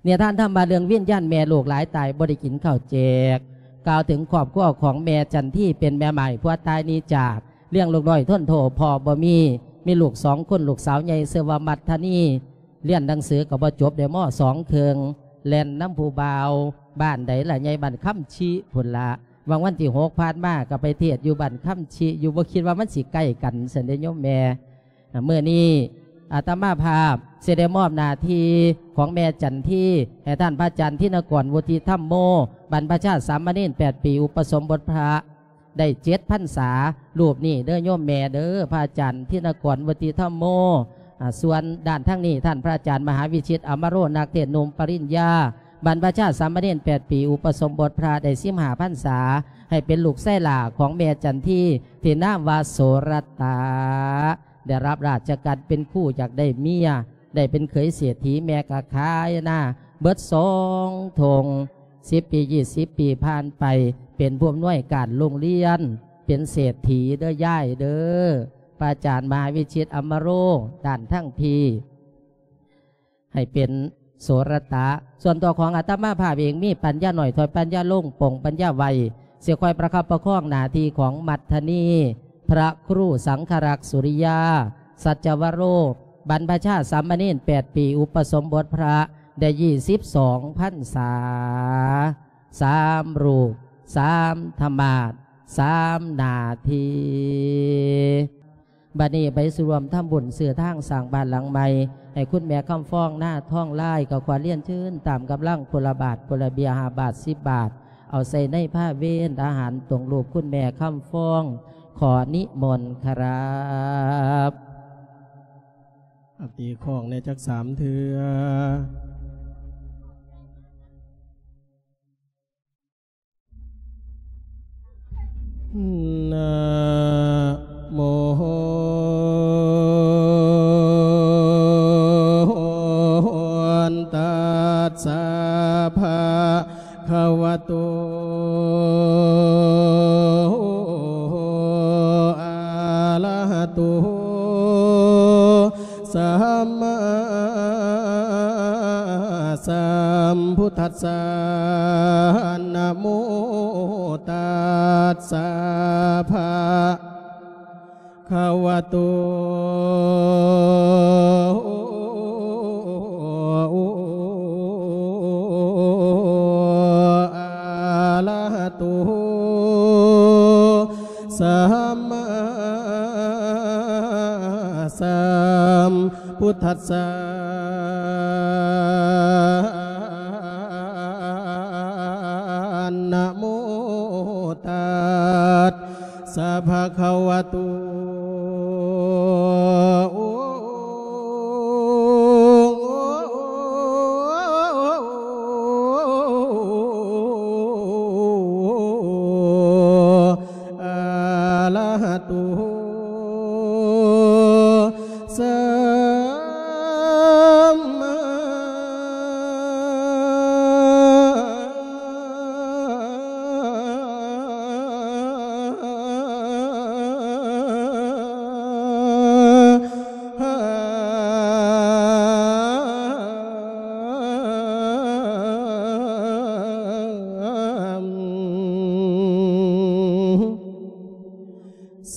ນິທານທຳວ່າເລື່ອງວິນຍານແມ່ໂລກຫຼາຍຕາຍບໍ່ໄດ້ກິນເຂົ້າແຈກ ກ່າວເຖິງຄອບຄົວຂອງແມ່ຈັນທີ ເປັນແມ່ໝ້າຍຜົວຕາຍໜີຈາກ ລ້ຽງລູກນ້ອຍທົນໂທພໍ່ບໍ່ມີ ມີລູກສອງຄົນ ລູກສາວໃຫຍ່ຊື່ວ່າມັດທະນີ ຮຽນໜັງສືກໍບໍ່ຈົບ ໄດ້ ມ.ສອງ ເຄິ່ງ ແລ່ນນຳຜູ້ບ່າວ ບ້ານໃດລະໃຫຍ່ ບ້ານຄຳຊິພຸ້ນລະ ຫວ່າງວັນທີຫົກຜ່ານມາກໍໄປເທດຢູ່ບ້ານຄຳຊິຢູ່ ບໍ່ຄິດວ່າມັນຊິໃກ້ກັນຊັ້ນເດ້ໂຍມແມ່. ມື້ນີ້ອາດຕະມາພາບຊິໄດ້ມອບໜ້າທີ່ຂອງແມ່ຈັນທີ ໃຫ້ທ່ານພະອາຈານທິນະກອນ ວຸດທິທຳໂມ ບັນພະຊາສາມະເນນ ແປດ ປີ ອຸປະສົມບົດພະ ໄດ້ເຈັດພັນສາ ຮູບນີ້ເດີໂຍມແມ່ເດີ ພະອາຈານທິນະກອນ ວຸດທິທຳໂມ. ອາ ສ່ວນດ້ານທາງນີ້ ທ່ານພະອາຈານມະຫາວິຊິດ ອຳມະໂຣ ນັກເທດໜຸ່ມປະລິນຍາ ບັນພະຊາສາມະເນນ ແປດ ປີ ອຸປະສົມບົດພະ ໄດ້ສິບຫ້າພັນສາ ໃຫ້ເປັນລູກຊາຍຫຼ້າຂອງແມ່ຈັນທີ ທີ່ນາມວ່າໂສລະຕະ ໄດ້ຮັບລາຊະການເປັນຄູ ຢາກໄດ້ເມຍ ໄດ້ເປັນເຂີຍເສດຖີ ແມ່ກໍຂາຍນາເບິດສອງທົ່ງ ສິບປີ ຊາວປີຜ່ານໄປ ເປັນຜູ້ອຳນວຍການໂຮງຮຽນ ເປັນເສດຖີເດີຍາຍເດີ. ພະອາຈານມະຫາວິຊິດ ອຳມະໂຣ ດ້ານທາງພີ້ ໃຫ້ເປັນໂສລະຕະ. ສ່ວນຕົວຂອງອາດຕະມາພາບເອງ ມີປັນຍາໜ້ອຍ ຖ້ອຍປັນຍາລົງ ປົງປັນຍາໄວ ຊິຄອຍປະຄັບປະຄອງໜ້າທີ່ຂອງມັດທະນີ ພະຄູສັງຄະລັກ ສຸລິຍາ ສັດຈະວະໂຣ ບັນພະຊາສາມະເນນ ແປດ ປີ ອຸປະສົມບົດພະ ໄດ້ຊາວສອງພັນສາ ສາມຮູບ ສາມທະມາດ ສາມໜ້າທີ່. ບັດນີ້ໄປສູ່ຮ່ວມທຳບຸນຊື້ທາງສ້າງບ້ານຫຼັງໃໝ່ ໃຫ້ຄຸນແມ່ຄຳຟອງ ນາທອງລາຍ ກໍຂໍລຽນເຊີນຕາມກຳລັງ ຄົນລະບາດ ຄົນລະເບຍ ຫ້າບາດ ສິບບາດ ເອົາໃສ່ໃນພາເວນອາຫານຕົງຮູບຄຸນແມ່ຄຳຟອງ ຂໍນິມົນຄັບ. ອາ ຕີຄ້ອງແດ່ຈັກສາມເທື່ອ. ນະໂມ ຕັດສະ ພະຄະວະໂຕ ອະລະຫະໂຕ ສຳມາສຳພຸດທັດສະ ນະໂມ ຕັດສະ ພະຄະວະໂຕ ອະລະຫະໂຕ ສຳມາສຳພຸດທັດສະ ນະໂມ ຕັດສະ ພະຄະວະໂຕ ອະລະຫະໂຕ ສຳມາ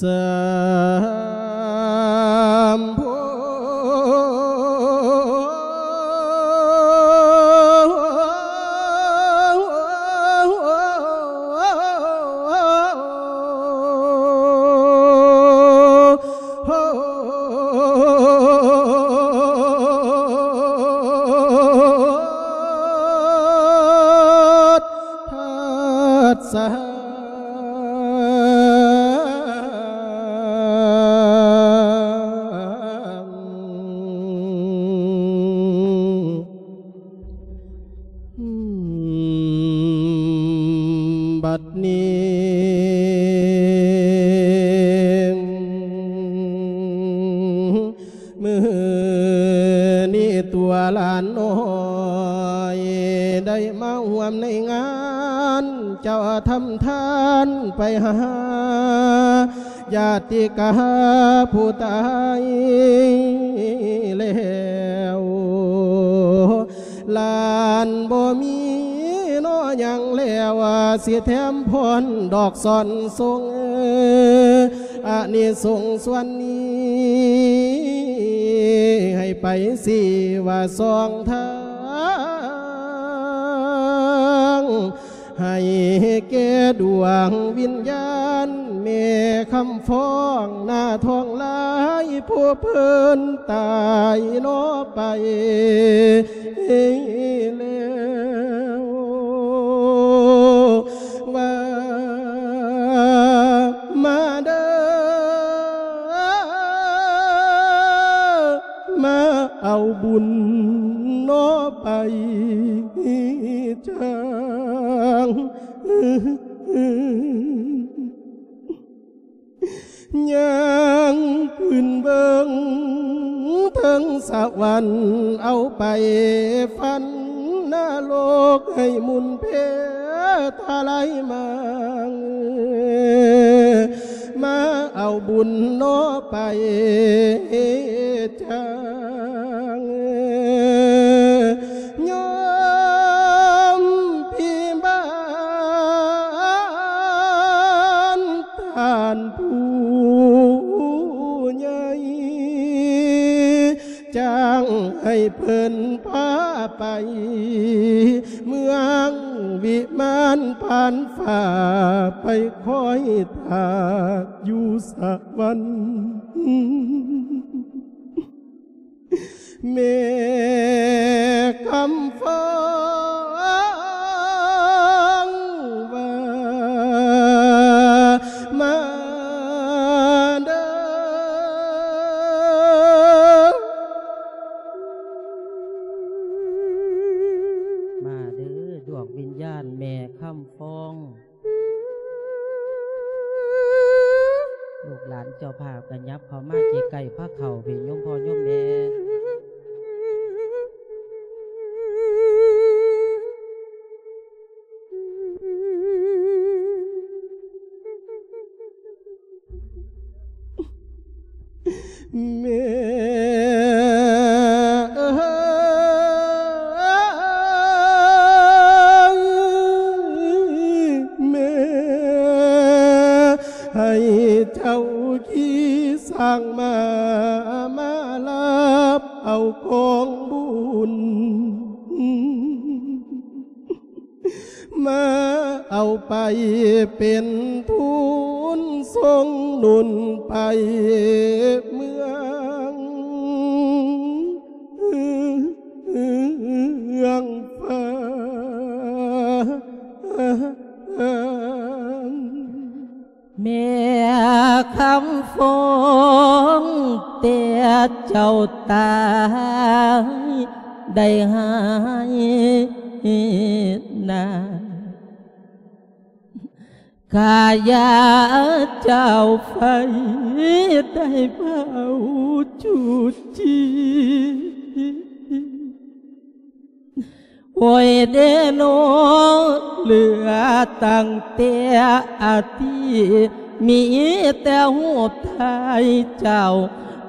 ສຳໂພ ທັດສະ ບັດນີ້ ມື້ນີ້ຕົວຫຼານນ້ອຍ ໄດ້ມາຮ່ວມໃນງານ ເຈົ້າທຳທານໄປຫາ ຍາດຕິກາຜູ້ຕາຍແລ້ວ ຫຼານບໍ່ມີເນາະຫຍັງແລ້ວ ຊິແຖມພອນດອກສອນສົ່ງ ອານິສົງສ່ວນນີ້ ໃຫ້ໄປຊີ້ວ່າສອງທາງ ໃຫ້ແກ່ດວງວິນຍານແມ່ຄຳຟອງໜ້າທອງລາຍ ຜູ້ເພິ່ນຕາຍເນາະໄປແລ້ວ ວ່າມາເດີ ມາເອົາບຸນເນາະໄປຈາງ ຍ່າງຂຶ້ນເບິ່ງເທິງສະຫວັນ ເອົາໄປຝັນນະລົກ ໃຫ້ໝຸນເພທະໄລມາ ມາເອົາບຸນເນາະໄປຈາງ ໂຍມພີ່ບ້ານທ່ານຜູ້ໃຫຍ່ ຈ້າງໃຫ້ເພິ່ນພາໄປ ເມືອງວິມານຜ່ານຟ້າ ໄປຄອຍຖ້າຢູ່ສະຫວັນ ແມ່ຄຳຟອງວ່າ ມາເດີ ມາເດີ ດວງວິນຍານແມ່ຄຳຟອງ ລູກຫຼານເຈົ້າພາບກະຫຍັບເຂົ້າມາໃກ້ໆພາເຂົ້າພີ້ ໂຍມພໍ່ໂຍມແມ່. ແມ່ເອີຍ ແມ່ໃຫ້ເຈົ້າຂີ່ຊ້າງມ້າ ມາຮັບເອົາກອງບຸນ ມາເອົາໄປເປັນທຶນສົ່ງໜູນໄປເມືອງ ເມືອງຟ້າ. ແມ່ຄຳຟອງ ແຕ່ເຈົ້າຕາຍໄດ້ຫາຍໜ້າ ກາຍາເຈົ້າໄຟໄດ້ເຜົາຈູດຈີ ໂອ້ຍເດໂນ ເຫຼືອຕັ້ງແຕ່ອາທິ ມີແຕ່ຮູບຖ່າຍເຈົ້າ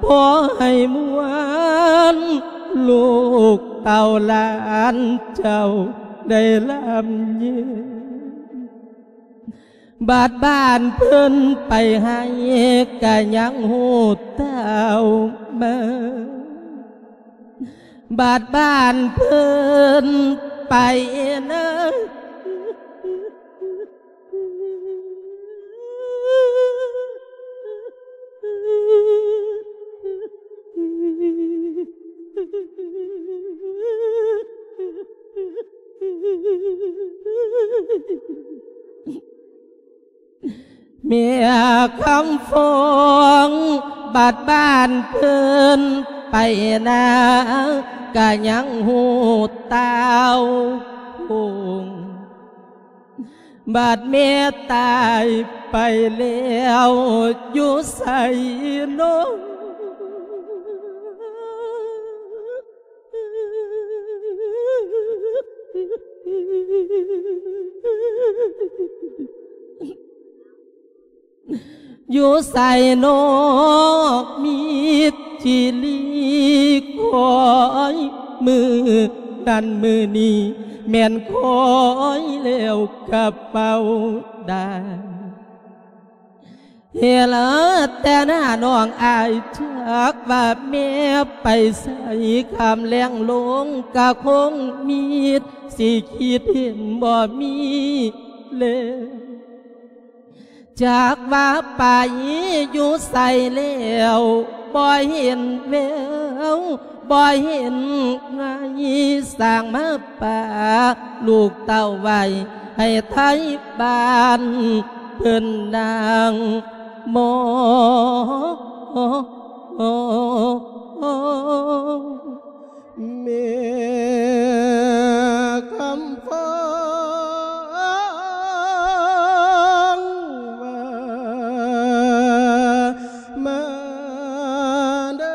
ພໍໃຫ້ມ່ວນ ລູກເຕົ້າຫຼານເຈົ້າໄດ້ລຳເຢັນ. ບາດບ້ານເພິ່ນໄປໃຫ້ກະຍັງຮູ້ເຕົ້າມາ ບາດບ້ານເພິ່ນໄປນະ ແມ່ຄຳຟອງ ບາດບ້ານເພິ່ນໄປນາ ກະຍັງຮູ້ເຕົ້າຄົງ ບາດແມ່ຕາຍໄປແລ້ວ ຢູ່ໃສເນາະ? ຢູ່ໃສເນາະ ມີຈີລີ ຄອຍມື້ ນັ້ນ ມື້ນີ້ແມ່ນຄອຍແລ້ວກະເປົ່າໄດ້ ເຫລະແຕ່ໜ້ານ້ອງອາຍ ຈັກວ່າແມ່ໄປໃສ ຄ່ຳແລງລົງກະຄົງມີ ຊິຄິດເຫັນບໍ່ມີແລ້ວ. ຈັກວ່າໄປຢູ່ໃສແລ້ວ ບໍ່ເຫັນແວວ ບໍ່ເຫັນໄງ ສ້າງມາປະລູກເຕົ້າໄວ້ ໃຫ້ໄທບ້ານເພິ່ນນັ່ງມອງ. ແມ່ຄຳຟອງວ່າ ມາເດີ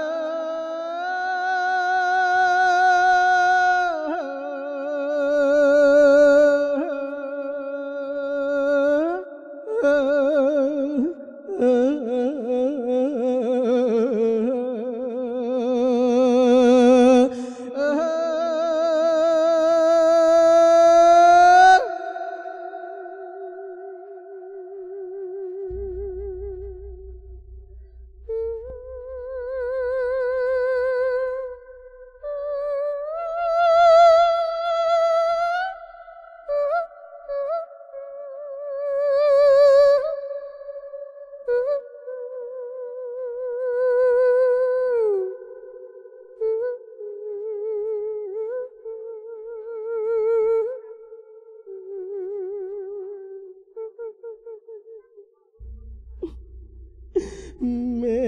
ແມ່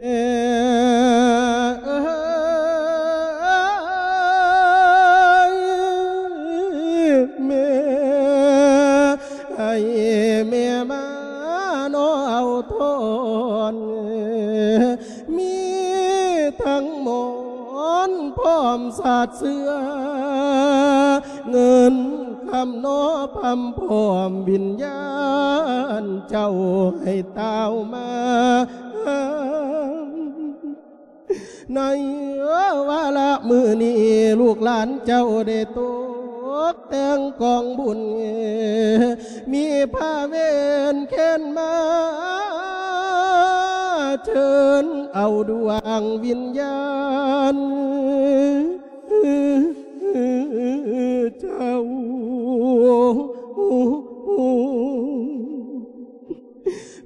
ເອີຍ ແມ່ ໃຫ້ແມ່ມາເນາະເອົາທອນ ມີທັງໝອນພ້ອມສາດເສື່ອ ເງິນຄຳເນາະພຳພ້ອມວິນຍານເຈົ້າໃຫ້ຕ່າວມາ. ໃນວາລະມື້ນີ້ ລູກຫຼານເຈົ້າໄດ້ຕົກແຕ່ງກອງບຸນ ມີພາເວນແຄນມາ ເຊີນເອົາດວງວິນຍານເຈົ້າ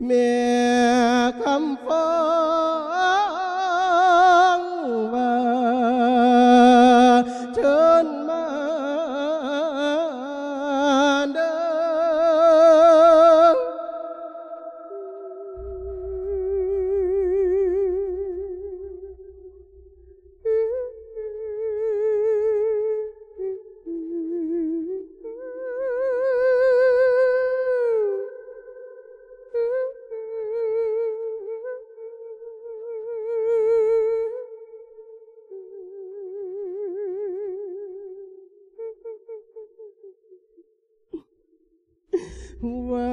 ແມ່ຄຳຟອງວ່າ ເຊີນມາເດີ. ວ່າ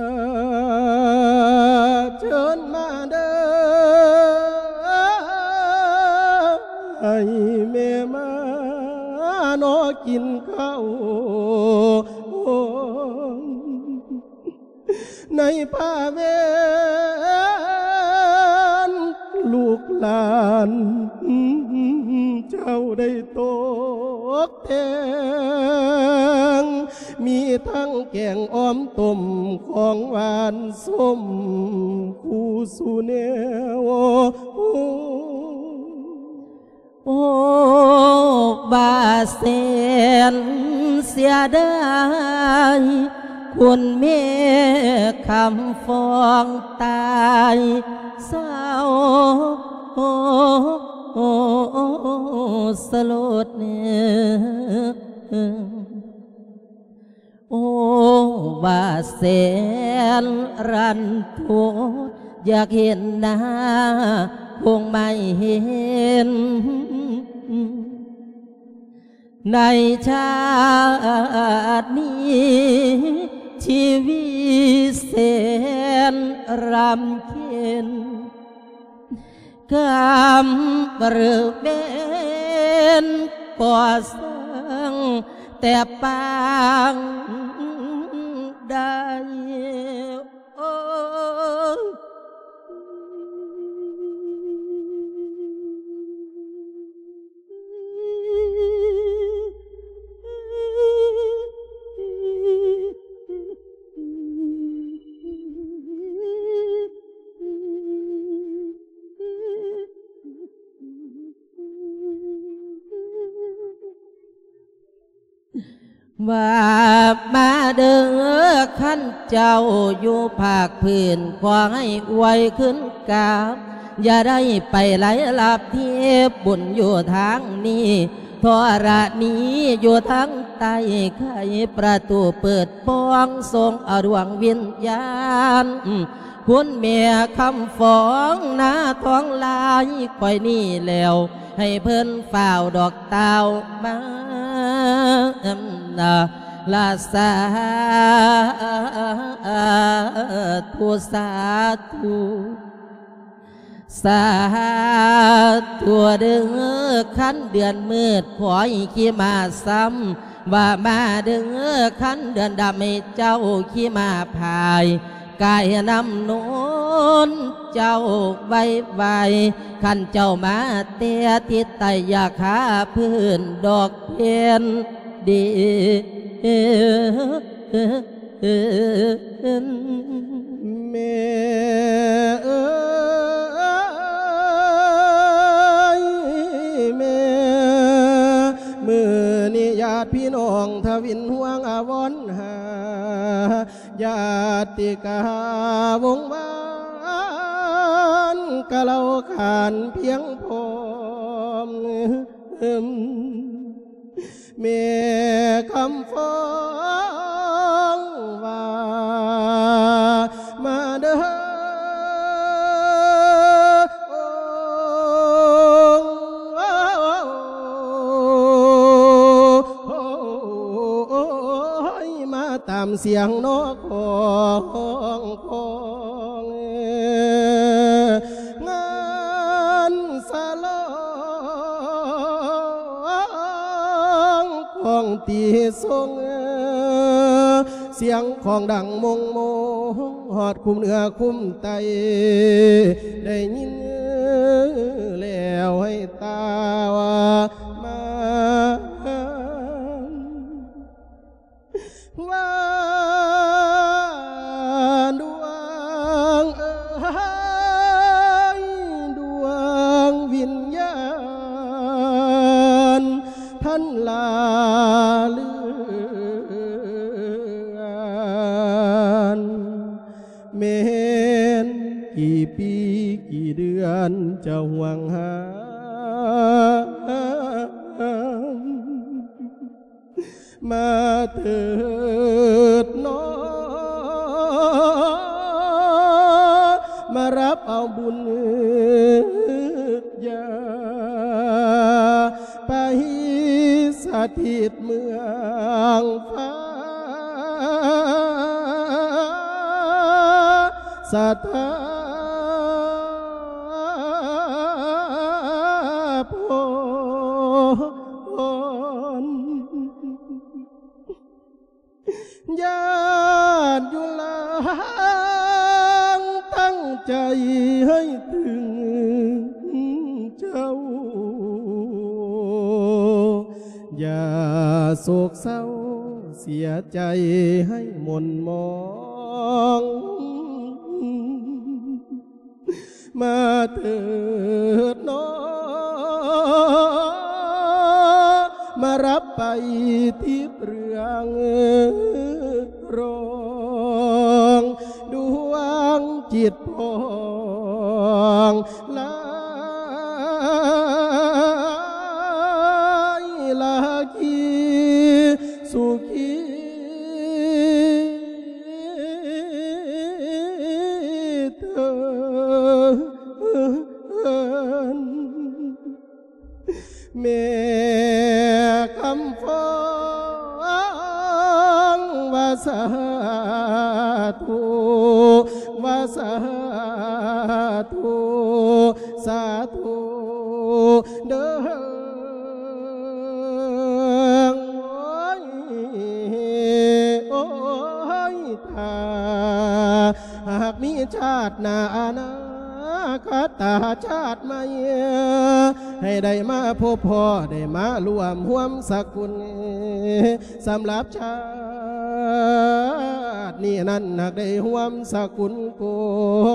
ເຊີນມາເດີ ໃຫ້ແມ່ມາເນາະກິນເຂົ້າ ໃນພາເວນລູກຫຼານເຈົ້າໄດ້ຕົກ ແກງ ມີທັງແກງອ່ອມຕົ້ມ ຂອງຫວານສົ້ມ ຄູ່ສູ່ແນວ. ໂອ້ ວ່າແສນເສຍດາຍ ຄຸນແມ່ຄຳຟອງຕາຍເສົ້າສະຫຼົດ. ໂອ້ ວ່າແສນລັນທົດ ຢາກເຫັນໜ້າຄົງໄມ່ເຫັນ ໃນຊາດນີ້ ຊີວິດແສນລຳເຄັນ ກຳເຣິເວັນກໍ່ສ້າງ ແຕ່ປາງໃດ ໂອ້ ວ່າມາເດີ ຄັນເຈົ້າຢູ່ພາກພື້ນ ຂໍໃຫ້ອວຍຄືນກັບ ຢ່າໄດ້ໄປໄຫຼລັບທີ່ບຸນຢູ່ທາງນີ້ ທໍລະນີຢູ່ທາງໃຕ້ ໄຂປະຕູເປີດປ່ອງ ສົ່ງເອົາດວງວິນຍານ ຄຸນແມ່ຄຳຟອງນາທອງລາຍຂ້ອຍນີ້ແລ້ວ ໃຫ້ເພິ່ນຟ້າວດອກຕ່າວມາ ລະສາທຸ ສາທຸ ສາທຸເດີ ຄັນເດືອນມືດ ຂໍໃຫ້ຂີ່ມ້າຊ້ຳ ວ່າມາເດີ ຄັນເດືອນດຳ ໃຫ້ເຈົ້າຂີ່ມ້າພາຍ ກາຍນ້ຳນົນເຈົ້າໄວໆ ຄັນເຈົ້າມາແຕ່ທິດໃຕ້ ຢ່າຄາພື້ນດອກເພັນດິນ ແມ່ເອີຍ ແມ່ ມື້ນີ້ຍາດພີ່ນ້ອງທະວິນຫ່ວງອາວອນຫາ ຍາດຕິກາວົງວານ ກະເລົ່າຂານພຽງພ້ອມ ແມ່ຄຳຟອງວ່າ ມາເດີ ໂອ້ ໂອ້ຍ ມາຕາມສຽງນອກຮ້ອງຂອງ ງານສະຫຼອງຂອງຕີຊົງ ສຽງຂອງດັງມົງໂມງ ຮອດຄຸ້ມເໜືອຄຸ້ມໃຕ້ ໄດ້ຍິນແລ້ວໃຫ້ຕາວ່າມາ ວ່າດວງເອີຍ ດວງວິນຍານ ທັນລາເລື່ອນ ແມ່ນກີ່ປີກີ່ເດືອນຈະຫ່ວງຫາ ມາເທີດໜໍ ມາຮັບເອົາບຸນຍາ ໄປສະຖິດເມືອງຟ້າ ສະຖາພົນ ຍາດຢູ່ຫຼັງ ຕັ້ງໃຈໃຫ້ເຖິງເຈົ້າ ຢ່າໂສກເສົ້າເສຍໃຈໃຫ້ໝົ່ນໝອງ ມາເທີດໜໍ ມາຮັບໄປທີ່ເລື່ອງ ຮ້ອງດວງຈິດຜ່ອງລາຍ ລາຄີສຸຂີເທີ້ນ ແມ່ຄຳຟອງວ່າສາທຸ ວ່າສາທຸ ສາທຸເດີ. ຊາດໜ້າອະນາຄົດຕາຊາດໃໝ່ ໃຫ້ໄດ້ມາພົບພໍ້ ໄດ້ມາຮ່ວມຮ່ວມສະກຸນ ສຳລັບຊາດນີ້ນັ້ນ ຫາກໄດ້ຮ່ວມສະກຸນກົ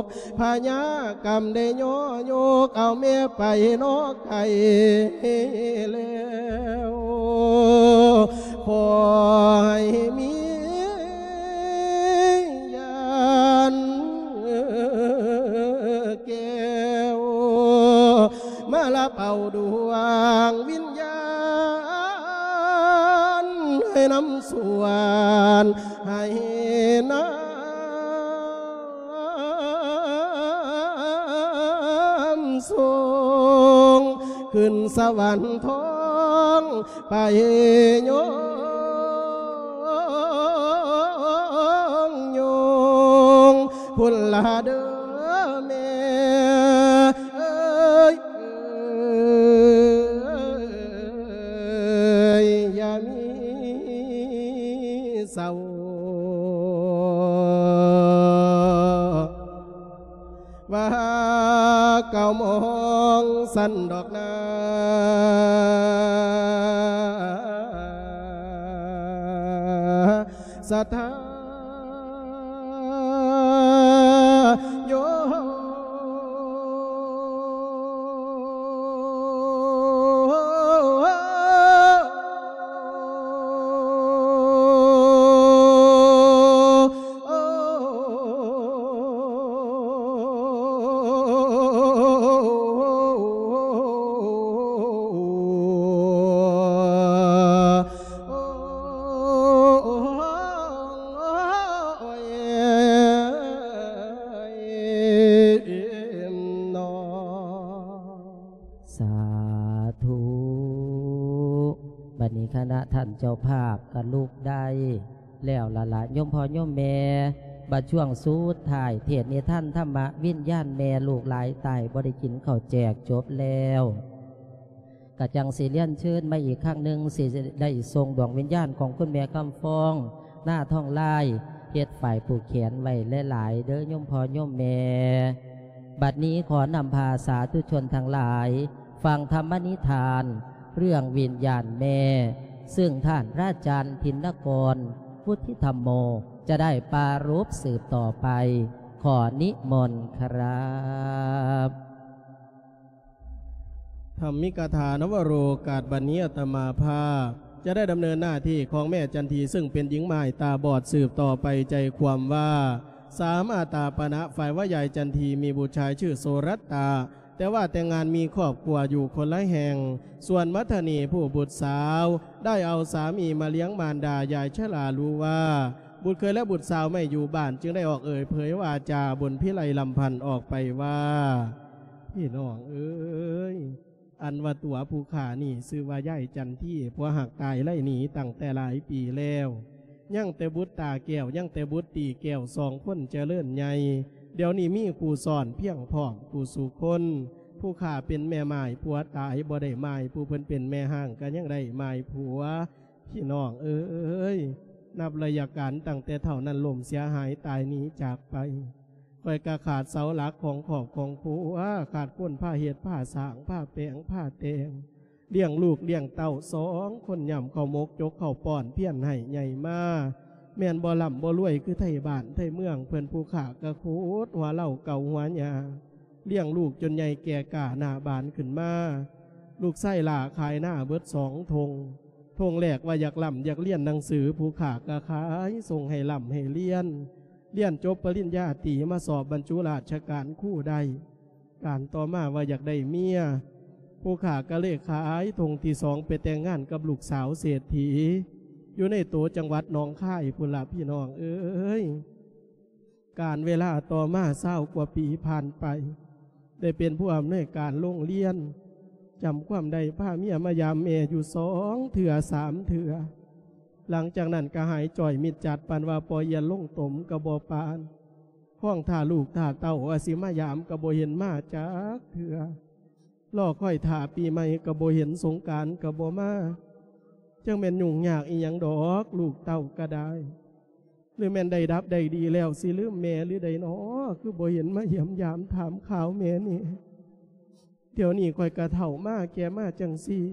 ກ ພະຍາກຳໄດ້ຍໍຍົກເອົາແມ່ໄປນອກໄກແລ້ວ ຂໍໃຫ້ມີຍານແກ້ວ ມາລັບເອົາດວງວິນຍານ ໃຫ້ນຳສວນ ໃຫ້ນຳສົ່ງ ຂຶ້ນສະຫວັນທອງ ໄປຍົງຍົງພຸ້ນລະເດີແມ່ເອີຍ ເອີຍ ຢ່າມີເສົ້າ ວ່າເກົ້າໂມງຊັ້ນດອກນາ ສະຖາໂຍ ສາທຸ ບັດນີ້ຄະນະທ່ານເຈົ້າພາບກະລຸກໄດ້ແລ້ວລະລະ ໂຍມພໍ່ໂຍມແມ່ ບັດຊ່ວງສຸດທ້າຍເທດນິທານທຳມະ ວິນຍານແມ່ລູກຫຼາຍຕາຍບໍ່ໄດ້ກິນເຂົ້າແຈກຈົບແລ້ວ ກະຈັ່ງຊິລຽນເຊີນມາອີກຄັ້ງໜຶ່ງ ຊິໄດ້ສົ່ງດວງວິນຍານຂອງຄຸນແມ່ຄຳຟອງ ນາທອງລາຍ ເຮັດຝ້າຍຜູກແຂນໄວ້ຫຼາຍໆເດີໂຍມພໍ່ໂຍມແມ່. ບັດນີ້ຂໍນຳພາສາທຸຊົນທັງຫຼາຍ ຟັງທຳມະນິທານເລື່ອງວິນຍານແມ່ ຊຶ່ງທ່ານພະອາຈານທິນນະກອນ ວຸດທິທຳໂມ ຈະໄດ້ປາລົບສືບຕໍ່ໄປ. ຂໍນິມົນຄະຣັບ. ທຳມິກະຖານະວະໂລກາດ ບັດນີ້ອາດຕະມາພາບຈະໄດ້ດຳເນີນໜ້າທີ່ຂອງແມ່ຈັນທີ ຊຶ່ງເປັນຍິງມ່າຍຕາບອດ ສືບຕໍ່ໄປໃຈຄວາມວ່າ ສາມາຕາປະນະ ຝ່າຍວ່າຍາຍຈັນທີມີບຸດຊາຍຊື່ໂສລັດຕາ ແຕ່ວ່າແຕ່ງງານມີຄອບຄົວຢູ່ຄົນລະແຫ່ງ. ສ່ວນມັດທະນີຜູ້ບຸດສາວ ໄດ້ເອົາສາມີມາລ້ຽງມານດາຍາຍຊະລາລູວ່າ ບຸດເຂີຍແລະບຸດສາວໄມ່ຢູ່ບ້ານ ຈຶ່ງໄດ້ອອກເອີ່ຍເຜີຍວາຈາບົນພິໄລລຳພັນອອກໄປວ່າ ພີ່ນ້ອງເອີຍ ອັນວ່າຕົວຜູ້ຂ້ານີ້ຊື່ວ່າຍາຍຈັນທີ ຜົວຮັກຕາຍໄລ່ໜີຕັ້ງແຕ່ຫຼາຍປີແລ້ວ. ຍັງແຕ່ບຸດຕາແກ້ວ ຍັງແຕ່ບຸດຕີແກ້ວ ສອງຄົນຈະເລີນໃຫຍ່ ດຽວນີ້ມີຄູ່ຊ້ອນພຽງພ້ອມຄູ່ສູ່ຄົນ. ຜູ້ຂ້າເປັນແມ່ໝ້າຍຜົວຕາຍບໍ່ໄດ້ໝ້າຍ ຜູ້ເພິ່ນເປັນແມ່ຮ້າງກະຍັງໄດ້ໝ້າຍຜົວ. ພີ່ນ້ອງເອີຍ ນັບໄລຍະການຕັ້ງແຕ່ເຖົ້ານັ້ນລົ້ມເສຍຫາຍຕາຍໜີຈາກໄປ ຂ້ອຍກະຂາດເສົາຫຼັກຂອງຄອບຂອງຄົວ ຂາດຄົນພາເຮັດພາສ້າງ ພາແປງພາແຕ່ງ ລ້ຽງລູກລ້ຽງເຕົ້າສອງຄົນ ຫຍ້ຳເຂົ້າໝົກຈົກເຂົ້າປ້ອນ ພຽນໃຫ້ໃຫຍ່ມາ ແມ່ນບໍ່ລ່ຳບໍ່ລວຍຄືໄທບ້ານໄທເມືອງເພິ່ນ ຜູ້ຂ້າກະຂຸດຫົວເລົາເກົ່າຫົວຫຍ້າ ລ້ຽງລູກຈົນໃຫຍ່ແກ່ກ້າໜ້າບານຂຶ້ນມາ. ລູກຊາຍຫຼ້າຂາຍນາເບິດສອງທົ່ງ ທົ່ງແລກວ່າຢາກລ່ຳຢາກຮຽນໜັງສື ຜູ້ຂ້າກະຂາຍສົ່ງໃຫ້ລ່ຳໃຫ້ຮຽນ ຮຽນຈົບປະລິນຍາຕີ ມາສອບບັນຈຸລາຊະການຄູໄດ້. ການຕໍ່ມາວ່າຢາກໄດ້ເມຍ ຜູ້ຂ້າກະເລີຍຂາຍທົ່ງທີສອງ ໄປແຕ່ງງານກັບລູກສາວເສດຖີ ຢູ່ໃນໂຕຈັງຫວັດໜອງຄາຍພຸ້ນລະ ພີ່ນ້ອງເອີຍ. ການເວລາຕໍ່ມາຊາວກວ່າປີຜ່ານໄປ ໄດ້ເປັນຜູ້ອຳນວຍການໂຮງຮຽນ ຈຳຄວາມໄດ້ພາເມຍມາຢາມແມ່ຢູ່ສອງເທື່ອສາມເທື່ອ. ຫຼັງຈາກນັ້ນກະຫາຍຈ້ອຍມິດຈັດ ປານວ່າປ່ອຍອຽນລົງຕົມກະບໍ່ປານ. ຄອງຖ້າລູກຖ້າເຕົ້າວ່າຊິມາຢາມກະບໍ່ເຫັນມາຈັກເທື່ອ. ລໍຄອຍຖ້າປີໃໝ່ກະບໍ່ເຫັນ ສົງການກະບໍ່ມາ. ຈັ່ງແມ່ນຫຍຸ້ງຍາກອີ່ຫຍັງດອກ ລູກເຕົ້າກະໄດ້. ຫຼືແມ່ນໄດ້ດັບໄດ້ດີແລ້ວ ຊິລືມແມ່ຫຼືໃດນໍ ຄືບໍ່ເຫັນມາຢ້ຽມຢາມຖາມຂ່າວແມ່ແດ່. ດຽວນີ້ຂ້ອຍກະເຖົ້າມາແກ່ມາຈັ່ງຊີ້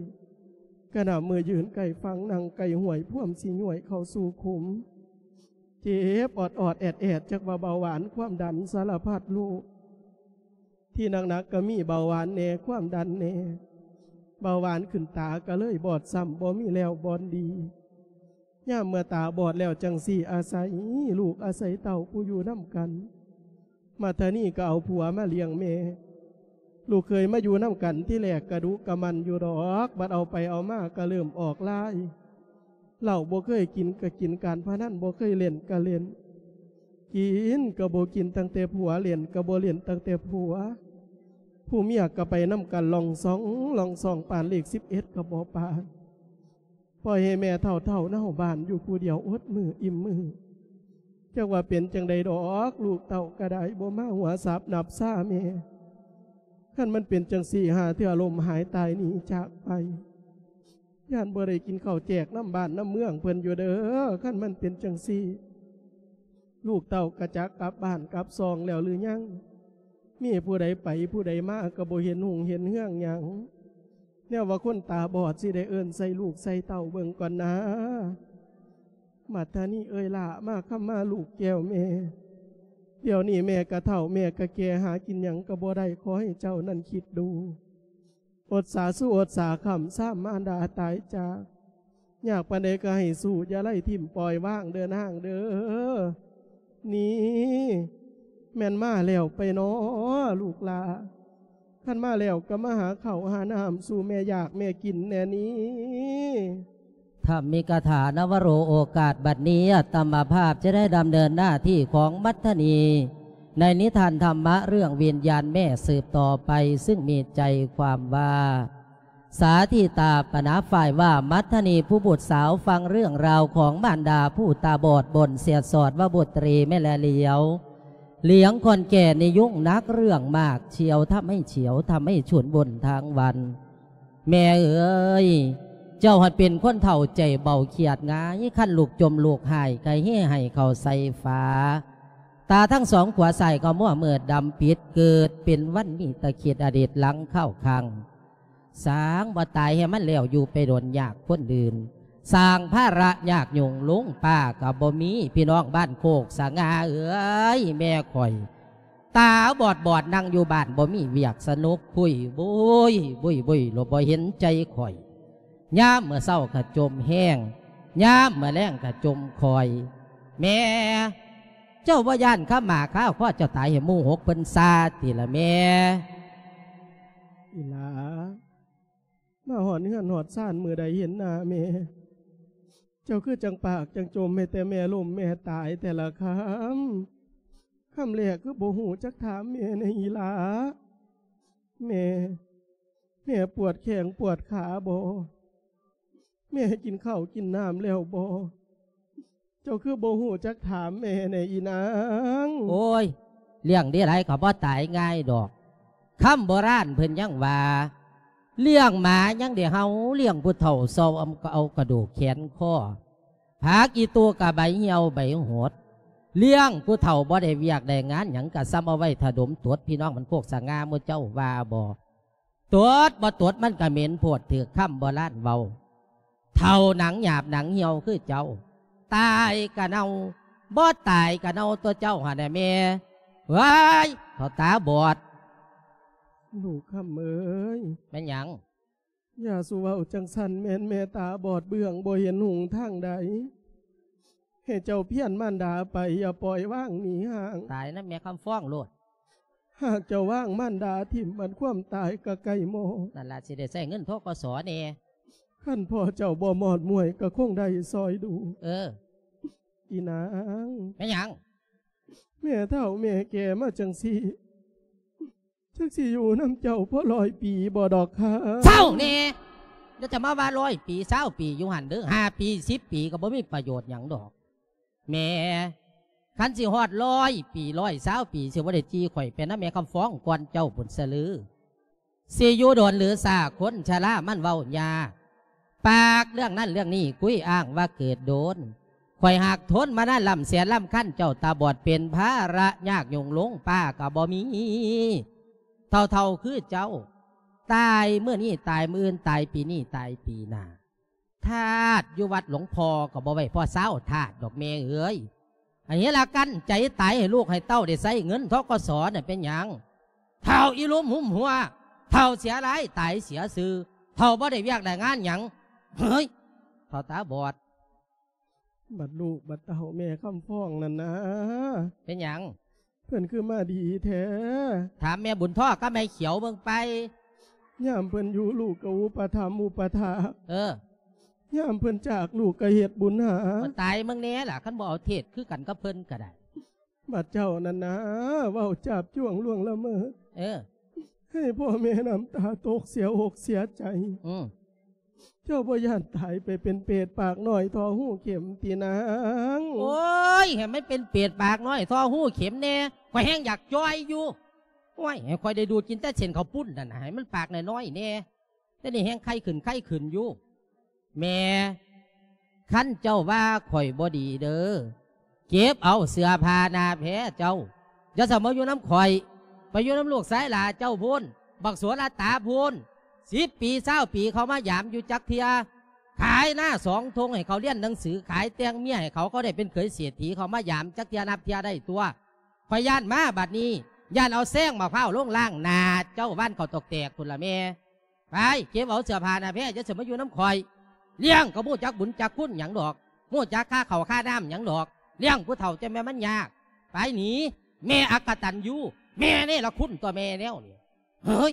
ກະນ້ຳມືຍືນໃກ້ຝັ່ງ ນັ່ງໃກ້ຫ້ວຍ ພວມຊິຍ້ວຍເຂົ້າສູ່ຂຸມ ເຈັບອອດໆແອດໆ ຈັກວ່າເບົາຫວານຄວາມດັນສາລະພັດໂລກ. ທີ່ໜັກໆກະມີເບົາຫວານແດ່ ຄວາມດັນແດ່ ເບົາຫວານຂຶ້ນຕາກະເລີຍບອດຊ້ຳ ບໍ່ມີແລ້ວບ່ອນດີ. ຍາມເມື່ອຕາບອດແລ້ວຈັ່ງຊີ້ ອາໄສລູກອາໄສເຕົ້າຜູ້ຢູ່ນຳກັນ. ມັດທະນີກະເອົາຜົວມາລ້ຽງແມ່ ລູກເຂີຍມາຢູ່ນຳກັນ ທີແລກກະດຸກະໝັ່ນຢູ່ດອກ ບັດເອົາໄປເອົາມາກະເລີ່ມອອກລາຍ. ເຫຼົ້າບໍ່ເຄີຍກິນກະກິນ ການພະນັນບໍ່ເຄີຍຫຼິ້ນກະຫຼິ້ນ ກິນກະບໍ່ກິນຕັ້ງແຕ່ຜົວ ຫຼິ້ນກະບໍ່ຫຼິ້ນຕັ້ງແຕ່ຜົວ. ຜູ້ເມຍກະໄປນຳກັນ ລ່ອງຊ່ອງລ່ອງຊ່ອງ ປານເລກສິບເອັດກະບໍ່ປານ. ປ່ອຍໃຫ້ແມ່ເຖົ້າໆເນົ່າບ້ານຢູ່ຜູ້ດຽວ ອົດມື້ອີ່ມມື້. ຈັກວ່າເປັນຈັ່ງໃດດອກ ລູກເຕົ້າກະໄດ້ບໍ່ມາຫົວສາບນັບຊາແມ່. ຄັນມັນເປັນຈັ່ງຊີ້ ຫາເທື່ອລົ້ມຫາຍຕາຍໜີຈາກໄປ ຢ້ານບໍ່ໄດ້ກິນເຂົ້າແຈກນຳບ້ານນຳເມືອງເພິ່ນຢູ່ເດີ. ຄັນມັນເປັນຈັ່ງຊີ້ ລູກເຕົ້າກະຈັກກັບບ້ານກັບຊ່ອງແລ້ວຫຼືຍັງ? ມີຜູ້ໃດໄປຜູ້ໃດມາກະບໍ່ເຫັນຮຸ່ງເຫັນເຮືອງຫຍັງ. ແນວວ່າຄົນຕາບອດ ຊິໄດ້ເອີ້ນໃສ່ລູກໃສ່ເຕົ້າເບິ່ງກ່ອນນາ. ມັດທະນີເອີຍຫຼ້າ ມາຄຳມາລູກແກ້ວແມ່. ດຽວນີ້ແມ່ກະເຖົ້າ ແມ່ກະແກ່ ຫາກິນຫຍັງກະບໍ່ໄດ້. ຂໍໃຫ້ເຈົ້ານັ້ນຄິດດູ ອົດສາສູ່ອົດສາຄ້ຳ ຊາມມານດາຕາຍຈາກ. ຍາກປານໃດກະໃຫ້ສູ້ ຢ່າໄລ່ຖິ້ມປ່ອຍວາງເດີນາງເດີ. ນີ້ ແມ່ນມາແລ້ວໄປນໍລູກຫຼ້າ? ຄັນມາແລ້ວກະມາຫາເຂົ້າຫານ້ຳສູ່ແມ່ຢາກແມ່ກິນແດ່ນີ້. ທຳມິກະຖາ ນະວະໂຣ ໂອກາດບັດນີ້ ອາດຕະມາພາບຈະໄດ້ດຳເນີນໜ້າທີ່ຂອງມັດທະນີ ໃນນິທານທຳມະເລື່ອງວິນຍານແມ່ສືບຕໍ່ໄປ ຊຶ່ງມີໃຈຄວາມວ່າ ສາທິຕາປະນາ ຝ່າຍວ່າ ມັດທະນີຜູ້ບຸດສາວ ຟັງເລື່ອງລາວຂອງມານດາຜູ້ຕາບອດ ບົນເສຍສອດວ່າບຸດຕຣີແມ່ແລຫຼຽວ ຫຼຽງຄອນແກ່ນິຍຸງໜັກເລື່ອງມາກ ຊ່ຽວທຳໃຫ້ຊ່ຽວ ທຳໃຫ້ຊຸນບຸນທາງວັນ. ແມ່ເອີຍ ເຈົ້າຫັດເປັນຄົນເຖົ້າໃຈເບົາຄຽດງ່າຍ ຄັນລູກຈົ່ມລູກຫາຍກະເຮໃຫ້ເຂົ້າໃສ່ຝາ ຕາທັງສອງຂວາຊ້າຍກະມົວມືດດຳປິດ ເກີດເປັນວັນມີຕະຄິດອະດີດຫຼັງຄາວຄັງ. ສ້າງບໍ່ຕາຍໃຫ້ມັນແລ້ວ ຢູ່ໄປດົນຍາກຄົນອື່ນ ສ້າງພາລະຍາກຫຍຸ້ງ ລຸງປ້າກະບໍ່ມີ ພີ່ນ້ອງບ້ານໂຄກສະຫງ່າເອີຍ ແມ່ຂ້ອຍຕາບອດໆ ນັ່ງຢູ່ບ້ານບໍ່ມີວຽກສະໜຸກຄຸຍ ບຸ້ຍ ບຸ້ຍ ບຸ້ຍ ໂລດບໍ່ເຫັນໃຈຂ້ອຍ ຍາມເມື່ອເຊົ້າກະຈົ່ມແຮງ ຍາມເມື່ອແລງກະຈົ່ມຄອຍ. ແມ່ ເຈົ້າບໍ່ຢ້ານຄາໝາຄາຄໍເຈົ້າຕາຍໃຫ້ໝູ່ຫົກເພິ່ນຊາຕິລະແມ່? ອີຫຼ້າ ມາຮອດເຮືອນຮອດຊານມື້ໃດເຫັນໜ້າແມ່ ເຈົ້າຄືຈັ່ງປາກຈັ່ງຈົ່ມໃຫ້ແຕ່ແມ່ລົ້ມແມ່ຕາຍແຕ່ລະຄຳ. ຄຳແລກຄືບໍ່ຮູ້ຈັກຖາມແມ່ແດ່ອີຫຼ້າ? ແມ່ ແມ່ປວດແຂ້ງປວດຂາບໍ່? ແມ່ກິນເຂົ້າກິນນ້ຳແລ້ວບໍ່? ເຈົ້າຄືບໍ່ຮູ້ຈັກຖາມແມ່ແດ່ອີນາງ? ໂອ້ຍ ລ້ຽງເດໄລກະບໍ່ຕາຍງ່າຍດອກ. ຄຳໂບລານເພິ່ນຍັງວ່າ ລ້ຽງໝາຍັງໄດ້ເຫົ່າ ລ້ຽງຜູ້ເຖົ້າຊອມກະເອົາກະດູກແຂນຄໍ ຜັກອີຕູກະໃບຫ່ຽວໃບຫົດ ລ້ຽງຜູ້ເຖົ້າບໍ່ໄດ້ວຽກໄດ້ງານຫຍັງ ກະສ່ຳເອົາໄວ້ຖະດົມຕົດ. ພີ່ນ້ອງບ້ານໂຄກສະຫງ່າ ໝູ່ເຈົ້າວ່າບໍ່? ຕົດບໍ່ຕົດມັນກະເໝັນໂພດ ຖືກຄຳໂບລານເວົ້າ. ເຖົ້າໜັງຫຍາບໜັງຫ່ຽວຄືເຈົ້າ ຕາຍກະເນົ່າ ບໍ່ຕາຍກະເນົ່າຕົວະເຈົ້າຫັ້ນນະແມ່. ເວີຍ ເຖົ້າຕາບອດ ລູກຄຳເອີຍ. ແມ່ນຫຍັງ? ຢ່າສູ່ເວົ້າຈັ່ງຊັ້ນ ແມ່ນແມ່ຕາບອດເບື້ອງ ບໍ່ເຫັນຮຸ່ງທາງໃດ. ໃຫ້ເຈົ້າພຽນມານດາໄປ ຢ່າປ່ອຍວາງໜີຫ່າງ. ຕາຍນຳແມ່ຄຳຟອງໂລດ. ຫາກເຈົ້າວາງມານດາຖິ້ມ ອັນຄວາມຕາຍກະໃກ້ໝໍ້. ນັ້ນລະ ຊິໄດ້ໃຊ້ເງິນ ທກສ ແດ່. ຄັນພໍ່ເຈົ້າບໍ່ມອດມວຍ ກະຄົງໄດ້ຊ່ອຍດູ. ເອີ ອີນາງ. ແມ່ນຫຍັງ? ແມ່ເຖົ້າແມ່ແກ່ມາຈັ່ງຊີ້ ຈັກຊິຢູ່ນຳເຈົ້າພໍຮ້ອຍປີບໍ່ດອກຄະ? ເຊົາແດ່ ຢ່າຈະມາວ່າຮ້ອຍປີ ຊາວປີຢູ່ຫັ້ນເດີ ຫ້າປີ ສິບປີກະບໍ່ມີປະໂຫຍດຫຍັງດອກ. ແມ່ ຄັນຊິຮອດຮ້ອຍປີ ຮ້ອຍຊາວປີ ຊິບໍ່ໄດ້ຈີ່ຂ້ອຍໄປນຳແມ່ຄຳຟອງກ່ອນເຈົ້າພຸ້ນຊະຫຼື. ຊິຢູ່ດົນຫຼືຊ້າ ຄົນຊະລາມັນເວົ້າຍາກ ປາກເລື່ອງນັ້ນເລື່ອງນີ້ ຄຸຍອ້າງວ່າເກີດດົນ. ຄ ຂ້ອຍຫາກທົນມານານລ້ຳແສນລ້ຳຄັນ ເຈົ້າຕາບອດເປັນພາລະຍາກຫຍຸ້ງ ໂລງປ້າກໍບໍ່ມີ ເຖົ້າໆຄືເຈົ້າ ຕາຍມື້ນີ້ຕາຍມື້ອື່ນ ຕາຍປີນີ້ຕາຍປີໜ້າ ທາດຢູ່ວັດຫຼວງພໍ່ກໍບໍ່ໄວ້ພໍຊາວທາດດອກແມ່ເອີຍ ອັນນີ້ລະກັ້ນໃຈຕາຍໃຫ້ລູກໃຫ້ເຕົ້າໄດ້ໃຊ້ເງິນ ທກສ ນັ້ນເປັນຫຍັງ? ເຖົ້າອີ່ລຸມຫຸມຫົວ ເຖົ້າເສຍລາຍຕາຍເສຍຊື່ ເຖົ້າບໍ່ໄດ້ວຽກໄດ້ງານຫຍັງ ເຮີ້ຍ ເຖົ້າຕາບອດ. ບັດລູກບັດເຕົ້າແມ່ຄຳຟອງນັ້ນນາ ເປັນຫຍັງ? ເພິ່ນຄືມາດີແທ້? ຖາມແມ່ບຸນທໍກັບແມ່ຂຽວເບິ່ງໄປ ຍາມເພິ່ນຢູ່ລູກກໍອຸປະຖຳອຸປະຖາກ ເອີ ຍາມເພິ່ນຈາກລູກກໍເຮັດບຸນຫາ ມາຕາຍເບິ່ງແດ່ລະ ຄັນບໍ່ເອົາເທດຄືກັນກັບເພິ່ນກໍໄດ້ ບັດເຈົ້ານັ້ນນາ ເວົ້າຈາບຈ້ວງລ່ວງລະເມີດ ເອີ ໃຫ້ພໍ່ແມ່ນ້ຳຕາຕົກເສຍອົກເສຍໃຈ ອືມ ເຈົ້າບໍ່ຢ້ານຕາຍໄປເປັນເປດປາກນ້ອຍທໍ່ຮູເຂັມຕິນາງ? ໂອ້ຍ ໃຫ້ມັນເປັນເປດປາກນ້ອຍທໍ່ຮູເຂັມແດ່ ຂ້ອຍແຮ່ງຢາກຈ່ອຍຢູ່ ໂອ້ຍ ໃຫ້ຂ້ອຍໄດ້ດູດກິນແຕ່ເສັ້ນເຂົ້າປຸ້ນນັ້ນ ໃຫ້ມັນປາກນ້ອຍໆແດ່ ແຕ່ນີ້ແຮ່ງໄຄຂຶ້ນໄຄຂຶ້ນຢູ່ ແມ່ ຄັນເຈົ້າວ່າຂ້ອຍບໍ່ດີເດີ ເກັບເອົາເສື້ອຜ້າໜ້າແພເຈົ້າ ຢ່າສະມາຢູ່ນຳຂ້ອຍ ໄປຢູ່ນຳລູກຊາຍຫຼ້າເຈົ້າພຸ້ນ ບັກໂສລະຕາພຸ້ນ ສິບປີຊາວປີເຂົາມາຢາມຢູ່ຈັກເທື່ອ ຂາຍນາສອງທົ່ງໃຫ້ເຂົາຮຽນໜັງສື ຂາຍແຕ່ງເມຍໃຫ້ເຂົາ ເຂົາໄດ້ເປັນເຂີຍເສດຖີ ເຂົາມາຢາມຈັກເທື່ອນັບເທື່ອໄດ້ຕົວະ ຂ້ອຍຢ້ານມາບັດນີ້ ຢ້ານເອົາແຊງໝາກພ້າວລົງລ້າງໜ້າເຈົ້າ ວານເຂົາຕົກແຕກພຸ້ນລະແມ່. ໄປເກັບເອົາເສື້ອຜ້າໜ້າແພ ຢ່າຊິມາຢູ່ນຳຂ້ອຍ ລ້ຽງກໍບໍ່ຮູ້ຈັກບຸນຈັກຄຸນຫຍັງດອກ ຮູ້ຈັກຄ່າເຂົ້າຄ່ານ້ຳຫຍັງດອກ ລ້ຽງຜູ້ເຖົ້າຈັ່ງແມ່ນມັນຍາກ ໄປໜີ ແມ່ອັກກະຕັນຢູ ແມ່ເນລະຄຸນຕົວະແມ່ແນວນີ້ ເຮີ້ຍ.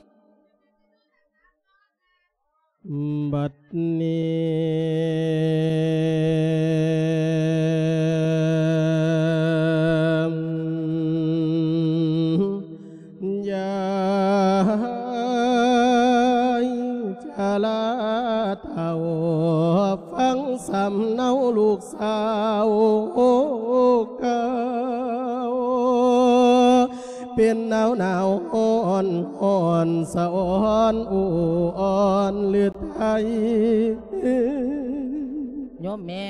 ບັດນີ້ ຍາຍຈະລາເຖົ້າ ຟັງສຳເນົາລູກສາວເກົ່າ ເປັນໜາວໜາວຮ້ອນຮ້ອນສະອອນອູ່ອ່ອນລືໄທ. ໂຍມແມ່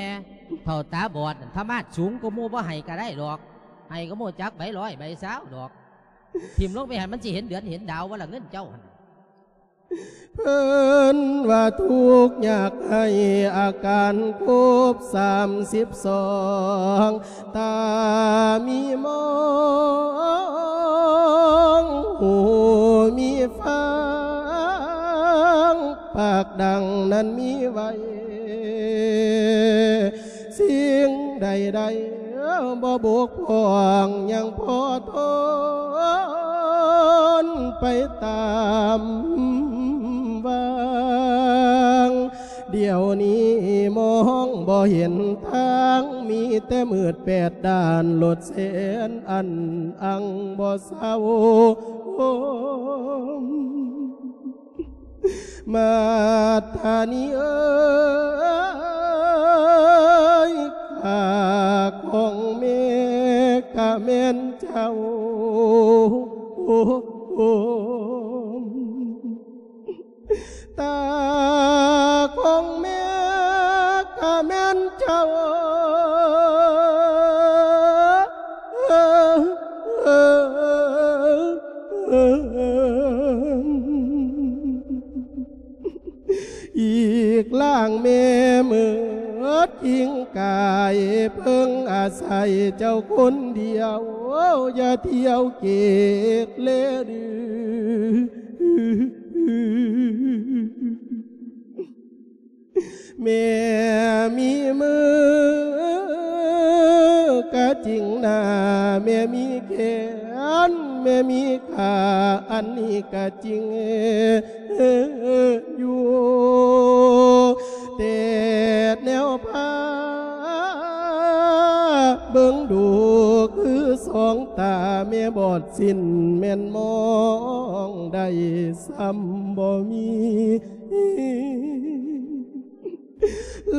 ເຖົ້າຕາບອດນັ້ນ ທຳມາດສູງກວ່າໝູ່ ບໍ່ໃຫ້ກໍໄດ້ດອກ ໃຫ້ກໍບໍ່ຈັກໃບຮ້ອຍໃບຊາວດອກ ຖິ້ມລົງໄປໃຫ້ມັນຊິເຫັນເດືອນເຫັນດາວບໍ່ລະ ເງິນເຈົ້າຫັ້ນ. ເພິ່ນວ່າທຸກຍາກໄຮ້ອາການຄົບສາມສິບສອງ ຕາມີມອງ ຫູມີຟັງ ປາກດັງນັ້ນມີໄວ້ ສິ່ງໃດໆບໍ່ບົກຜ່ອງ ຍັງພໍທົນໄປຕາມຫວ່າງ ດຽວນີ້ມອງບໍ່ເຫັນທາງ ມີແຕ່ມືດແປດດ້ານ ໂລດແສນອັນອັງບໍ່ເຊົາ. ມາດທານີເອີຍ ຂ້າຂອງແມ່ກະແມ່ນເຈົ້າ ຕາຂອງແມ່ກະແມ່ນເຈົ້າ. ອີກລ່າງແມ່ເມີດຈິງກາຍ ເພິ່ງອາໄສເຈົ້າຄົນດຽວ ຢ່າທ່ຽວເກກເລດື. ແມ່ມີມືກະຈິງໜ້າ ແມ່ມີແຂນ ແມ່ມີຂາ ອັນນີ້ກະຈິງຢູ່ ແຕ່ແນວພາເບິ່ງດູຄືສອງຕາແມ່ບອດສິ້ນ ແມ່ນມອງໄດ້ຊ້ຳບໍ່ມີ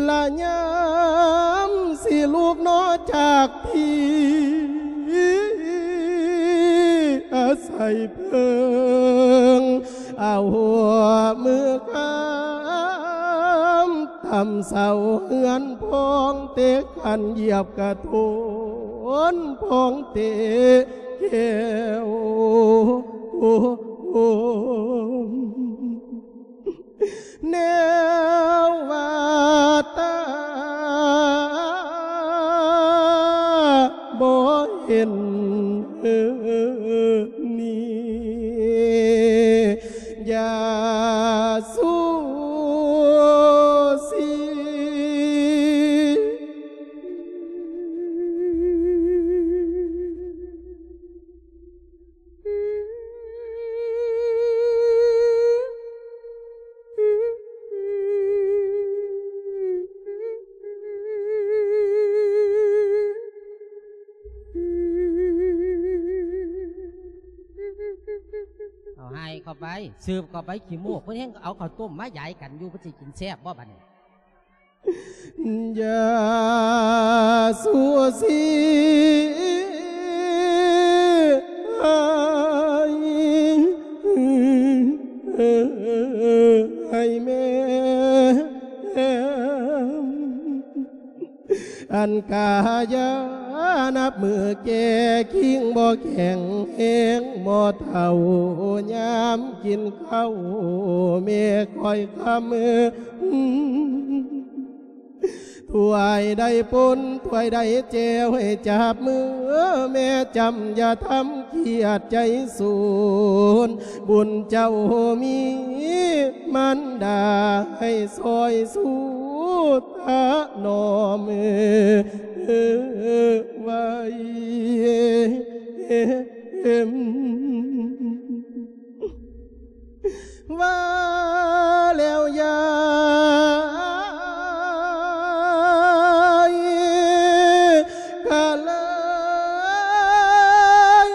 ລະຍາມຊິລຸກໜໍຈາກທີ່ ອາໄສເພິ່ງເອົາມືຄາມ ຕຳເສົາເຮືອນໂພ ປ້ອງເຕະຂັນຢຽບກະໂທນ ປ້ອງເຕະແກ້ວ ແນວວ່າຕາບໍ່ເຫັນນີ້ ຢ່າຊູຊີ. ເອົາໃຫ້ເຂົ້າໄປ ສືບເຂົ້າໄປ ຂີ້ມູກ ເພິ່ນແຮ່ງເອົາເຂົ້າຕົ້ມມາຢາຍກັນຢູ່ ເພິ່ນຊິກິນແຊບບໍ່ບັດນີ້? ຢ່າຊູຊີໃຫ້ ໃຫ້ແມ່ ອັນກາຍານັບມື້ແກ່ ຄີງບໍ່ແຂງແຮງ ບໍ່ເຖົ້າຍາມກິນເຂົ້າ ແມ່ຄອຍຄຳ ຖ້ວຍໃດປົນ ຖ້ວຍໃດແຈ່ວ ໃຫ້ຈັບມືແມ່ຈຳ ຢ່າທຳກຽດໃຈສູນ ບຸນເຈົ້າມີມານດາ ໃຫ້ຊ່ອຍສູ້ຖະໜອມໄວ້ ວ່າແລ້ວຢາຍກະເລີຍ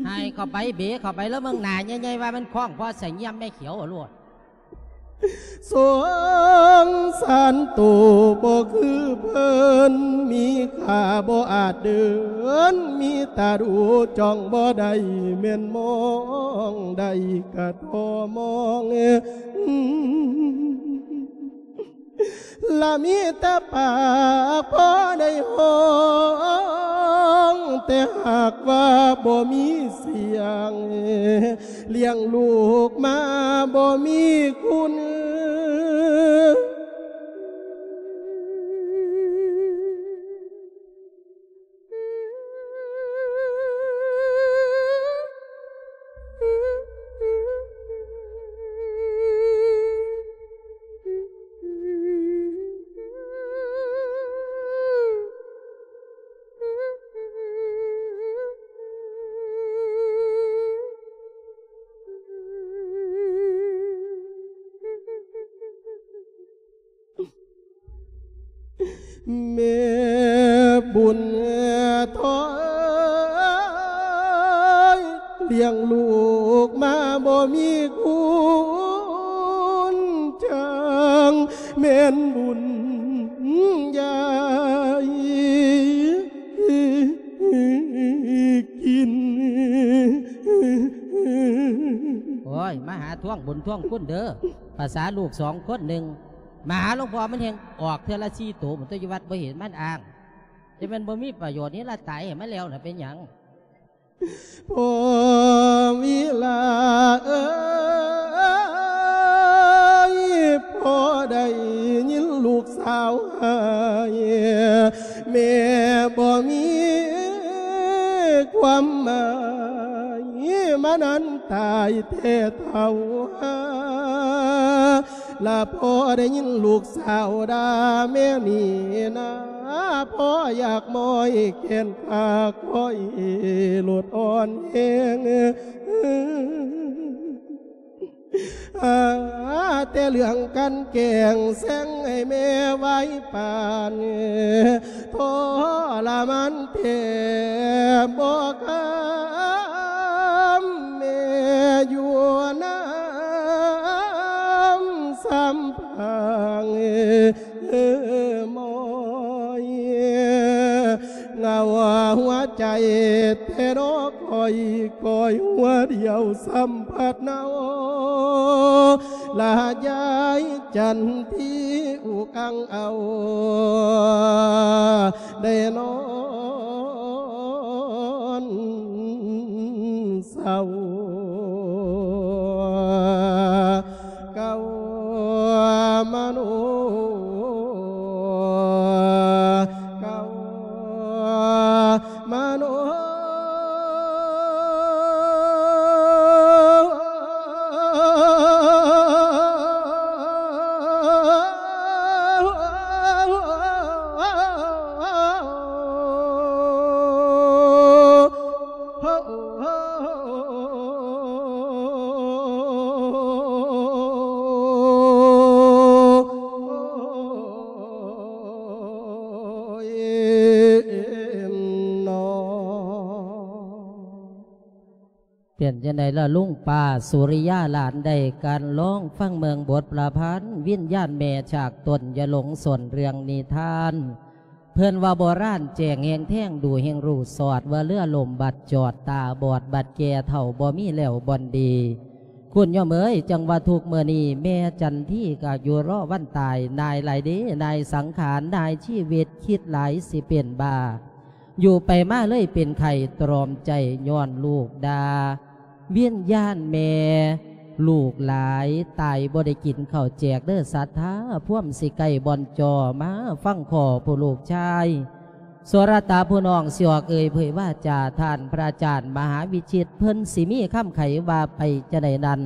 ໃຫ້ເຂົ້າໄປ ເບເຂົ້າໄປ ແລ້ວເບິ່ງໜ້າໃຫຍ່ໆ ວ່າມັນຄ້ອງພໍໃສ່ຢ້ຽມແມ່ຂຽວໂລດ. ສົງສານໂຕບໍ່ຄືເພິ່ນ ມີຂ້າບໍ່ອາດເດີນ ມີຕາດູຈ້ອງບໍ່ໄດ້ ແມ່ນມອງໄດ້ກະທໍ່ມອງ ລະມີແຕ່ປາກພໍໄດ້ຮ້ອງ ແຕ່ຫາກວ່າບໍ່ມີສຽງ ລ້ຽງລູກມາບໍ່ມີຄຸນ. ແມ່ບຸນທອງ ລ້ຽງລູກມາບໍ່ມີຄຸນ ຈັ່ງແມ່ນບຸນຢາຍກິນ. ໂອ້ຍ ມາຫາທວງບຸນທວງຄຸນເດີ ພາສາລູກສອງຄົນໜຶ່ງ ມາຫາຫຼວງພໍ່ມັນແຮ່ງອອກເທື່ອລະສີ່ໂຕ ມັນຕົວຢູ່ວັດບໍ່ເຫັນມັນອ້າງ ຈະແມ່ນບໍ່ມີປະໂຫຍດນີ້ລະ ຕາຍໃຫ້ມັນແລ້ວນະ ເປັນຫຍັງ? ພໍ່ວິລາເອີຍ ພໍ່ໄດ້ຍິນລູກສາວໄຫ້ ແມ່ບໍ່ມີຄວາມໝາຍ ມານັ້ນຕາຍແທ້ເຖົ້າຫາ ລະພໍ່ໄດ້ຍິນລູກສາວດ່າແມ່ນີ້ນາ ພໍ່ຢາກມ້ອຍແຂນຂາຂ້ອຍໂລດອ່ອນແຮງ ຫາແຕ່ເລື່ອງກັນແກ່ງແຊ່ງໃຫ້ແມ່ໄວປານ ທໍລະມານແທບບໍ່ຄຳ ແມ່ຢູ່ນຳສຳພັງ ເອີ ມອຍ ໃຈແທ້ນໍຂ້ອຍ ຂ້ອຍຫົວດຽວສຳພັດເນົາ ລະຍາຍຈັນທີອຸກອັງເອົາ ໄດ້ນອນເສົ້າ ເກົ້າມະໂນ ເກົ້າມະໂນ ເປັນຈັ່ງໃດລະລຸງປ້າສຸລິຍາຫຼານ ໄດ້ການລອງຟັງເບິ່ງບົດປະພັນວິນຍານແມ່ ຈາກຕົ້ນຢາຫຼົງ ເລື່ອງນິທານ ເພິ່ນວ່າໂບລານແຈ້ງແຮ່ງແທງ ດູແຮ່ງຮູ້ຊອດ ວ່າເຮືອລົ້ມບັດຈອດ ຕາບອດບັດແກ່ເຖົ້າ ບໍ່ມີແລ້ວບ່ອນດີ ຄຸນໂຍມເອີຍ ຈັ່ງວ່າທຸກມື້ນີ້ ແມ່ຈັນທີກໍຢູ່ລໍວັນຕາຍ ນາຍຫຼາຍເດ້ ນາຍສັງຂານ ນາຍຊີວິດ ຄິດຫຼາຍຊິເປັນບ້າ ຢູ່ໄປມາເລີຍເປັນໄຂ້ ຕຣອມໃຈຍ້ອນລູກດ່າ ວິນຍານແມ່ ລູກຫຼາຍ ຕາຍບໍ່ໄດ້ກິນເຂົ້າແຈກເດີສັດທາ ພວມຊິໃກ້ບ່ອນຈໍ ມາຟັງຂໍຜູ້ລູກຊາຍ ໂສລະຕະຜູ້ນ້ອງ ຊິອອກເອີ່ຍເຜີຍວາຈາ ທ່ານພະອາຈານມະຫາວິຈິດ ເພິ່ນຊິມີຄຳໄຂວ່າໄປຈັ່ງໃດນັ້ນ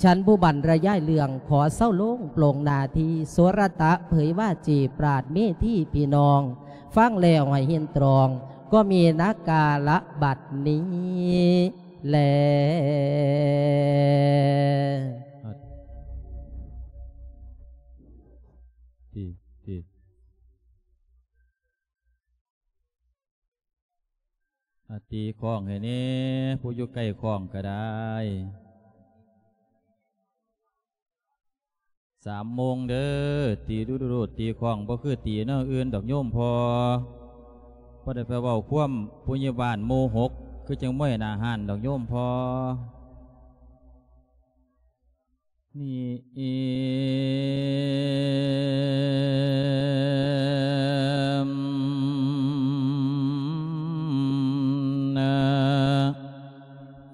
ສັນຜູ້ບັນລະຍາຍເລື່ອງ ຂໍເຊົາລົງໂປງໜ້າທີ່ ໂສລະຕະເຜີຍວາຈີ ປາດເມທີພີ່ນ້ອງ ຟັງແລ້ວໃຫ້ເຫັນຕຣອງ ກໍມີນາກາລະບັດນີ້ແລ. ທີ່ ທີ່ ອາ ຕີຄ້ອງໃຫ້ແດ່ ຜູ້ຢູ່ໃກ້ຄ້ອງກໍໄດ້ ສາມໂມງເດີ ຕີດຸໆ ຕີຄ້ອງ ບໍ່ຄືຕີແນວອື່ນດອກໂຍມພໍ່ ບໍ່ໄດ້ໄປເວົ້າຄວາມຜູ້ໃຫຍ່ບ້ານໝູ່ຫົກ ຄືຈັ່ງມວຍໜ້າຮ້ານດອກໂຍມພໍ່. ນີ້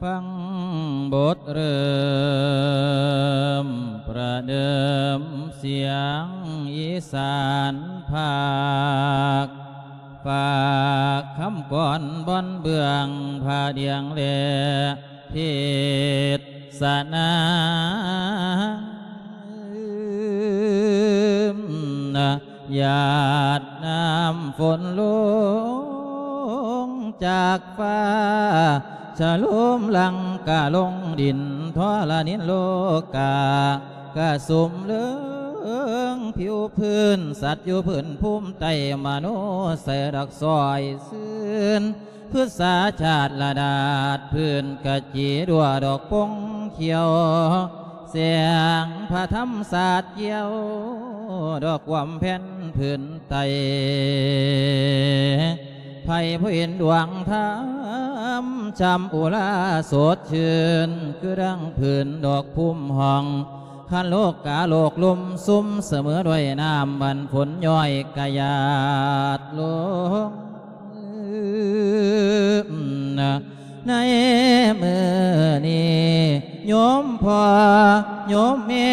ຟັງບົດເລີ່ມປະເດີມສຽງອີສານພາກ ຝາກຄຳກອນບ່ອນເບື້ອງພະດຽງແລ ເທດສະນາ ຢາດນ້ຳຝົນລົງຈາກຟ້າ ສະໂລມຫຼັງກະລົງດິນ ທໍລະນິນໂລກາ ກະສຸມເຫຼືອງຜິວພື້ນ ສັດຢູ່ພື້ນພູມໃຕ້ ມະໂນໃສດອກຊອຍຊື່ນ ພຶດສາຊາດລະດາດພື້ນກະຈີ ດັວດອກປົງຂຽວ ແສງພະທຳສາດກ່ຽວ ດອກກວມແຜ່ນພື້ນໃຕ້ ໃຜຜູ້ເຫັນດວງທຳ ຊ່ຳອຸລາສົດຊື່ນ ຄືດັ່ງພື້ນດອກພູມຫ້ອງ ຄັນໂລກາໂລກລຸ່ມຊຸ່ມ ສະເໝີດ້ວຍນ້ຳ ອັນຝົນຍ້ອຍກະຫຍາດລົງ ໃນມື້ນີ້ ໂຍມພໍ່ໂຍມແມ່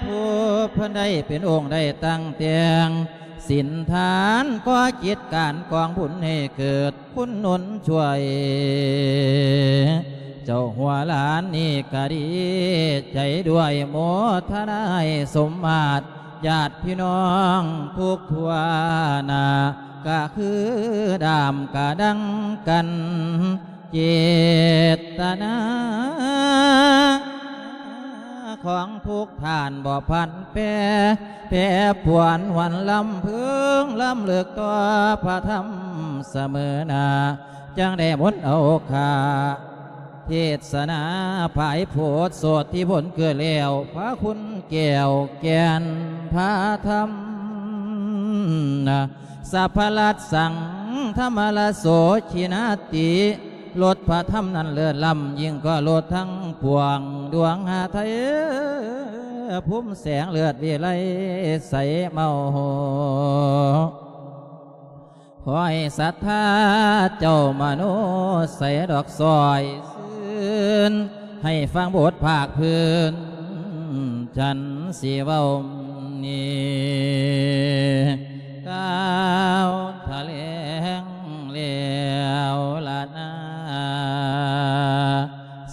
ຜູ້ເພິ່ນໄດ້ເປັນອົງໄດ້ຕັ້ງແຕ່ງ ສິນທານກໍຈິດການກອງບຸນໃຫ້ເກີດ ຄຸນໜູນຊ່ວຍ ເຈົ້າຫົວຫຼານນີ້ກະດີໃຈດ້ວຍ ໂມທະນາໃຫ້ສົມມາດ ຍາດພີ່ນ້ອງທຸກທົ່ວໜ້າ ກະຄືດາມກະດັງກັນ ເຈດຕະນາ ຂອງທຸກທ່ານບໍ່ຜັນແປ ແປຜວນຫວນລຳເພິງ ລຳເລິກຕໍ່ພະທຳສະເໝີໜ້າ ຈັ່ງໄດ້ມົນເອົາຄ່າ ເທດສະນາຜາຍໂພດ ໂສດທິຜົນເກີດແລ້ວ ພະຄຸນແກ້ວແກ່ນພະທຳ ສັບພະລັດສັງ ທຳມະລະໂສທິນາຕິ ລົດພະທຳນັ້ນເລີດລ້ຳ ຍິ່ງກວ່າລົດທັງປວງ ດວງຫາໄທພູມແສງເລີດວິໄລໃສເມົາ. ຂໍໃຫ້ສັດທາເຈົ້າມະໂນໃສດອກ ຊ່ອຍຊື່ນ ໃຫ້ຟັງບົດພາກພື້ນ ສັນຊິເວົ້ານີ້ ກ່າວຖະແຫຼງແລ້ວລະນາ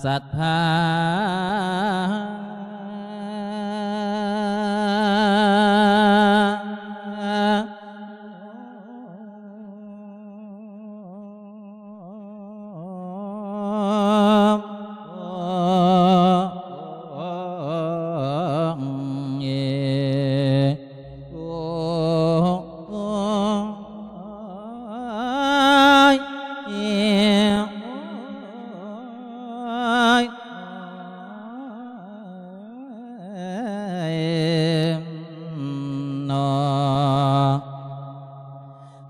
ສັດທາ.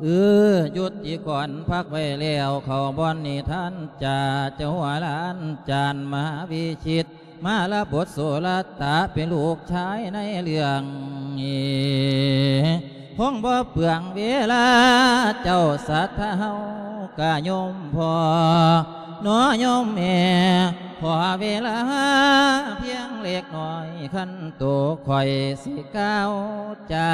ເອີ ຢຸດຕິກ່ອນ ພັກໄວ້ແລ້ວ ເຂົ້າບ່ອນນິທານຈາ ເຈົ້າຫົວຫຼານຈານມະຫາວິຊິດ ມາລະບົດໂສລະຕະ ເປັນລູກຊາຍໃນເລື່ອງນີ້ ຄົງບໍ່ເປືອງເວລາ ເຈົ້າສັດທາເຮົາກະໂຍມພໍ່ ໜໍໂຍມແມ່ ຂໍເວລາພຽງເລັກນ້ອຍ ຄັນໂຕຂ້ອຍຊິກ່າວຈາ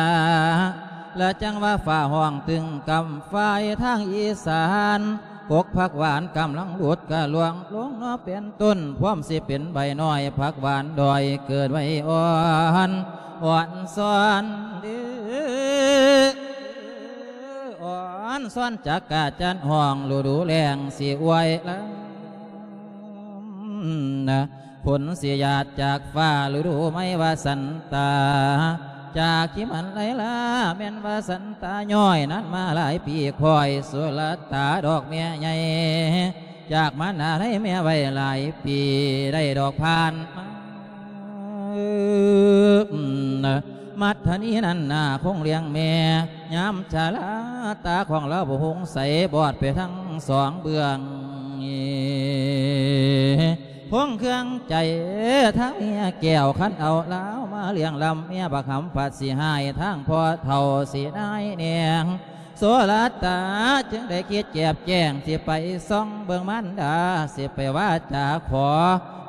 ລະຈັ່ງວ່າຟ້າຮ້ອງຕຶງກຳ ຝ່າຍທາງອີສານ ກົກຜັກຫວານກຳລັງຫຼຸດກະລ່ວງລົງເນາະ ເປັນຕົ້ນ ພວມຊິເປັນໃບນ້ອຍ ຜັກຫວານດອຍເກີດໄວ້ອ່ອນ ອ່ອນຊອນເດີ້ ອ່ອນຊອນຈັກກະຈັນຮ້ອງ ລະດູແລ້ງຊິອວຍລຳນະ ຝົນຊິຫຍາດຈາກຟ້າ ລະດູໃໝ່ວ່າສັນຕາ ຈາກທີ່ມັນໄຫຼຫຼາ ແມ່ນວ່າສັນຕາຍ້ອຍນັ້ນມາຫຼາຍປີ ຂ້ອຍສຸລະຕາດອກແມ່ໃຫຍ່ ຈາກມານາໄດ້ແມ່ໄວ້ຫຼາຍປີ ໄດ້ດອກຜ່ານມາ ມັດທະນີນັ້ນນາຄົງລ້ຽງແມ່ ຍາມຊະລາຕາຂອງລາວບໍ່ຮຸ່ງໃສ ບອດໄປທັງສອງເບື້ອງ ຄົງເຄືອງໃຈທາງເມຍແກ້ວ ຄັນເອົາລາວມາລ້ຽງລ້ຳ ເມຍບັກຫຳພັດຊິຮ້າຍ ທາງພໍ່ເຖົ້າຊິນາຍແນງ ໂສລະຕາຈຶ່ງໄດ້ຄິດແຈບແຈ້ງ ຊິໄປສ່ອງເບິ່ງມານດາ ຊິໄປວາຈາຂໍ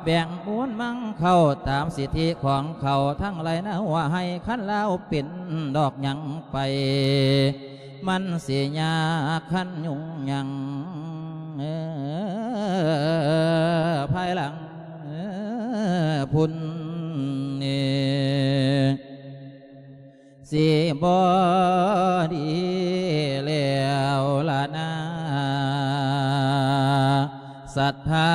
ແບ່ງມູນມັງເຂົ້າ ຕາມສິດທິຂອງເຂົາທັງຫຼາຍໃນຫົວໄຮ່ ຄັນລາວເປັນດອກຫຍັງໄປ ມັນຊິຍາກຄັນຫຍຸ້ງຫຍັງ ເອີ ພາຍຫຼັງພຸ້ນ ເອີ ຊິບໍ່ດີແລ້ວລະນາ ສັດທາ.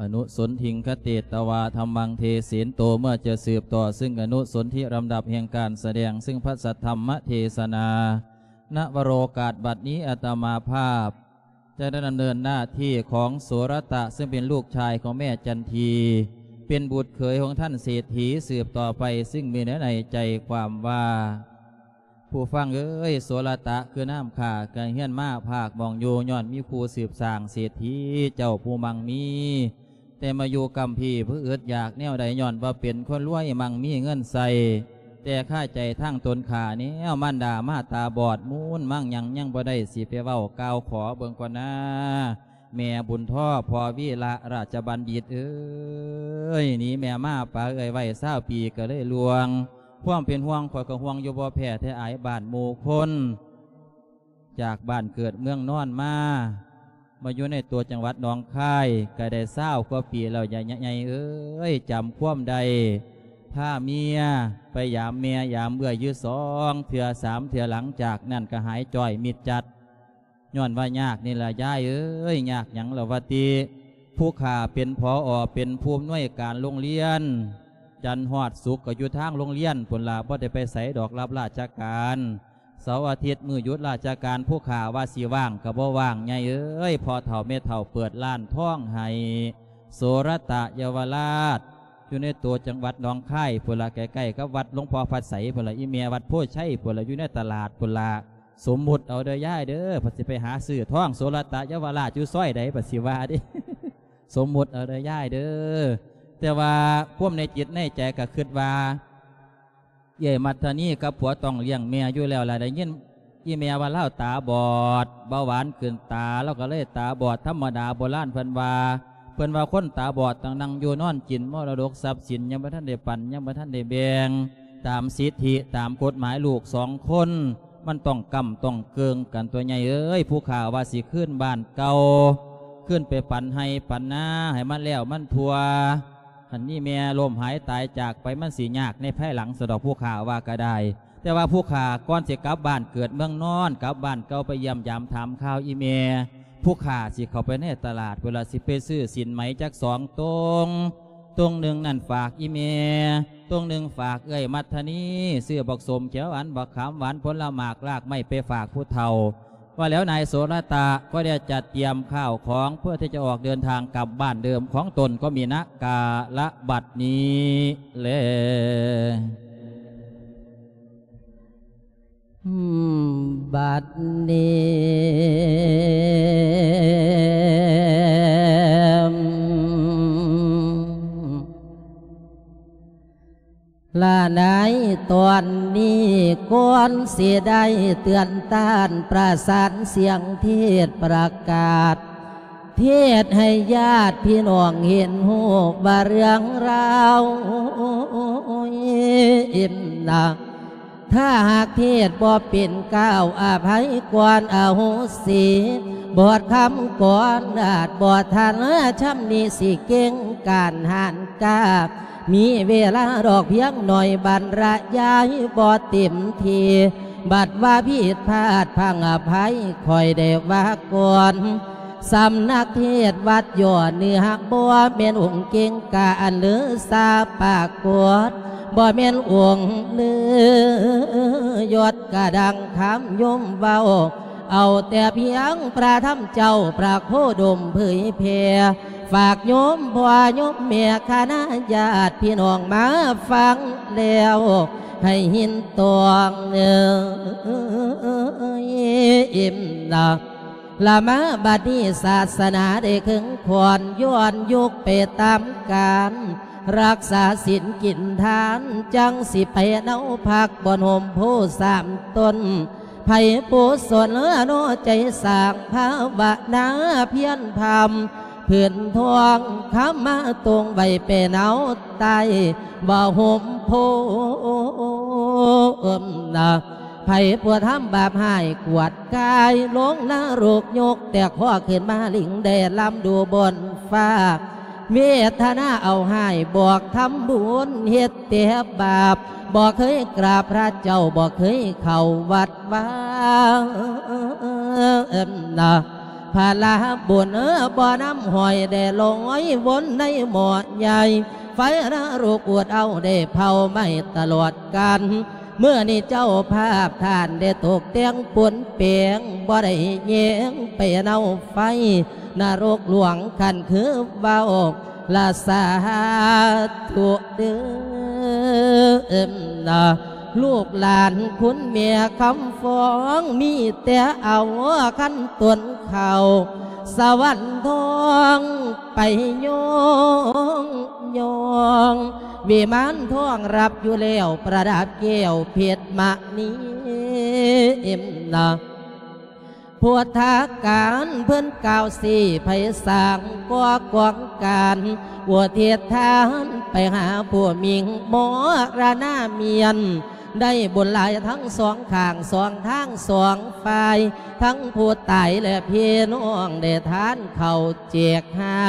ອະນຸສົນທິງຄະເຕຕະວາ ທຳມັງເທເສນໂຕ ເມື່ອຈະສືບຕໍ່ ຊຶ່ງອະນຸສົນທິລຳດັບແຫ່ງການສະແດງ ຊຶ່ງພະສັດທຳມະເທສະນາ ນະວະໂລກາດບັດນີ້ ອາດຕະມາພາບຈະໄດ້ດຳເນີນໜ້າທີ່ຂອງໂສລະຕະ ຊຶ່ງເປັນລູກຊາຍຂອງແມ່ຈັນທີ ເປັນບຸດເຂີຍຂອງທ່ານເສດຖີ ສືບຕໍ່ໄປ ຊຶ່ງມີເນື້ອໃນໃຈຄວາມວ່າ ຜູ້ຟັງເອີຍ ໂສລະຕະຄືນ້ຳຂ້າກະເຮືອນມາພາກໝ່ອງຢູ່ ຍ້ອນມີຄູ່ສືບສ້າງເສດຖີເຈົ້າຜູ້ມັ່ງມີ ແຕ່ມາຢູ່ກຳພີ້ຜູ້ອຶດຢາກແນວໃດ ຍ້ອນວ່າເປັນຄົນລວຍມັ່ງມີເງິນໃຊ້ ແຕ່ຄາໃຈທາງຕົນຂ້າແນວ ມານດາມາຕາບອດ ມູນມັ່ງຫຍັງຍັງບໍ່ໄດ້ ຊິໄປເວົ້າກ່າວຂໍເບິ່ງກ່ອນນາ ແມ່ບຸນທໍ ພໍ່ວີລະລາຊະບັນດິດເອີຍ ໜີແມ່ມາປາເອື້ອຍໄວ້ຊາວປີກະເລີຍລ່ວງ ຄວາມເປັນຫ່ວງຂ້ອຍກະຫ່ວງຢູ່ບໍ່ແພ້ແທ້ອາຍບ້ານໝູ່ຄົນ ຈາກບ້ານເກີດເມືອງນອນມາ ມາຢູ່ໃນຕົວຈັງຫວັດໜອງຄາຍ ກໍໄດ້ຊາວກວ່າປີແລ້ວ ຍາຍໃຫຍ່ເອີຍ ຈຳຄວາມໄດ້ ພາເມຍໄປຢາມແມ່ຢາມເອື້ອຍຢູ່ສອງເທື່ອສາມເທື່ອ ຫຼັງຈາກນັ້ນກໍຫາຍຈ້ອຍມິດຈັດ ຍ້ອນວ່າຍາກນີ້ລະຍາຍເອີຍ ຍາກຫຍັງລະວະຕິ ຜູ້ຂ້າເປັນ ຜອ ເປັນຜູ້ອຳນວຍການໂລງຮຽນ ຈັນຮອດສຸກກໍຢູ່ທາງໂລງຮຽນພຸ້ນລະ ບໍ່ໄດ້ໄປໃສດອກ ຮັບລາຊະການ ເສົາອາທິດມື້ຢຸດລາຊະການ ຜູ້ຂ້າວ່າຊິວ່າງກໍບໍ່ວ່າງ ຍາຍເອີຍ ພໍ່ເຖົ້າແມ່ເຖົ້າເປີດຮ້ານທອງໃຫ້ ໂສລະຕະເຍົາວະລາດ ຢູ່ໃນຕົວຈັງຫວັດໜອງຄາຍພຸ້ນລະ ໃກ້ໆກັບວັດຫຼວງພໍ່ພະໃສພຸ້ນລະ ອີ່ແມ່ວັດໂພໄຊພຸ້ນລະ ຢູ່ໃນຕະຫຼາດພຸ້ນລະ ສົມມຸດເອົາເດີຍາຍເດີ ເພິ່ນຊິໄປຫາຊື້ທອງ ໂສລະຕະເຍົາວະລາດຢູ່ຊອຍໃດ ເພິ່ນຊິວ່າເດ້ ສົມມຸດເອົາເດີຍາຍເດີ ແຕ່ວ່າຄວາມໃນຈິດໃນໃຈກໍຄິດວ່າ ເອື້ອຍມັດທະນີກັບຜົວຕ້ອງລ້ຽງແມ່ຢູ່ແລ້ວລະ ໄດ້ຍິນອີ່ແມ່ວ່າລາວຕາບອດ ເບົາຫວານຂຶ້ນຕາ ລາວກໍເລີຍຕາບອດທຳມະດາ ໂບລານເພິ່ນວ່າ ເພິ່ນວ່າຄົນຕາບອດຕ້ອງນັ່ງຢູ່ນອນກິນ ມໍລະດົກຊັບສິນຍັງບໍ່ທັນໄດ້ປັນ ຍັງບໍ່ທັນໄດ້ແບ່ງ ຕາມສິດທິຕາມກົດໝາຍລູກສອງຄົນ ມັນຕ້ອງກ້ຳຕ້ອງເກີ່ງກັນຕົວະຍາຍເອີຍ ຜູ້ຂ້າວ່າຊິຄືນບ້ານເກົ່າ ຄືນໄປປັນໄຮ່ປັນນາໃຫ້ມັນແລ້ວມັນທົ່ວ ຄັນມີແມ່ລົ້ມຫາຍຕາຍຈາກໄປ ມັນຊິຍາກໃນພາຍຫຼັງ ສະດອກ ຜູ້ຂ້າວ່າກໍໄດ້ ແຕ່ວ່າຜູ້ຂ້າກ່ອນຊິກັບບ້ານເກີດເມືອງນອນ ກັບບ້ານເກົ່າ ໄປຢ້ຽມຢາມຖາມຂ່າວອີ່ແມ່ ຜູ້ຂ້າຊິເຂົ້າໄປໃນຕະຫຼາດ ເວລາຊິໄປຊື້ສິນໄໝຈັກສອງຕົງ ຕົງໜຶ່ງນັ້ນຝາກອີ່ແມ່ ຕົງໜຶ່ງຝາກເອື້ອຍມັດທະນີ ຊື້ບັກສົ້ມຂຽວຫວານ ບັກຂາມຫວານ ຜົນລະໝາກລາກໄມ້ໄປຝາກຜູ້ເຖົ້າ ວ່າແລ້ວນາຍໂສລະຕະກໍໄດ້ຈັດຕຽມຂ້າວຂອງເພື່ອທີ່ຈະອອກເດີນທາງກັບບ້ານເດີມຂອງຕົນ ກໍມີນະກາລະບັດນີ້ແລ. ບັດນີ້ ລະໃນຕອນນີ້ ກ່ອນຊິໄດ້ເຕືອນຕ້ານ ປະສານສຽງເທດປະກາດ ເທດໃຫ້ຍາດພີ່ນ້ອງເຫັນຮູ້ວ່າເລື່ອງລາວ ອິມນະ ຖ້າຫາກເທດບໍ່ເປັນ ກ່າວອະໄພກ່ອນ ອະໂຫສິ ບອດຄຳກ່ອນ ອາດບໍ່ທັນຊຳນິ ຊິເກັ່ງການຫ້ານກາ ມີເວລາດອກພຽງໜ້ອຍ ບັນລະຍາຍບໍ່ເຕັມທີ່ ບັດວ່າຜິດພາດພັງອະໄພ ຂ້ອຍໄດ້ວ່າກ່ອນ ສຳນັກເທດວັດຍໍ້ເໜືອ ບໍ່ແມ່ນອົງເກັ່ງກາອັນລືຊາປາກົດ ບໍ່ແມ່ນອົງລືຍົດກະດັງຄຳຍົມເວົ້າ ເອົາແຕ່ພຽງພະທຳເຈົ້າ ພະໂຄດົມເຜີຍແຜ່ ຝາກໂຍມພໍ່ໂຍມແມ່ ຄະນະຍາດພີ່ນ້ອງມາຟັງແລ້ວ ໃຫ້ເຫັນຕອງເອີຍ ອິມນະ ລະມາບັດນີ້ ສາສະໜາໄດ້ເຄິ່ງຂ້ອນ ຍ້ອນຍຸກໄປຕາມການ ຮັກສາສິນກິນທານ ຈັ່ງຊິໄປເນົາພັກບ່ອນຮົ່ມໂພສາມຕົ້ນ ໃຜຜູ້ສົນເນາະໃຈສ້າງພາວະນາພຽນພຳ ພື້ນທອງຄຳມາຕົງໄວ້ເປັນເອົາໃຕ້ ບໍ່ຮົ່ມໂພ ເອີມນະ ໃຜຜູ້ທຳບາບຮ້າຍກວດກາຍ ລົງນະລົກຍົກແຕ່ຄໍຂຶ້ນມາ ລິງໄດ້ລຳດູບົນຟ້າ ເວທະນາເອົາຮ້າຍ ບອກທຳບຸນເຮັດແຕ່ບາບ ບໍ່ເຄີຍກາບພະເຈົ້າ ບໍ່ເຄີຍເຂົ້າວັດວາ ເອີມນະ ພະລາບຸນ ເອີ ບໍ່ນຳຫ້ອຍໄດ້ລອຍວົນໃນໝໍ້ໃຫຍ່ ໄຟນະລົກອຸດເອົາໄດ້ເຜົາໄໝ້ຕະຫຼອດການ ມື້ນີ້ເຈົ້າພາບທ່ານໄດ້ຕົກແຕ່ງປຸນແປງ ບໍ່ໄດ້ແຍງໄປເນົາໄຟ ນະລົກຫຼວງຄັນຄືເວົ້າລະສາທຸເດີ ເອີມນະ ລູກຫຼານຄຸນແມ່ຄຳຟອງ ມີແຕ່ເອົາຄັນຕົ້ນເຂົ້າ ສະຫວັນທອງໄປຍ້ອງ ຍ້ອງ ວິມານທອງຮັບຢູ່ແລ້ວ ປະດັບແກ້ວເພັດມະນີ ເອີມນະ ພຸດທະການເພິ່ນກ່າວຊີ້ ໃຜສ້າງກໍ່ກອງການ ອຸທິດທານໄປຫາຜູ້ມິ່ງ ມໍລະນາມຽນ ໄດ້ບຸນຫຼາຍທັງສອງຂ້າງສອງທາງສອງຝ່າຍ, ທັງຜູ້ຕາຍແລະພີ່ນ້ອງໄດ້ທານເຂົ້າແຈກຫາ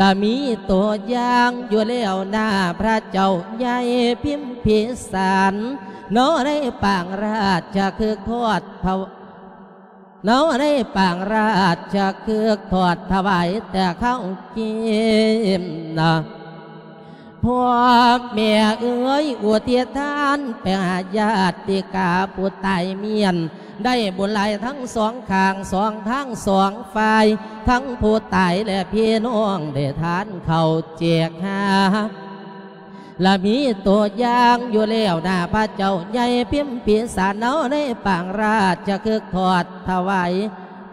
ລະມີຕົວຢ່າງຢູ່ແລ້ວນາ ພະເຈົ້າໃຫຍ່ພິມພິສານ ເນາະ ໃນປາງລາຊະຄຶກທອດພະ ເນາະ ໃນປາງລາຊະຄຶກທອດຖວາຍແຕ່ເຂົ້າກິນນະ. ພໍ່ແມ່ເອີຍ ອຸທິດທານໄປຫາຍາດຕິກາຜູ້ຕາຍມ້ຽນ ໄດ້ບຸນຫຼາຍທັງສອງຂ້າງສອງທາງສອງຝ່າຍ, ທັງຜູ້ຕາຍແລະພີ່ນ້ອງໄດ້ທານເຂົ້າແຈກຫາ ລະມີຕົວຢ່າງຢູ່ແລ້ວນາ ພະເຈົ້າໃຫຍ່ພິມພິສານ ເນາະ ໃນປາງລາຊະຄຶກທອດຖວາຍ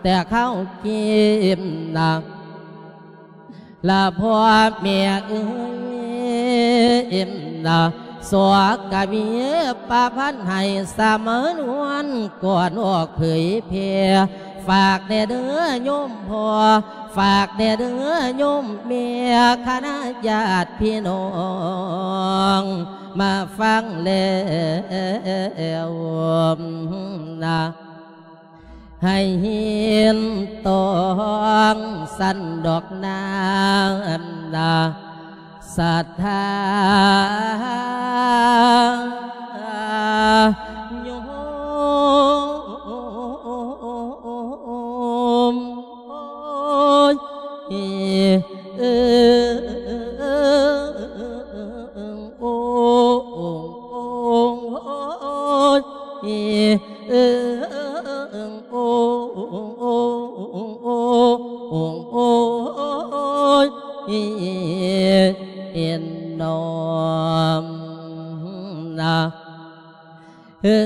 ແຕ່ເຂົ້າກິນນະ. ລະພໍ່ແມ່ເອີຍນະ ສອກກະມີປະພັນໃຫ້ສະມານວນ ກ່ອນອອກເຜີຍແຜ່ ຝາກແດ່ເດີໂຍມພໍ່ ຝາກແດ່ເດີໂຍມແມ່ ຄະນະຍາດພີ່ນ້ອງ ມາຟັງແລ້ວນະ ໃຫ້ເຫັນຕ້ອງຊັ້ນດອກນານນະ ສັດທາໂຍມ ໂອ້ຍ ເອີ ໂອ້ ໂອ້ ໂອ້ ໂອ້ ໂອ້ ໂອ້ ໂອ້ ໂອ້ ເອັນນອມນະ. ເອີ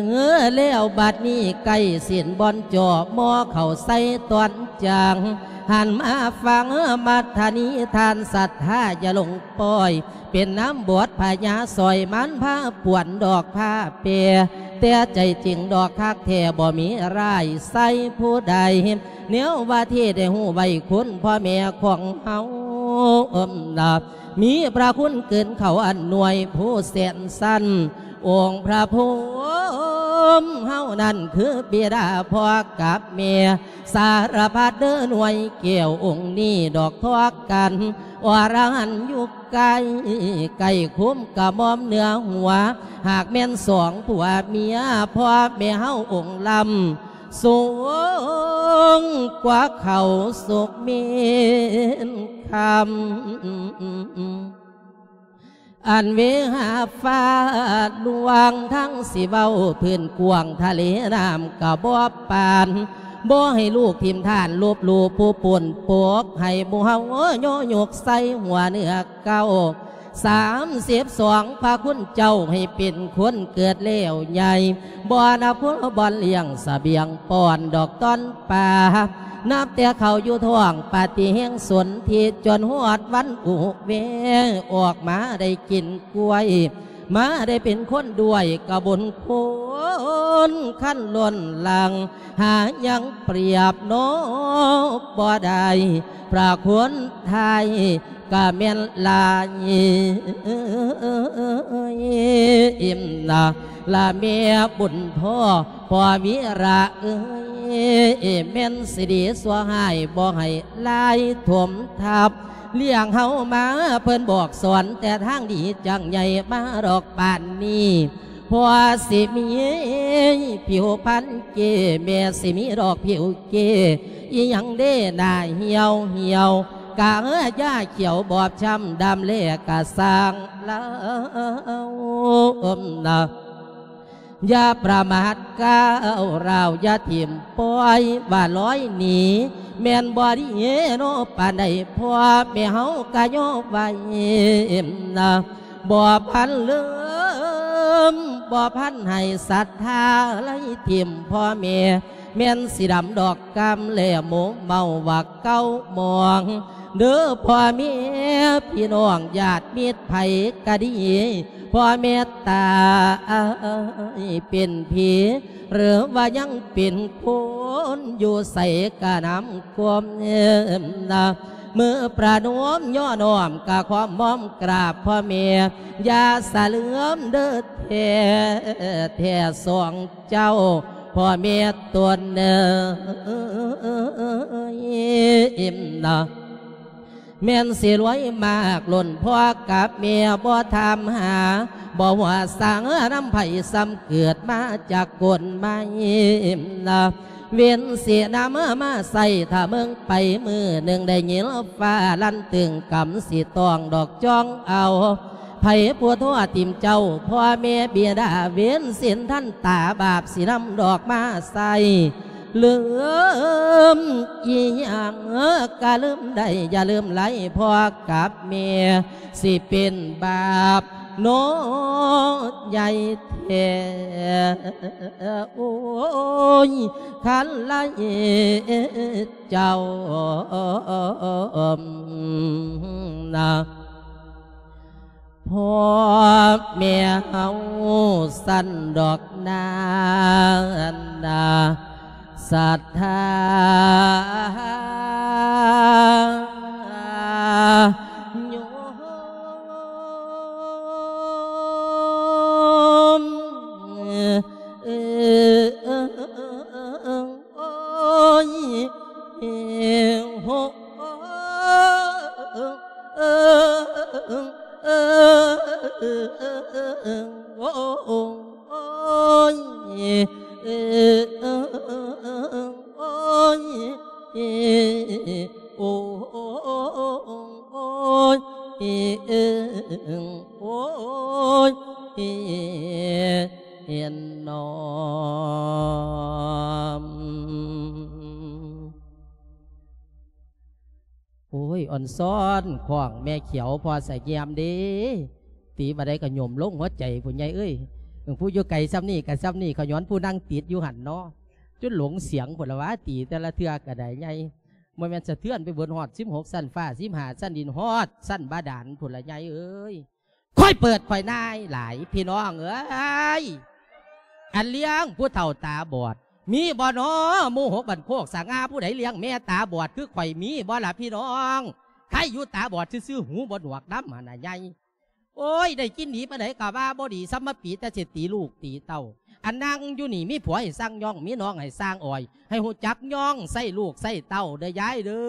ແລ້ວບັດນີ້ໃກ້ສິ້ນບ່ອນຈໍ່ ໝໍ້ເຂົ້າໃສ່ຕອນຈາງ ຫັນມາຟັງມັດທະນິທານ ສັດທາຢ່າຫຼົງປ່ອຍ ເປັນນຳບົດພະຍາ ຊ່ອຍມັນພາປວນດອກພາແປ ແຕ່ໃຈຈິງດອກຄັກແທ້ ບໍ່ມີຮ້າຍໃສ່ຜູ້ໃດ ແນວວ່າທີ່ໄດ້ຮູ້ໄວ້ຄຸນພໍ່ແມ່ຂອງເຮົາ ເອີ ນະ ມີພະຄຸນເກີນເຂົາອັນໜ່ວຍຜູ້ແສນຊັ້ນ ອົງພະພົມເຮົານັ້ນຄືບິດາພໍ່ກັບແມ່ ສາລະພັດເດີໜ່ວຍແກ້ວອົງນີ້ດອກທອກກັນ ອະລະຫັນຢູ່ໃກ້ ໃກ້ຄຸ້ມກະໝອມເໜືອຫົວ ຫາກແມ່ນສອງຜົວເມຍ ພໍ່ແມ່ເຮົາອົງລຳ ສູງກວ່າເຂົາສຸກເມນຄຳ ອັນເວຫາຟ້າຫຼວງ ທັງຊິເວົ້າພື້ນກວ້າງ ທະເລນ້ຳກະບໍ່ປານ ບໍ່ໃຫ້ລູກຖິ້ມທ່ານ ລົບຫຼູ່ຜູ້ປົນປົກ ໃຫ້ໝູ່ເຮົາຍໍຍົກໃສ່ຫົວເໜືອເກົ້າ ສາມສິບສອງ ພະຄຸນເຈົ້າໃຫ້ເປັນຄົນເກີດແລ້ວໃຫຍ່ ບໍ່ນັບຄົນບ່ອນລ້ຽງສະບຽງປ້ອນດອກຕອນປາ ນັບແຕ່ເຂົາຢູ່ທ້ອງປະຕິແຫ່ງສົນທິ ຈົນຮອດວັນອຸເວ ອອກມາໄດ້ກິນກ້ວຍ ມາໄດ້ເປັນຄົນດ້ວຍກະບຸນຄຸນຄັນລົ້ນຫຼັງ ຫາຍັງປຽບເນາະບໍ່ໄດ້ ພະຄົນໄທ ກະແມ່ນຫຼາຍ ອີ່ມນະ ລະແມ່ບຸນພໍ່ ພໍ່ວິລະເອີຍ ແມ່ນຊິດີຊົ່ວຮ້າຍ ບໍ່ໃຫ້ຫຼາຍຖົມທັບ ລ້ຽງເຮົາມາເພິ່ນບອກສອນແຕ່ທາງດີ ຈັ່ງໃຫຍ່ມາດອກປານນີ້ ພໍ່ຊິມີຜິວພັນເກ້ ແມ່ຊິມີດອກຜິວເກ້ ອີ່ຫຍັງເດ້ໜ້າຫ່ຽວຫ່ຽວ ກະເອີຢາຂຽວບອບຊ້ຳດຳແລກະຊ່າງລາວນະ ຢ່າປະໝາດກ້າວຮ້າວ ຢ່າຖິ້ມປ່ອຍວ່າລອຍໜີ ແມ່ນບໍ່ດີເນາະປານໃດ ພໍ່ແມ່ເຮົາກະຍໍໄວ້ນະ ບໍ່ພັນລືມ ບໍ່ພັນໃຫ້ສັດທາໄລຖິ້ມພໍ່ແມ່ ແມ່ນຊິດຳດອກກຳແລໂມເມົາວ່າເກົ່າໝອງ ເດີພໍ່ແມ່ພີ່ນ້ອງຍາດມິດໃຜກະດີ ພໍ່ແມ່ຕາຍເປັນຜີ ຫຼືວ່າຍັງເປັນຄົນ ຢູ່ໃສກະນຳຄວາມນະ ມືປະນົມຍໍ້ນ້ອມກະຂອມໝ້ອມກາບພໍ່ແມ່ ຢ່າສະເຫຼືອມເດີແທ້ ແທ້ສອງເຈົ້າພໍ່ແມ່ຕົນເອີຍນະ. ແມ່ນຊິລວຍມາກລົ້ນພໍ່ກັບແມ່ບໍ່ຖາມຫາ ບໍ່ຮູ້ສານຳໃຜ ສ່ຳເກີດມາຈາກກົ້ນໄມ້ນະ. ເວນຊິນຳມາໃສ່ ຖ້າເມືອງໄປມື້ໜຶ່ງ ໄດ້ຍິນຟ້າລັ່ນຕຶງ ກຳຊິຕ້ອງດອກຈອງເອົາ ໃຜຜູ້ໂທຖິ້ມເຈົ້າ ພໍ່ແມ່ບິດາ ເວນສິນທັນຕາ ບາບຊິນຳດອກມາໃສ່ ລືມອີ່ຫຍັງກະລືມໄດ້ ຢ່າລືມໄຫຼພໍ່ກັບແມ່ ຊິເປັນບາບເນາະໃຫຍ່ແທ້ ໂອ້ຍ ຄັນໄຫຼເຈົ້ານະ. ພໍ່ແມ່ເຮົາຊັ້ນດອກນາ ນາສັດທາໂຍມ ໂອ້ຍ ໂອ້ຍ ໂອ້ຍ ໂອ້ຍ ໂອ້ຍ ໂອ້ຍ ເຫັນນອມ. ໂອ້ຍ ອ່ອນຊ້ອນຂອງແມ່ຂຽວ ພໍ່ສະແຍມເດ້ ຕີບາດໃດກໍໂຍມລົງຫົວໃຈ ຜູ້ໃຫຍ່ເອີຍ. ຜູ້ຢູ່ໄກຊ່ຳນີ້ກໍຊ່ຳນີ້ ຂະຍ້ອນຜູ້ນັ່ງຕິດຢູ່ຫັ້ນເນາະ ຈົນຫຼົງສຽງພຸ້ນລະຫວາ ຕີແຕ່ລະເທື່ອກໍໄດ້ໃຫຍ່. ບໍ່ແມ່ນສະເທືອນໄປເບິດຮອດສິບຫົກຊັ້ນຟ້າ ສິບຫ້າຊັ້ນດິນ ຮອດຊັ້ນບາດານພຸ້ນລະໃຫຍ່ເອີຍ. ຂ້ອຍເປີດຂ້ອຍນາຍຫຼາຍພີ່ນ້ອງເອີຍ ອັນລ້ຽງຜູ້ເຖົ້າຕາບອດ ມີບໍ່ນໍ? ໝູ່ຫົກບ້ານໂຄກສະຫງ່າ ຜູ້ໃດລ້ຽງແມ່ຕາບອດຄືຂ້ອຍ ມີບໍ່ລະພີ່ນ້ອງ? ໃຄຢູ່ຕາບອດຊື່ໆ ຫູບໍ່ໜວກນຳຫັ້ນນະໃຫຍ່. ໂອ້ຍ ໄດ້ກິນດີປານໃດກໍວ່າບໍ່ດີ ສ່ຳມາປີແຕ່ຊິຕີລູກຕີເຕົ້າ. ອັນນັ່ງຢູ່ນີ້ມີຜົວໃຫ້ສັ່ງຍ້ອງ ມີນ້ອງໃຫ້ສ້າງອອຍ ໃຫ້ຮູ້ຈັກຍ້ອງໃສ່ລູກໃສ່ເຕົ້າເດີຍາຍເດີ.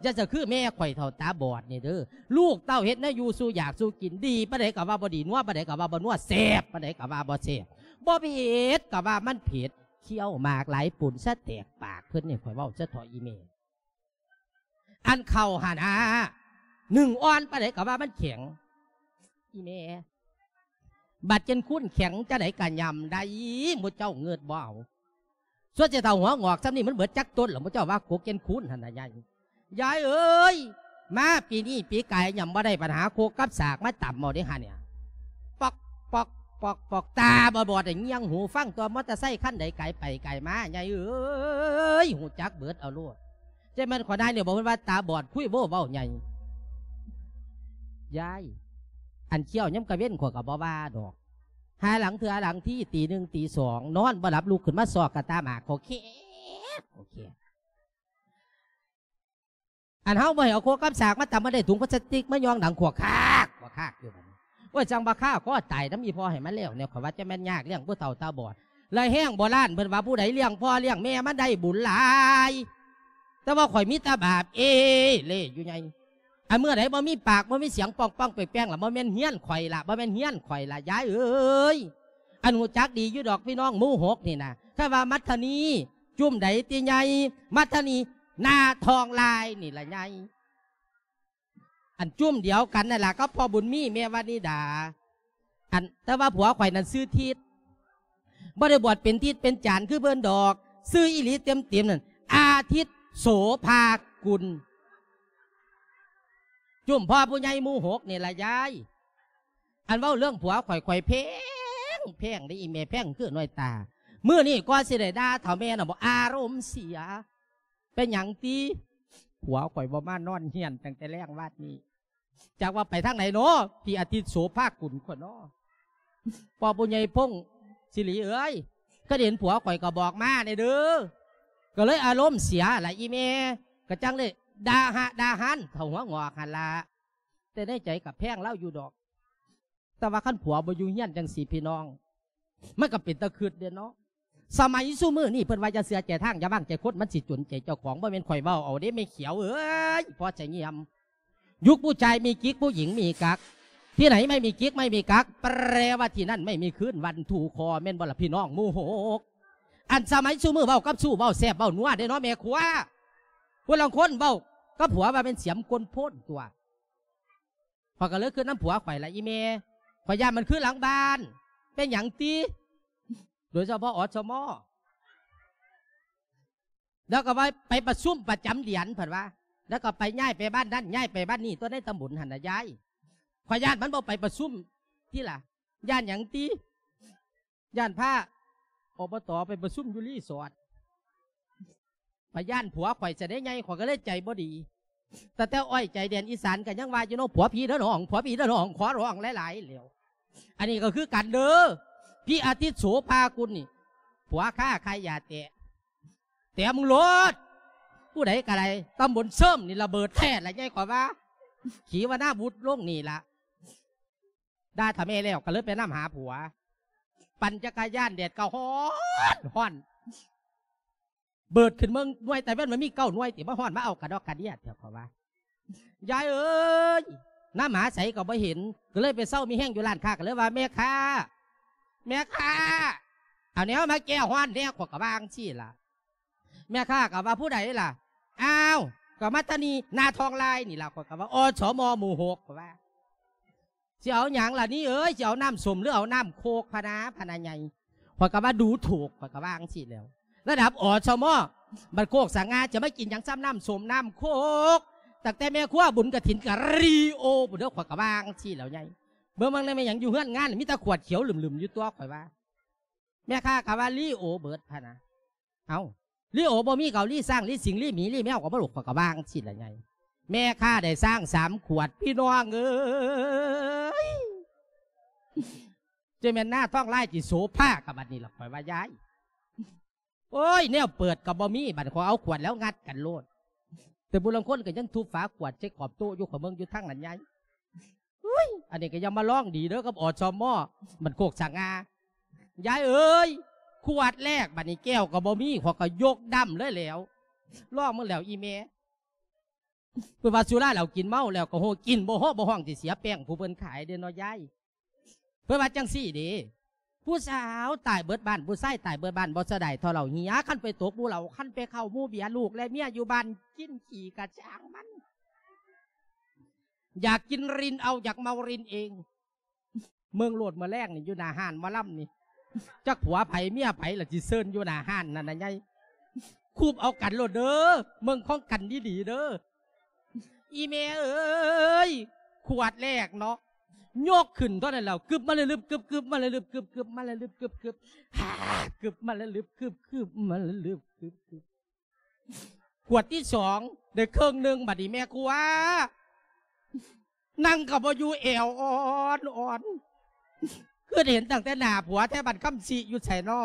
ຢ່າຈະຄືແມ່ຂ້ອຍເຖົ້າຕາບອດນີ້ເດີ ລູກເຕົ້າເຮັດແນວຢູ່ສູ່ຢາກສູ່ກິນ ດີປານໃດກໍວ່າບໍ່ດີ ນົວປານໃດກໍວ່າບໍ່ນົວ ແຊບປານໃດກໍວ່າບໍ່ແຊບ ບໍ່ເຜັດກໍວ່າມັນເຜັດ. ຄ້ຽວໝາກຫຼາຍປຸ້ນສະແຕກປາກເພິ່ນນີ້ ຂ້ອຍເວົ້າສະເທາະອີ່ແມ່. ອັນເຂົ້າຫັ້ນນະ ໜຶ້ງອ່ອນປານໃດກໍວ່າມັນແຂງ ອີ່ແມ່. ບາດເຈັນຄູນແຂງຈັ່ງໃດກໍຫຍ້ຳໄດ້ ໝູ່ເຈົ້າເງິດບໍ່ເອົາ. ສ່ວນຊິເຖົ້າຫົວງອກຊ່ຳນີ້ ມັນເບິດຈັກຕົ້ນລະ ໝູ່ເຈົ້າວ່າກົກເຈັນຄູນຫັ້ນນະຍາຍ. ຍາຍເອີຍ ມາປີນີ້ປີກາຍຫຍ້ຳບໍ່ໄດ້ ບັດຫາໂຄກກັບສາກມາຕຳເອົາເດ້ຫັ້ນເນຍ ປອກ ປອກ ປອກ ປອກ ຕາບອດໆ ໄດ້ງຽງຫູຟັງຕົວະ ມໍເຕີໄຊຄັນໃດກາຍໄປກາຍມາ ຍາຍເອີຍ ຮູ້ຈັກເບິດເອົາໂລດ. ເຈົ້າແມ່ນຂໍນາຍນີ້ບໍ່ ເພິ່ນວ່າຕາບອດຄຸຍໂວ້ເວົ້າໃຫຍ່. ຍາຍ ອັນຄ້ຽວຍາມກາງເວັນຂ້ອຍກໍບໍ່ວ່າດອກ ຫາຫຼັງເທື່ອຫຼັງທີ ຕີໜຶ່ງຕີສອງ ນອນບໍ່ຫຼັບ ລຸກຂຶ້ນມາຊອກກະຕາໝາກ ຂໍແຄກ ຂໍແຄກ. ອັນເຮົາບໍ່ໃຫ້ເອົາໂຄກກັບສາກມາຕຳ ມາໄດ້ຖົງພລາສຕິກມາຍ່ອງດັງຂວກຄາກ ຂວກຄາກຢູ່ຫັ້ນ. ໂອ້ຍ ຈັ່ງວ່າຄາຄອຕາຍນຳອີ່ພໍ່ໃຫ້ມັນແລ້ວແນວ. ຂ້ອຍວ່າຈະແມ່ນຍາກລ້ຽງຜູ້ເຖົ້າຕາບອດ ລະແຮງໂບລານເພິ່ນວ່າ ຜູ້ໃດລ້ຽງພໍ່ລ້ຽງແມ່ມັນໄດ້ບຸນຫຼາຍ. ແຕ່ວ່າຂ້ອຍມີແຕ່ບາບເອເລ່ຢູ່ໃຫຍ່. ອັນເມື່ອໃດບໍ່ມີປາກ ບໍ່ມີສຽງ ປ້ອງໆ ແປ້ງໆ ລະ ບໍ່ແມ່ນເຮືອນຂ້ອຍລະ ບໍ່ແມ່ນເຮືອນຂ້ອຍລະ ຍາຍເອີຍ. ອັນຮູ້ຈັກດີຢູ່ດອກ ພີ່ນ້ອງໝູ່ຫົກນີ້ນະ ຄຳວ່າມັດທະນີ ຈຸ້ມໃດຕິໃຫຍ່ ມັດທະນີ ໜ້າທອງລາຍນີ້ລະໃຫຍ່. ອັນຈຸ້ມດຽວກັນນັ້ນລະກັບພໍ່ບຸນມີ ແມ່ວານິດາ. ອັນ ແຕ່ວ່າຜົວຂ້ອຍນັ້ນຊື່ທິດ ບໍ່ໄດ້ບວດເປັນທິດເປັນຈານຄືເພິ່ນດອກ ຊື່ອີ່ຫຼີເຕັມໆ ນັ້ນ ອາທິດ ໂສພາກຸນ. ຈຸ້ມພໍ່ຜູ້ໃຫຍ່ໝູ່ຫົກນີ້ລະຍາຍ. ອັນເວົ້າເລື່ອງຜົວຂ້ອຍ ຂ້ອຍແພງ ແພງເດ້ອີ່ແມ່ ແພງຄືນ້ອຍຕາ. ມື້ນີ້ກໍຊິໄດ້ດ່າເຖົ້າແມ່ນະບໍ່ ອາລົມເສຍ. ເປັນຫຍັງຕິ? ຜົວຂ້ອຍບໍ່ມານອນເຮືອນຕັ້ງແຕ່ແລງວາດນີ້. ຈັກວ່າໄປທາງໃດເນາະ ທີ່ອາທິດໂສພາກຸນຂ້ອຍເນາະ. ພໍ່ຜູ້ໃຫຍ່ພົງສິລິເອີຍ ຄັນເຫັນຜົວຂ້ອຍກໍບອກມາແດ່ເດີ. ກໍເລີຍອາລົມເສຍລະອີ່ແມ່ ກໍຈັ່ງເລີຍ ດ່າຫະດ່າຫານເທົ່າຫົວງອກຫັ້ນລະ ແຕ່ໃນໃຈກໍແພງລາວຢູ່ດອກ. ແຕ່ວ່າຄັນຜົວບໍ່ຢູ່ເຮືອນຈັ່ງຊີ້ພີ່ນ້ອງ ມັນກໍເປັນຕາຄຶດເດ້ເນາະ. ສະໄໝຊຸມື້ນີ້ເພິ່ນວ່າ ຢ່າເຊື່ອໃຈທາງ ຢ່າວາງໃຈຄົນ ມັນຊິຈົນໃຈເຈົ້າຂອງ. ບໍ່ແມ່ນຂ້ອຍເວົ້າເອົາເດ້ແມ່ຂຽວເອີຍ ພໍໃຈງຽມ. ยุคผู้ชายมีกิ๊ก ผู้หญิงมีกั๊ก ที่ไหนไม่มีกิ๊กไม่มีกั๊ก แปลว่าที่นั่นไม่มีคืนวันถูกคอ แม่นบ่ล่ะพี่น้องหมู่หก? อันสมัยซุมื้อเว้ากับชู้เว้าแซ่บเว้านัวเด้เนาะแม่ครัว ผู้ลางคนเว้ากับผัวว่าเป็นเสียมกลโพนตั๊ว ข้อยก็เลยคิดนำผัวข้อยล่ะอีแม่ ข้อยย้านมันคือหลังบ้าน เป็นหยังติ โดยเฉพาะ อสม. แล้วก็ว่าไปประชุมประจำเดือนเพิ่นว่า แล้วก็ไปย้ายไปบ้านนั้นย้ายไปบ้านนี้ตั๊วในตำบลหั่นน่ะยาย ข้อยย้านมันบ่ไปประชุมติล่ะ ย้านหยังติ ย้านพา อบต. ไปประชุมอยู่รีสอร์ท ข้อยย้านผัวข้อยซะเด้ใหญ่ ข้อยก็เลยใจบ่ดี ตั้งแต่อ้อยใจแดนอีสานก็ยังว่าอยู่เนาะ ผัวผีเด้อน้อง ผัวผีเด้อน้อง ขอร้องหลายๆ แล้ว อันนี้ก็คือกันเด้อ พี่อาทิตย์โสภากุลนี่ ผัวข้าใครอย่าแตะ แตะมึงโลด ผู้ใดก็ได้ ตำบลเสริมนี่ระเบิดแท้ละใหญ่ ข้อยว่า ขีวนาวุธลงนี่ล่ะ ด่าถ้าแม่แล้วก็เลยไปนำหาผัว ปั่นจักรยาน แดดก็ฮ้อนฮ้อน เบิดขึ้นเมืองหน่วยตะเว็นมันมีเก้าหน่วยติ มาฮ้อนมาเอากระดอกกระเดียดแท้ ข้อยว่า ยายเอ้ย นำหาไสก็บ่เห็น ก็เลยไปเซามีแฮงอยู่ร้านค้า ก็เลยว่า แม่ค้า แม่ค้า เอาแนวมาแก้ฮ้อนแหน่ ข้อยก็ว่าจั่งซี้ล่ะ แม่ค้าก็ว่า ผู้ใดล่ะ อ้าว ก็มาตานี หน้าทองลายนี่ล่ะ ข้อยก็ว่า อสม หมู่หก ข้อยว่า สิเอาหยังล่ะนี่เอ้ย สิเอาน้ำส้มหรือเอาน้ำโคกพะนา พะนาใหญ่ ข้อยก็ว่าดูถูก ข้อยก็ว่าจั่งซี้แหล้ว ระดับ อสม บ้านโคกสง่า จะมากินหยังส่ำน้ำส้มน้ำโคก ตั้งแต่แม่ครัวบุญกฐินก็ลีโอพุ้นเด้อ ข้อยก็ว่าจั่งซี้แหล้วใหญ่ เบิ่ง เบิ่งแหน่แม่นหยังอยู่เฮือนงาน มีแต่ขวดเขียวลึมๆ อยู่ตั๊ว ข้อยว่า แม่ค้าก็ว่าลีโอเบิดพะนา เอ้า ลีโอบ่มีก็เอาลีช้าง ลีสิงห์ ลีหมี ลีแมวก็บ่ลูก ข้อยก็ว่าจั่งซี้ล่ะใหญ่ แม่ค้าได้ช้างสามขวด พี่น้องเอ้ย จะแม่นหน้าทองลายสิโสภากับบัดนี้ล่ะ ข้อยว่ายาย โอ้ย แนวเปิดก็บ่มี บัดข้อยเอาขวดแล้วงัดกันโลด แต่ผู้ลางคนก็ยังทุบฝาขวดใส่ขอบโต๊ะอยู่ ข้อยเบิ่งอยู่ทางนั้นยาย อุ้ย อันนี้ก็อย่ามาลองดีเด้อกับ อสม บ้านโคกสง่า ยายเอ้ย ขวดแรกบัดนี้แก้วก็บ่มี ข้อยก็ยกดำเลยแหล้ว ลองมึงแล้วอีแม่ เพิ่นว่าสุราเหล้ากินเมาแล้วก็โฮ กินบ่ฮอดบ่ฮ้องสิเสียแป้งผู้เพิ่นขายเด้เนาะยาย เพิ่นว่าจั่งซี้เด้ ผู้สาวตายเบิดบ้าน ผู้ชายตายเบิดบ้าน บ่เสียดายเท่าเหล้าเหีย คันไปตกหมู่เหล้า คันไปเข้าหมู่เบียร์ ลูกและเมียอยู่บ้านกินขี้กะซ่างมัน อยากกินรินเอา อยากเมารินเอง เมืองโลดมื้อแลงนี่อยู่หน้าฮ้านหมอลำนี่ จักผัวไผเมียไผล่ะสิเซิ่นอยู่หน้าฮ้านนั่นน่ะใหญ่ คูบเอากันโลดเด้อ เมืองของกันดีๆ เด้อ อีแม่เอ้ย ขวดแรกเนาะ ยกขึ้นเท่านั้นแล้ว กึบมาเลยลึบ กึบ กึบมาเลยลึบ กึบ กึบมาเลยลึบ กึบ กึบ หากึบมาเลยลึบ กึบ กึบมาเลยลึบ กึบ กึบ ขวดที่สองได้เคิ่งหนึ่ง บัดนี้แม่ครัว นั่งก็บ่อยู่ แอวอ่อนๆ คือเห็นตั้งแต่หน้าผัวแท้ บัดคำสิอยู่ไสน้อ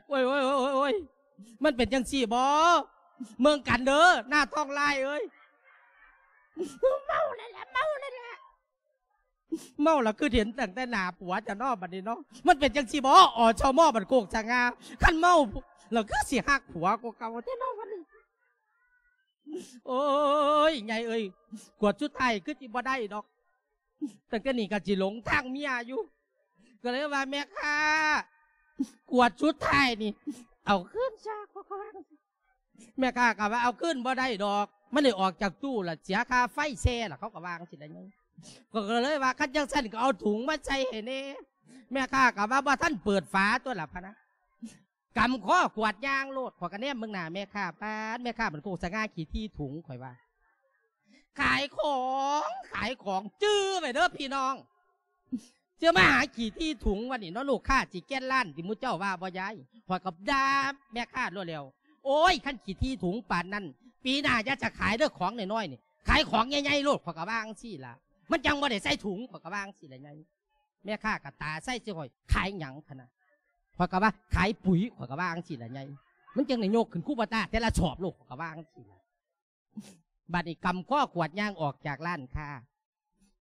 โอ้ย โอ้ย โอ้ย โอ้ย มันเป็นจั่งซี้บ่ เมืองกันเด้อ หน้าทองลายเอ้ย เมาแล้วแหละ เมาแล้วแหละ เมาแล้วคือเห็นตั้งแต่หน้าผัวจ้ะเนาะ บัดนี้เนาะ มันเป็นจั่งซี้บ่ อสม บ้านโคกสง่า คันเมาแล้วคือสิฮักผัวกว่าเก่าแท้เนาะ บัดนี้ โอ้ย ใหญ่เอ้ย ขวดสุดท้ายคือสิบ่ได้ดอก ตั้งแต่นี้ก็สิหลงทางเมียอยู่ ก็เลยว่า แม่ค้า ขวดสุดท้ายนี่ เอาคืนซะ เขาก็ว่า แม่ค้าก็ว่า เอาคืนบ่ได้ดอก มันได้ออกจากตู้ละ เสียค่าไฟแชร์ละ เขาก็ว่าจั่งซี้ละ ก็เลยว่า คันจั่งซั้นก็เอาถุงมาใส่ให้แหน่ แม่ค้าก็ว่า บ่ทันเปิดฝาตั๊วละพะนะ กำคอขวดย่างโลด ข้อยก็แนมเบิ่งหน้าแม่ค้า ป๊าด แม่ค้ามันโคกสง่าขี้ถี่ถุง ข้อยว่า ขายของ ขายของ จื่อไว้เด้อพี่น้อง เจ้ามาหาขี้ถี่ถุงวันนี้เนาะ ลูกค้าสิแก่นล้านติ หมู่เจ้าว่าบ่ยาย ข้อยก็ด่าแม่ค้าโลดแล้ว โอ้ย คันขี้ถี่ถุงปานนั้น ปีหน้าอย่าจะขายเด้อ ของน้อยๆ นี่ ขายของใหญ่ๆ โลด ข้อยก็ว่าจั่งซี้ล่ะ มันจั่งบ่ได้ใส่ถุง ข้อยก็ว่าจั่งซี้ล่ะยาย แม่ค้าก็ตาใสใส่ข้อย ขายหยังพะนะ ข้อยก็ว่า ขายปุ๋ย ข้อยก็ว่าจั่งซี้ล่ะใหญ่ ມັນຈັ່ງໄດ້ຍົກຂຶ້ນຄູບາຕາແຕ່ລະສອບໂລດ ຂ້ອຍກໍວ່າຈັ່ງຊີ້ລະ. ບັດນີ້ກຳຄໍຂວດຍ່າງອອກຈາກຮ້ານຄ້າ.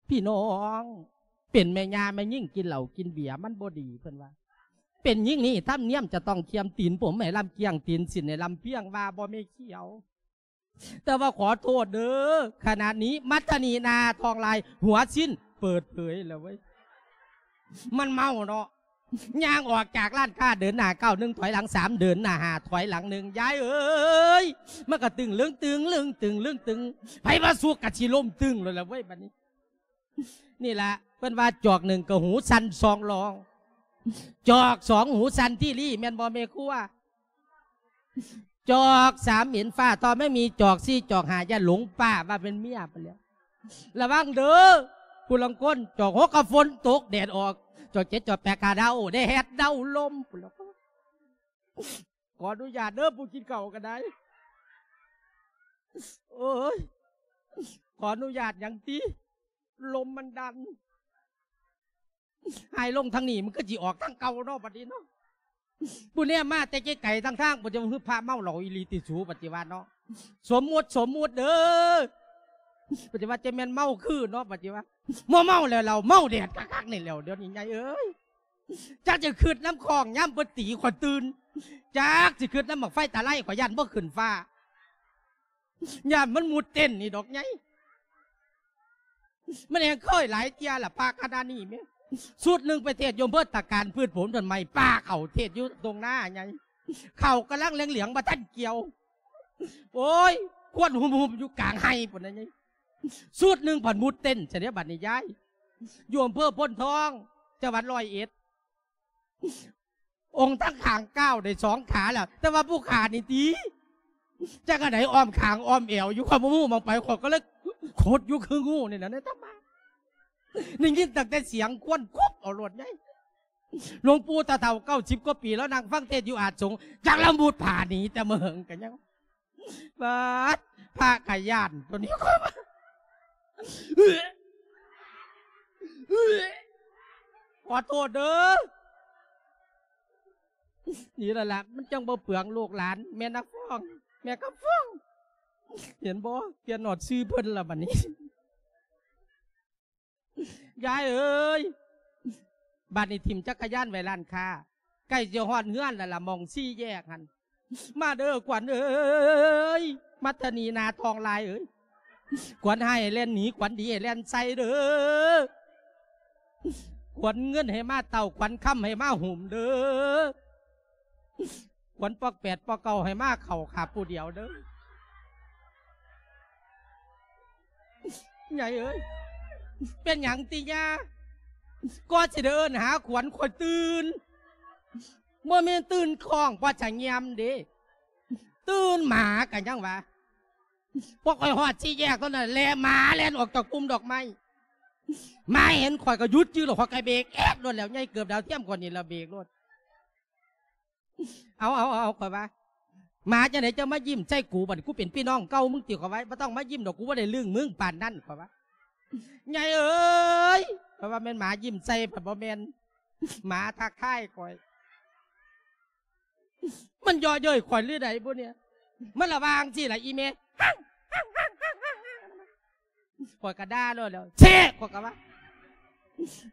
ພີ່ນ້ອງ ເປັນແມ່ຍ່າແມ່ຍິງກິນເຫຼົ້າກິນເບຍມັນບໍ່ດີ ເພິ່ນວ່າ. ເປັນຍິງນີ້ທຳນຽມຈະຕ້ອງຄຽມ ຕີນຜົມໃຫ້ລຳກ້ຽງ ຕີນສິ້ນໃຫ້ລຳພຽງ ວ່າບໍ່ແມ່ຂຽວ. ແຕ່ວ່າຂໍໂທດເດີ ຂະນະນີ້ມັດທະນີນາທອງລາຍ ຫົວສິ້ນເປີດເຜີຍແລ້ວເວີຍ. ມັນເມົາເນາະ ຍ່າງອອກຈາກຮ້ານຄ້າ ເດີນໜ້າກ້າວໜຶ່ງ ຖອຍຫຼັງສາມ ເດີນໜ້າຫ້າ ຖອຍຫຼັງໜຶ່ງ ຍາຍເອີຍ ມັນກະຕຶງເລຶງຕຶງເລຶງຕຶງເລຶງຕຶງ ໃຜວ່າສຸກກະຊິລົ້ມຕຶງໂລດລະເວີຍ ບັດນີ້. ນີ້ລະ ເພິ່ນວ່າຈອກໜຶ່ງກະຫູສັ່ນສອງລອງ ຈອກສອງຫູສັ່ນທີ່ລີ ແມ່ນບໍ່ແມ່ຄົວ? ຈອກສາມເຫັນຟ້າ ຕໍ່ແມ່ມີຈອກສີ່ຈອກຫ້າ ຢ່າຫຼົງປ້າວ່າເປັນເມຍພຸ້ນແຫຼະ. ລະວັງເດີ ຜູ້ລາງຄົນ ຈອກຫົກກະຝົນຕົກແດດອອກ ຈອກເຈັດຈອກແປດກະເດົາ ແດດເດົາລົມພຸ້ນລະ. ຂໍອະນຸຍາດເດີ ຜູ້ກິນເຂົ້າກໍໄດ້. ໂອ້ຍ ຂໍອະນຸຍາດຫຍັງຕິ ລົມມັນດັນ ໃຫ້ລົງທາງນີ້ ມັນກໍຊິອອກທາງເກົ່າເນາະ ບັດນີ້ເນາະ. ຜູ້ແນມມາແຕ່ໄກໆ ທາງທາງ ປະຕິວ່າ ຄືພະເມົາເຫຼົ້າອີ່ຫຼີຕິສູ ປະຕິວ່າເນາະ. ສົມມຸດ ສົມມຸດເດີ ປະຕິວ່າ ຈະແມ່ນເມົາຄືເນາະ ປະຕິວ່າ. ບໍ່ເມົາແລ້ວ ເຫຼົ້າແດດຄັກໆນີ້ແລ້ວ ດຽວນີ້ໃຫຍ່ເອີຍ. ຈັກຊິຄິດນຳຂ້ອງຍາມເພິ່ນຕີຂ້ອຍຕື່ນ ຈັກຊິຄິດນຳບັ້ງໄຟຕາໄລ ຂ້ອຍຢ້ານບໍ່ຂຶ້ນຟ້າ ຢ້ານມັນມຸດເຕັ້ນນີ້ດອກໃຫຍ່. ມັນແຮ່ງເຄີຍຫຼາຍເທື່ອລະ ພະຄະນະນີ້ແມ່. ຊຸດໜຶ່ງໄປເທດຢູ່ອຳເພີຕະການ ພືດຜົນຕົ້ນໄມ້ປ່າເຂົ້າ ເທດຢູ່ທົ່ງນາໃຫຍ່ ເຂົ້າກຳລັງເຫຼືອງໆ ບໍ່ທັນກ່ຽວ. ໂອ້ຍ ຄວັນຫຸ້ມໆ ຢູ່ກາງໄຮ່ພຸ້ນນະໃຫຍ່. ຊຸດໜຶ່ງພັດມຸດເຕັ້ນຊະເດ ບັດນີ້ຍາຍ ຢູ່ອຳເພີໂພນທອງ ຈັງຫວັດຮ້ອຍເອັດ. ອົງທັງຂ້າງກ້າວໄດ້ສອງຂາແລ້ວ ແຕ່ວ່າຜູ້ຂ້ານີ້ຕິ ຈັກອັນໃດອ້ອມຂ້າງອ້ອມແອວຢູ່ ຂ້ອຍບໍ່ຮູ້ໝ່ອງໄປ ຂ້ອຍກໍເລີຍຂົດຢູ່ຄືງູນີ້ແຫຼະ ໃນຕຳມາ. ໄດ້ຍິນຕັ້ງແຕ່ສຽງຄວັນຄຸບເອົາໂລດໃຫຍ່. ຫຼວງປູ່ຕາເຖົ້າເກົ້າສິບກວ່າປີ ລາວນັ່ງຟັງເທດຢູ່ອາດສົງ ຈັກລາວມຸດຜາໜີແຕ່ເມີຫຶງກະຍັງ ບາດ ພະກະຢ້ານໂຕນີ້ ຂ້ອຍວ່າ ຂໍໂທດເດີ. ນີ້ແຫຼະລະ ມັນຈັ່ງບໍ່ເປືອງລູກຫຼານ ແມ່ນາຟອງ ແມ່ຄຳຟອງ ເຫັນບໍ່? ປ່ຽນຮອດຊື່ເພິ່ນລະບັດນີ້. ຍາຍເອີຍ ບາດນີ້ຖິ້ມຈັກກະຍານໄວ້ຮ້ານຄ້າ ໃກ້ຈະຮອດເຮືອນແລ້ວລະ ໝ່ອງສີ່ແຍກຫັ້ນ. ມາເດີຂວັນເອີຍ ມັດທະນີນາທອງລາຍເອີຍ ຂວັນຮ້າຍໃຫ້ແລ່ນໜີ ຂວັນດີໃຫ້ແລ່ນໃສ່ເດີ ຂວັນເງິນໃຫ້ມາເຕົ້າ ຂວັນຄຳໃຫ້ມາຫຸ້ມເດີ. ຂວັນປອກແປດປອກເກົ້າໃຫ້ມາເຂົ້າຂ້າຜູ້ດຽວເດີ. ໃຫຍ່ເອີຍ ເປັນຫຍັງຕິຍາ? ກໍຊິໄດ້ເອີ້ນຫາຂວັນ ຂ້ອຍຕື່ນ ບໍ່ແມ່ນຕື່ນຄ້ອງ ບໍ່ສະງຽມເດ້ ຕື່ນໝາກະຍັງວ່າ. ພວກຂ້ອຍຮອດສີ່ແຍກເທົ່ານັ້ນແຫຼະ ໝາແລ່ນອອກຈາກປຸ່ມດອກໄມ້ ໝາເຫັນຂ້ອຍກໍຢຸດຈື່ໂລດ ຂ້ອຍກໍເບກແອດໂລດແລ້ວ ໃຫຍ່ເກີບດາວທຽມຂ້ອຍນີ້ລະເບກໂລດ. ເອົາ ເອົາ ເອົາ ຂ້ອຍວ່າ ໝາຈັ່ງໃດຈະມາຍິ້ມໃສ່ກູ ບັດນີ້ກູເປັນພີ່ນ້ອງເກົ່າມຶງຕິ ຂ້ອຍວ່າ ບໍ່ຕ້ອງມາຍິ້ມດອກ ກູບໍ່ໄດ້ລຶ້ງມຶງປານນັ້ນ ຂ້ອຍວ່າ. ໃຫຍ່ເອີຍ ຂ້ອຍວ່າແມ່ນໝາຍິ້ມໃສ່ ພັດບໍ່ແມ່ນ ໝາທັກທາຍຂ້ອຍ ມັນເຍາະເຍີ້ຍຂ້ອຍຫຼືໃດບຸນີ້ ມັນລະວ່າຈັ່ງຊີ້ລະອີ່ແມ່ ຂ້ອຍກະດ່າໂລດແລ້ວ ແຊະ ຂ້ອຍກະວ່າ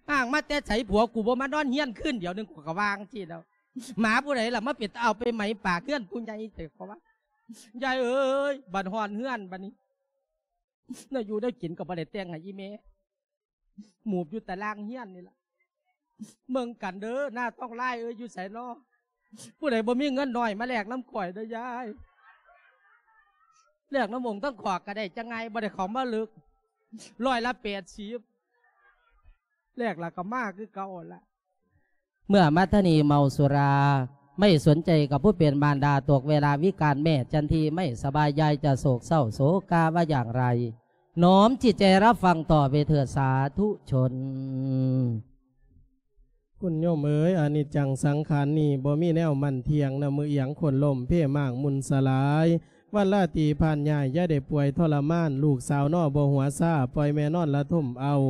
ອ້າງມາແຕ່ໃສ ຜົວກູບໍ່ມານອນເຮືອນຄືນດຽວໜຶ່ງ ຂ້ອຍກະວ່າຈັ່ງຊີ້ແລ້ວ. ໝາຜູ້ໃດລະມາເປັນຕາເອົາໄປໄໝປາກເຮືອນຜູ້ໃຫຍ່ແທ້ ຂ້ອຍວ່າ. ຍາຍເອີຍ ບັດຮອດເຮືອນບັດນີ້ ແນວຢູ່ແນວກິນກໍບໍ່ໄດ້ແຕ່ງໃຫ້ອີ່ແມ່ ໝູບຢູ່ຕາລ່າງເຮືອນນີ້ລະ. ເບິ່ງກັນເດີ ນາງທອງລາຍເອີຍ ຢູ່ໃສນໍ? ຜູ້ໃດບໍ່ມີເງິນໜ້ອຍມາແລກນຳຂ້ອຍເດີຍາຍ ແລກນຳອົງທັງຂອກກໍໄດ້ ຈັ່ງໄງບໍ່ໄດ້ເຂົ້າມາເລິກ ຮ້ອຍລະແປດສິບ ແລກລະກໍມາຄືເກົ່າຫັ້ນລະ. ເມື່ອມັດທະນີເມົາສຸລາ ໄມ່ສົນໃຈກັບຜູ້ເປັນມານດາ ຕົກເວລາວິການແມ່ຈັນທີໄມ່ສະບາຍ ຍາຍຈະໂສກເສົ້າໂສກາວ່າຢ່າງໃດ ນ້ອມຈິດໃຈຮັບຟັງຕໍ່ໄປເຖີດສາທຸຊົນ. ຄຸນໂຍມເອີຍ ອະນິດຈັງສັງຂານນີ້ ບໍ່ມີແນວໝັ້ນທ່ຽງນະ ມື້ອຽງໂຄ່ນລົ້ມ ເພມ້າງໝຸ່ນສະຫຼາຍ ວັນລາຕີຜ່ານຍ້າຍ ຢ່າໄດ້ປ່ວຍທໍລະມານ ລູກສາວນໍບໍ່ຫົວຊາ ປ່ອຍແມ່ນອນລະທົມເອົາ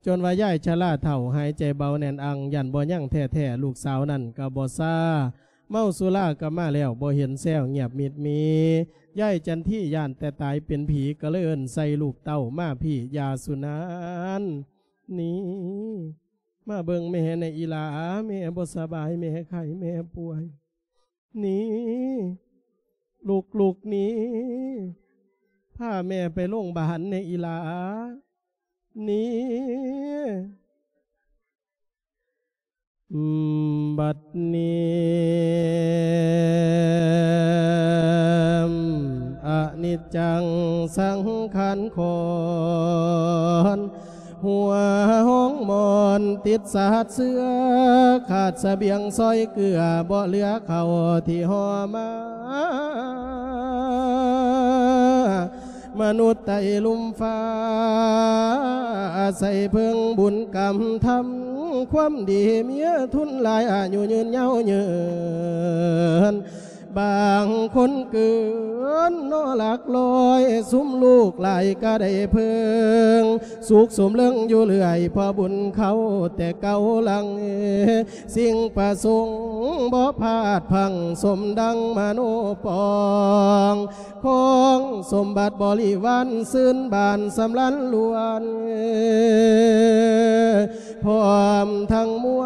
ຈົນວ່າຍາຍຊະລາເຖົ້າ ຫາຍໃຈເບົາແໜ້ນອັ່ງ ຢ້ານບໍ່ຍັງແທ້ໆ ລູກສາວນັ້ນກໍບໍ່ຊາ ເມົາສຸລາກໍມາແລ້ວ ບໍ່ເຫັນແຊວ ງຽບມິດມີ. ຍາຍຈັນທີຢ້ານແຕ່ຕາຍເປັນຜີ ກໍເລີຍເອີ້ນໃສ່ລູກເຕົ້າ ມາພີ້ ຢ່າສຸນານ ນີ້ ມາເບິ່ງແມ່ແດ່ອີ່ຫຼ້າ ແມ່ບໍ່ສະບາຍ ແມ່ໄຂ້ ແມ່ປ່ວຍ ນີ້ ລູກໆ ນີ້ ພາແມ່ໄປໂລງບານແດ່ອີ່ຫຼ້າ ນີ້. ບັດນີ້ ອະນິດຈັງສັງຂານຂອນ ຫົວຫ້ອງໝອນຕິດສາດເຊື້ອ ຂາດສະບຽງຊອຍເກືອ ບໍ່ເຫຼືອເຂົ້າທີ່ຫໍ່ມາ. ມະນຸດໃຕ້ລຸ່ມຟ້າ ອາໄສເພິ່ງບຸນກຳທຳຄວາມດີ ເມຍທຶນຫຼາຍອາຍຸຍືນຍາວເຍີນ ບາງຄົນເກີນເນາະຫຼັກຮ້ອຍ ຊຸມລູກຫຼາຍກໍໄດ້ເພິ່ງ ສຸກສົມເລິງຢູ່ເລື້ອຍ ເພາະບຸນເຂົາແຕ່ເກົ່າຫຼັງ ສິ່ງປະສົງບໍ່ພາດພັງ ສົມດັ່ງມະໂນປອງ ຂອງສົມບັດບໍລິວານ ຊື່ນບານສຳລານລ້ວນ ພ້ອມທັງມວ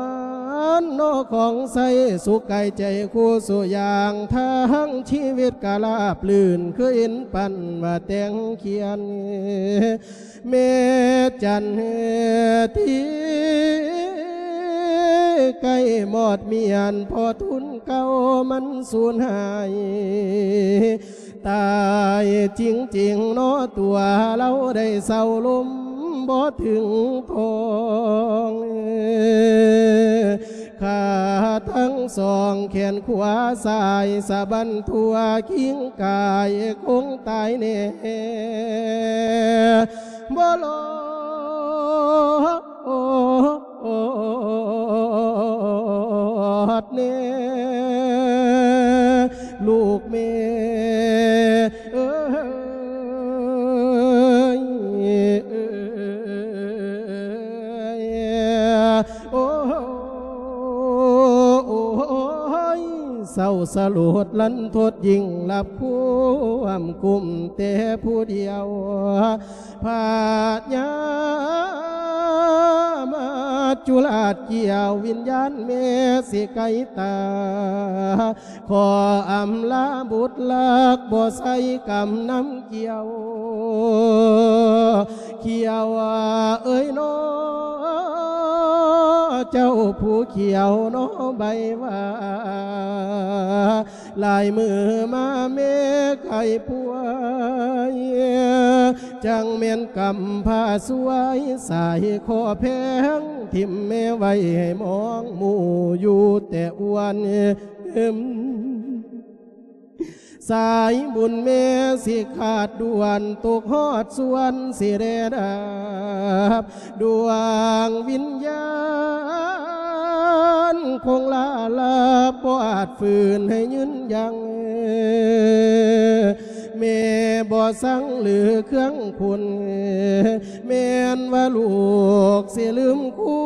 ນເນາະຂອງໃຊ້ ສຸກກາຍໃຈຄູ່ສູ່ຢ່າງ ທາງຊີວິດກະລາບລື່ນ ຄືເຫັນປັນວ່າແຕ່ງຂຽນ ແມ່ຈັນທີ ໃກ້ມອດມຽນ ເພາະທຶນເກົ່າມັນສູນຫາຍ ຕາຍຈິງໆ ເນາະຕົວ ລາວໄດ້ເຊົາລົມບໍ່ເຖິງທ້ອງ ຂາທັງສອງ ແຂນຂວາສາຍສະບັ້ນທົ່ວ ຄິງກາຍຄົງຕາຍແນ່ ບໍ່ລອດແນ່ ລູກແມ່ເອີຍ ໂອ້ ໂອ້ຍ ເສົ້າສະຫຼົດລັນທົດ ຍິ່ງລັບຄວາມກຸ້ມແຕ່ຜູ້ດຽວ ພະຍາມາດຈຸລາດກ່ຽວ ວິນຍານແມ່ຊິໄກຕາ ຂໍອຳລາບຸດລັກ ບໍ່ໃສ່ກຳນຳກ່ຽວ ຂຽວເອີຍເນາະ ເຈົ້າຜູ້ຂຽວເນາະໃບຫວ້າ ຫຼາຍມື້ມາແມ່ໄຂ້ປ່ວຍ ຈັ່ງແມ່ນກຳພາຊ່ວຍ ສາຍຂໍແພງ ຖິ້ມແມ່ໄວ້ໃຫ້ມອງ ໝູ່ຢູ່ແຕ່ອວນ ສາຍບຸນແມ່ຊິຂາດດ່ວນ ຕົກຮອດສ່ວນຊິແລດັບ ດວງວິນຍານຄົງລາລາ ບໍ່ອາດຝືນໃຫ້ຍືນຍັງ ແມ່ບໍ່ສັງຫຼືເຄື່ອງຄຸນ ແມ່ນວ່າລູກຊິລືມຄຸ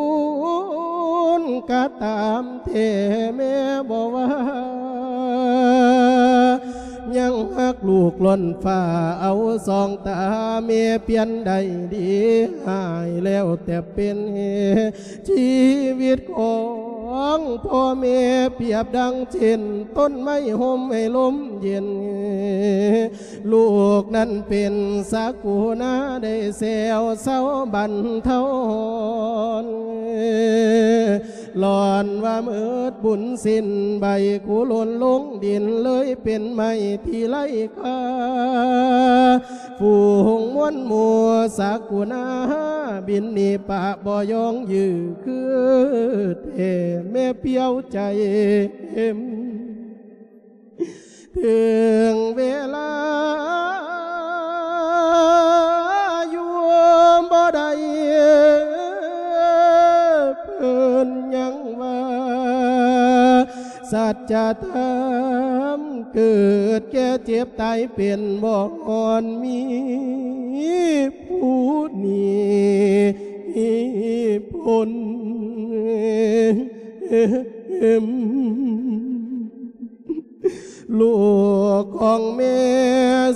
ນກໍຕາມແທ້ ແມ່ບໍ່ວ່າ ຍັງຮັກລູກລ້ນຟ້າ ເອົາສອງຕາແມ່ປ່ຽນໄດ້ດີ ຫາຍແລ້ວແຕ່ເປັນ ຊີວິດຂອງພໍ່ແມ່ປຽບດັ່ງເຊັ່ນ ຕົ້ນໄມ້ຮົ່ມໃຫ້ລົມເຢັນ ລູກນັ້ນເປັນສັກກູນາ ໄດ້ແຊວເຊົາບັນເທົາ ລອນວ່າໝົດບຸນສິ້ນໃບ ກູຫຼົ່ນລົງດິນເລີຍເປັນໄມ້ທີ່ໄຮ້ຄ່າ ຝູງມວນໝູ່ສັກກູນາ ບິນໜີປະບໍ່ຍອງຢື້ ຄືແທ້ແມ່ປ່ຽວໃຈ ເຖິງເວລາຢູ່ບໍ່ໄດ້ ເພິ່ນຍັງວ່າ ສັດຈະທຳເກີດແກ່ເຈັບຕາຍເປັນ ບໍ່ອ່ອນມີຜູ້ໜີພົ້ນ. ລູກຂອງແມ່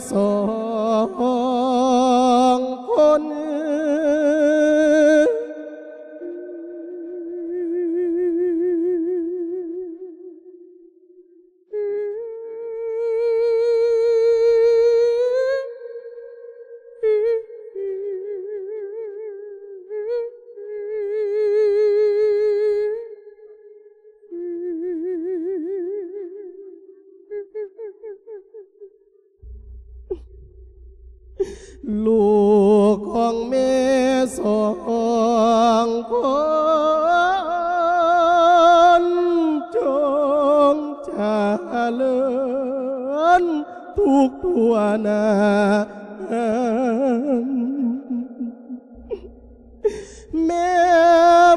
ສອງຄົນ ລູກຂອງແມ່ສອງຄົນ ຈົ່ງຈະເລີນທຸກທົ່ວໜ້າ ແມ່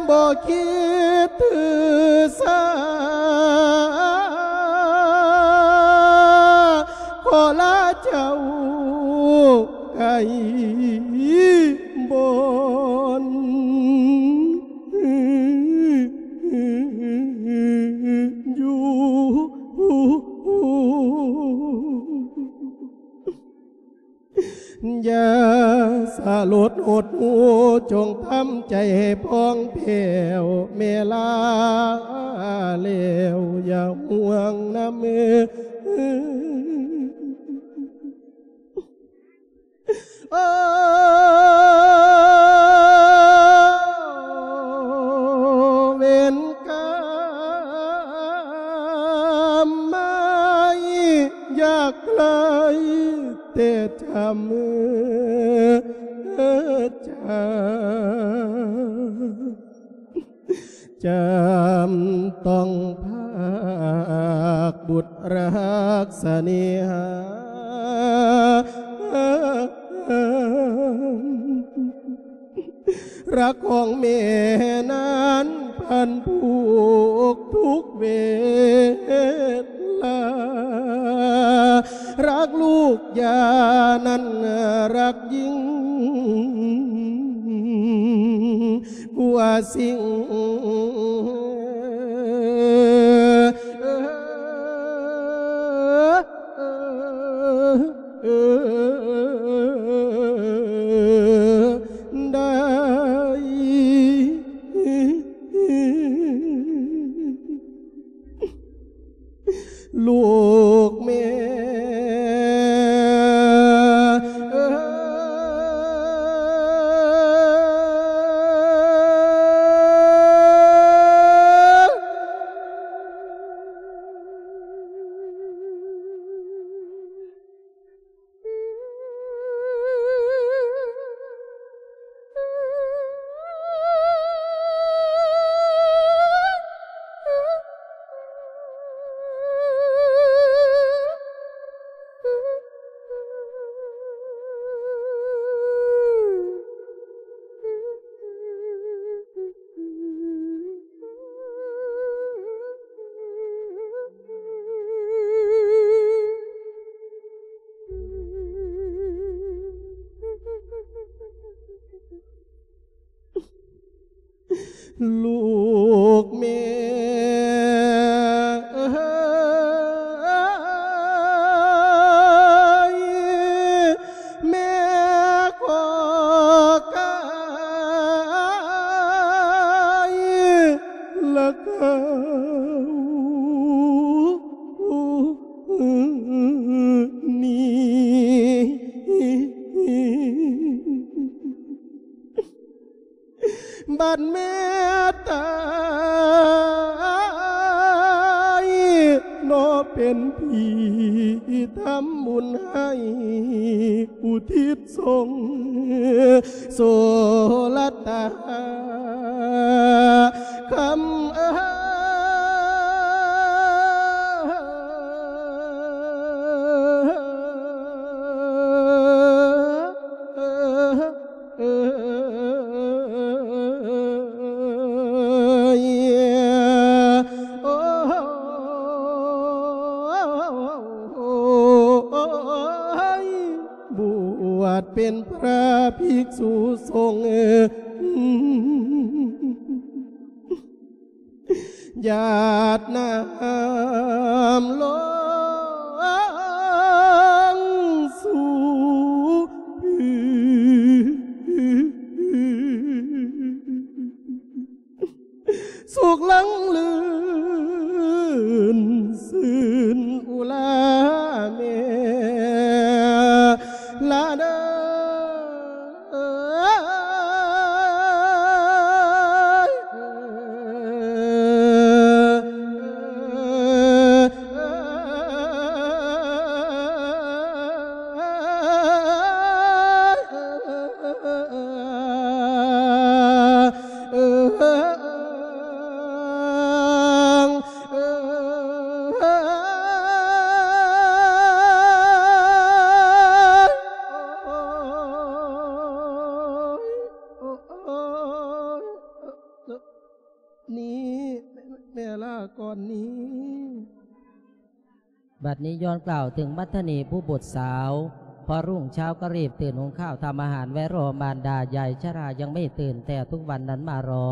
ບໍ່ຄິດຖືສາ ຂໍລາເຈົ້າໄກບ່ອນຢູ່. ຢ່າສະຫຼົດຫົດຫູ່ ຈົ່ງທຳໃຈໃຫ້ຜ່ອງແຜ້ວ ແມ່ລາແລ້ວຢ່າຫ່ວງນຳ. ໂອ້ ເວນກຳມາຍ ຢາກໄລ່ແຕ່ຈຳ ຈຳ ຈຳຕ້ອງພາກບຸດຮັກສະເໜຫາ. ຮັກຂອງແມ່ນັ້ນພັນຜູກທຸກເວລາ ຮັກລູກຢ່ານັ້ນຮັກຍິ່ງກວ່າສິ່ງ ໃດ ລູກແມ່ເອີຍ. ລູກແມ່ເອີຍ ແມ່ຂໍກາຍລະເກົ່ານີ້. ບັດແມ່ຕາຍ ເນາະເປັນຜີທຳບຸນໃຫ້ ອຸທິດສົ່ງໂສລະຕາຄຳເອີຍ. ເອີຍ ໂອ້ຍ ບວດເປັນພະພິກສຸສົງ ຢາດນ້ຳລົງ ກ່ອນນີ້. ບັດນີ້ຍ້ອນກ່າວເຖິງມັດທະນີຜູ້ບຸດສາວ, ພໍລຸງເຊົ້າກໍຣີບຕື່ນຫຸງຂ້າວທຳອາຫານໄວ້ລໍມານດາ, ຍາຍຊະລາຍັງໄມ່ຕື່ນແຕ່ທຸກວັນນັ້ນມາລໍ.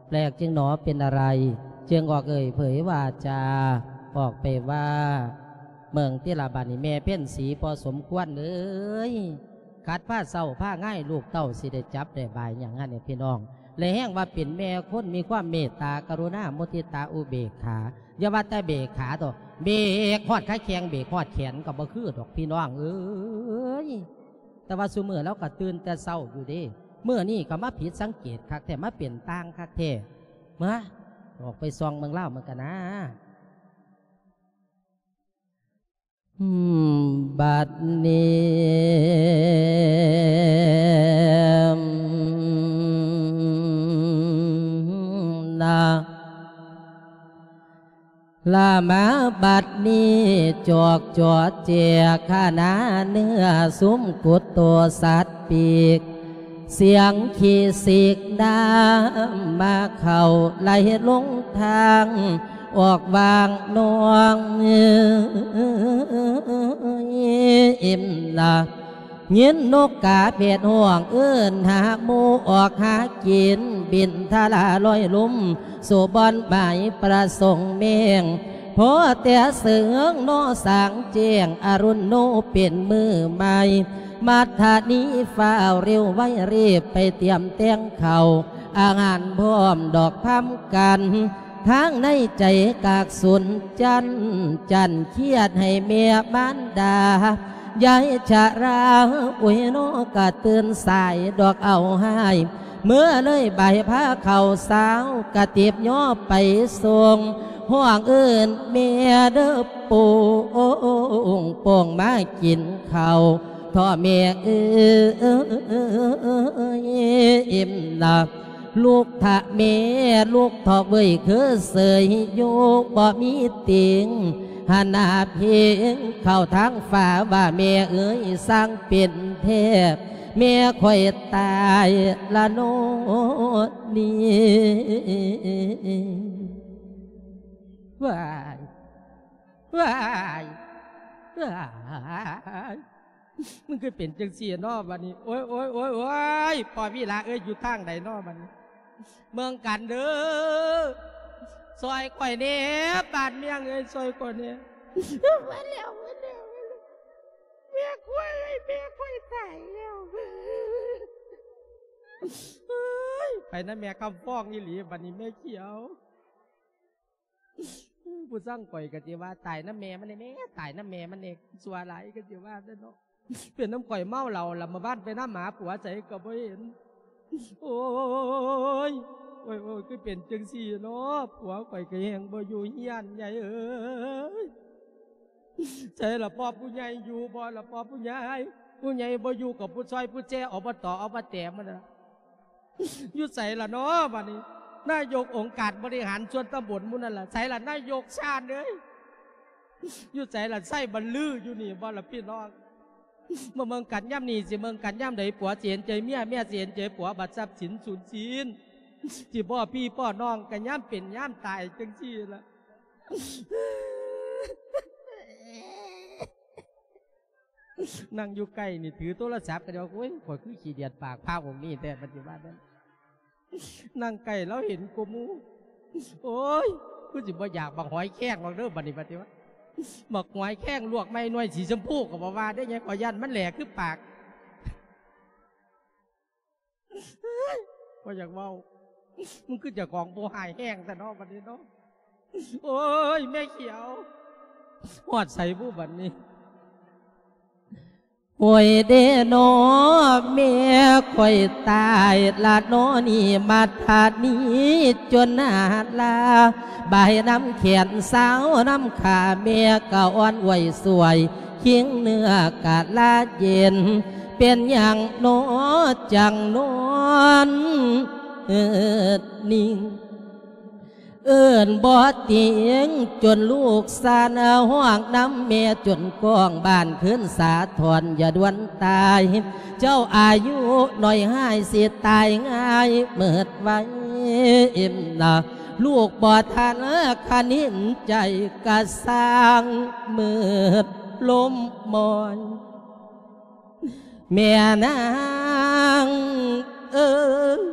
ແປກຈຶ່ງໜໍເປັນອະໄລ, ຈຶ່ງອອກເອີ່ຍເຜີຍວາຈາອອກໄປວ່າ, ເບິ່ງຕິລະບາດນີ້ແມ່ເພັນສີພໍສົມຄວນເອີຍ, ຄັນພາເຊົາພາງາຍລູກເຕົ້າຊິໄດ້ຈັບໄດ້ບາຍຫຍັງຫັ້ນແຫຼະພີ່ນ້ອງ. ແລະແຮງວ່າເປັນແມ່ຄົນມີຄວາມເມດຕາກະລຸນາມຸທິຕາອຸເບກຂາ, ຢ່າວ່າແຕ່ເບກຂາເຖາະ, ເບກຮອດຂາແຂ້ງເບກຮອດແຂນກໍບໍ່ຄືດອກພີ່ນ້ອງເອີຍ. ແຕ່ວ່າຊຸມື້ລາວກໍຕື່ນແຕ່ເຊົ້າຢູ່ເດ້, ມື້ນີ້ກໍມາຜິດສັງເກດຄັກແທ້, ມາເປັນຕ່າງຄັກແທ້. ມາ, ອອກໄປສ່ອງເບິ່ງລາວເບິ່ງກັນນາ. ອືມ ບັດນີ້ນະ ລະມາບັດນີ້ ຈອກຈອແຈກຂະໜາເນື້ອ ສຸມກຸດໂຕສັດປີກ ສຽງຂີ້ສີກນ້ຳມາເຂົ້າ ໄຫຼລົງທາງອອກຫວ່າງໜອງ ເອັມນະ. ຍິນນົກກາແພດຮ້ອງເອີ້ນຫາໝູ່ ອອກຫາກິນບິນທະລາລອຍລຸ່ມ ສູ່ບ່ອນໝາຍປະສົງແມງ ພໍແຕ່ເສີງນໍສາງແຈ້ງ ອະລຸນໂນເປັນມື້ໃໝ່ ມັດທະນີຟ້າວເລັວໄວ ຣີບໄປຕຽມແຕ່ງເຂົ້າ ອາຫານພ້ອມດອກພຳກັນ ທາງໃນໃຈກາກສຸນຈັນ ຈັນຄຽດໃຫ້ແມ່ມານດາ ຍາຍຊະລາ ໂອ້ຍ ນອກະຕື່ນສາຍດອກເອົາຮ້າຍ ເມື່ອເລີຍບ່າຍພາເຂົ້າເຊົ້າ ກະຕິບຍໍໄປສົ່ງ ຮ້ອງເອີ້ນແມ່ເດີໂປ່ງໂປ່ງ ມາກິນເຂົ້າ ເທາະແມ່ເອີຍ ເອັມນະ. ລຸກທະແມ່ ລຸກເຖາະເວີຍ ຄືເສີຍຢູ່ບໍ່ມີຕິງ ຫັນໜ້າພິງເຂົ້າທາງຟ້າ ວ່າແມ່ເອີຍ ຊ່າງເປັນແທ້ ແມ່ຂ້ອຍຕາຍລະໂນນີ້ ວ້າຍ ວ້າຍ ວ້າຍ. ມັນຄືເປັນຈັ່ງຊີ້ເນາະບັດນີ້ ໂອ້ຍ ໂອ້ຍ ໂອ້ຍ ໂອ້ຍ ພໍ່ວິລາເອີຍ ຢູ່ທາງໃດເນາະບັດນີ້ ເມືອງກັນເດີ ຊ່ອຍຂ້ອຍແດ່ ບາດເມືອງເອີຍ ຊ່ອຍຂ້ອຍແດ່ ໝົດແລ້ວ ໝົດແລ້ວ ແມ່ຂ້ອຍເອີຍ ແມ່ຂ້ອຍຕາຍແລ້ວ ໄປນຳແມ່ຄຳຟອງອີ່ຫຼີບັດນີ້ ແມ່ຂຽວ. ຜູ້ຊ່າງຂ້ອຍກໍຊິວ່າ ຕາຍນຳແມ່ມັນແດ່ແມ່ ຕາຍນຳແມ່ມັນແດ່ ຊົ່ວຫຼາຍ ກໍຊິວ່າແດ່ເນາະ ເປັນນຳຂ້ອຍເມົາເຫຼົ້າລະ ມາບ້ານໄປນຳຫາຜົວໃສກໍບໍ່ເຫັນ ໂອ້ຍ ໂອ້ຍ ໂອ້ຍ ຄືເປັນຈັ່ງຊີ້ເນາະ ຜົວຂ້ອຍກໍແຮງບໍ່ຢູ່ເຮືອນ ຍາຍເອີຍ ໃສລະພໍ່ຜູ້ໃຫຍ່ ຢູ່ບໍ່ລະພໍ່ຜູ້ໃຫຍ່ ຜູ້ໃຫຍ່ບໍ່ຢູ່ກໍຜູ້ຊ່ອຍຜູ້ແຈ ອບຕ ອບແຕ ມັນນະ ຢູ່ໃສລະເນາະບັດນີ້ ນາຍົກອົງການບໍລິຫານສ່ວນຕຳບົນໝູ່ນັ້ນລະ ໃສລະນາຍົກຊານເອີຍ ຢູ່ໃສລະ ໄຊບັນລື ຢູ່ນີ້ບໍ່ລະພີ່ນ້ອງ ມາເມືອງກັນຍາມນີ້ ຊິເມືອງກັນຍາມໃດ ຜົວຊິເຫັນໃຈເມຍ ເມຍຊິເຫັນໃຈຜົວ ບັດຊັບສິນສູນສິ້ນ ຊິພໍ່ພີ່ພໍ່ນ້ອງ ກໍຍາມເປັນຍາມຕາຍຈັ່ງຊີ້ລະ. ນັ່ງຢູ່ໃກ້ນີ້ຖືໂທລະສັບກໍຈະວ່າ ໂອ້ຍ ຂ້ອຍຄືຂີ້ດຽດປາກພະອົງນີ້ແທ້ ປະຕິບັດນັ້ນ ນັ່ງໃກ້ລາວເຫັນກວ່າໝູ່ ໂອ້ຍ ຄືຊິບໍ່ຢາກບັກຫອຍແຄງດອກເດີ ບັດນີ້ປະຕິບັດ ບັກຫອຍແຄງລວກໃໝ່ໜ່ວຍສີຊົມພູກໍບໍ່ວ່າເດ້ ຍາຍ ຂ້ອຍຢ້ານມັນແຫຼຄືປາກ. ບໍ່ຢາກເວົ້າ ມັນຄືເຈົ້າຂອງຜູ້ຮ້າຍແຮງແທ້ເນາະບັດນີ້ເນາະ ໂອ້ຍ ແມ່ຂຽວ ຮອດໃສບຸບັດນີ້ ໂອ້ຍເດເນາະ ແມ່ຂ້ອຍຕາຍລະເນາະນີ້ ມາທາດນີ້ຈົນໜ້າລາ ບາຍນຳແຂນສາວນຳຂາ ແມ່ກະອ່ອນອວຍສວຍ ຄິງເນື້ອກະລາເຢັນ ເປັນຫຍັງໜໍຈັ່ງນອນເອີດນິ່ງ ເອີ້ນບໍ່ຕິງ ຈົນລູກຊານຮ້ອງນຳແມ່ ຈົນກ້ອງບ້ານຄືນສາທອນ ຢ່າດ່ວນຕາຍ ເຈົ້າອາຍຸໜ້ອຍຮ້າຍ ຊິຕາຍງ່າຍເມີດໄວນະ. ລູກບໍ່ທັນຄະນິນໃຈກະຊ່າງມືດລົມມອຍ ແມ່ນາງເອີຍ.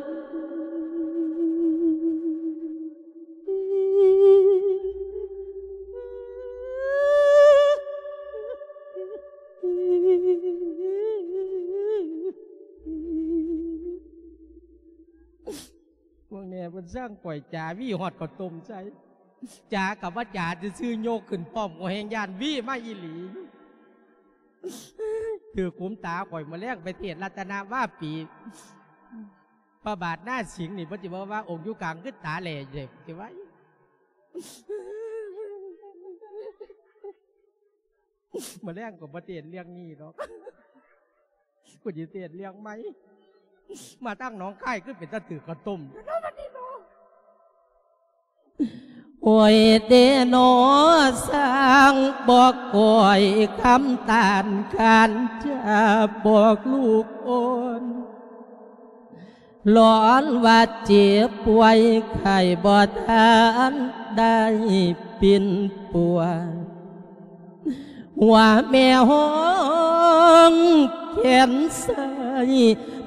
ພວກແມ່ເພິ່ນສ້າງຂ້ອຍຈາວີຮອດເຂົ້າຕົ້ມໃສ່ ຈາກັບວ່າຈາຊື່ໆ ຍົກຂຶ້ນພ້ອມກໍແຮງຢ້ານວີມາອີ່ຫຼີ. ຖືກຂຸມຕາຂ້ອຍ ມື້ແລງໄປເທດລັດຕະນະວາປີ ພະບາດນາສິງນີ້ ເພິ່ນຊິບອກວ່າອົງຢູ່ກາງຄືຕາແຫຼເດ້ ຊິໄວ້ ມື້ແລງກໍບໍ່ເທດເລື່ອງນີ້ດອກ ກູຊິເທດເລື່ອງໃໝ່ ມາທາງໜອງຄາຍຄືເປັນຕາຖືກເຂົ້າຕົ້ມ ໂອ້ຍເດນໍ ຊ່າງບອກກ້ອຍຄຳຕານການຈາບອກລູກອ່ອນ ຮ້ອນວ່າເຈັບປ່ວຍໄຂ້ບໍ່ທັນໄດ້ປິ່ນປົວ ຫົວແມ່ຫ້ອງແຂນຊ້າຍ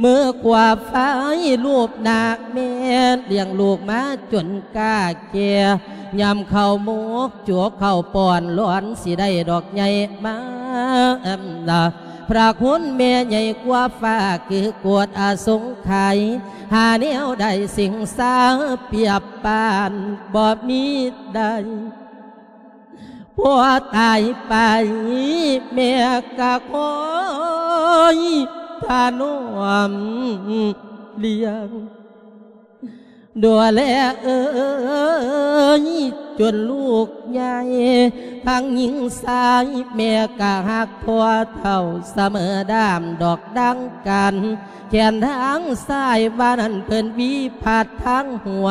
ມືຂວາຟາຍລູບໜ້າແມ່ ລ້ຽງລູກມາຈົນກ້າແກ່ ຍາມເຂົ້າໝົກຈົກເຂົ້າປ້ອນ ຫຼອນຊິໄດ້ດອກໃຫຍ່ມາ ພະຄຸນແມ່ໃຫຍ່ກວ່າຟ້າ ຄືກວດອະສົງໄຂ ຫາແນວໃດສິງສາປຽບປານບໍ່ມີໄດ້. ພໍຕາຍໄປ ແມ່ກະຄອຍຖະໜອມລ້ຽງ ດູແລເອີຍ ຈົນລູກໃຫຍ່ທັງຍິງຊາຍ ແມ່ກະຮັກພໍ່ເຖົ້າສະເໝີດາມດອກດັ່ງກັນ ແຂນທາງຊ້າຍວ່ານັ້ນເພິ່ນຫວີພັດທາງຫົວ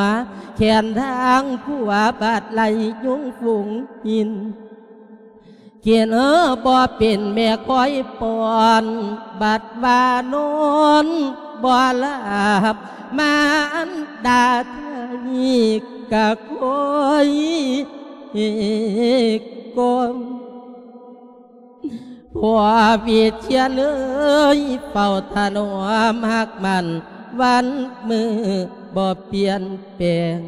ແຂນທາງຂວາບາດໄລ່ຍຸງຝູງຫີນ ກິນເອີບໍ່ເປັນແມ່ຄອຍປ້ອນ ບັດວ່ານອນບໍ່ຫຼັບ ມາອັນດາໄທກະຄອຍກອມ ພໍ່ວິເຊຍນເອີຍ ເຝົ້າຖະໜອມຮັກໝັ້ນວັນມື້ບໍ່ປ່ຽນແປງ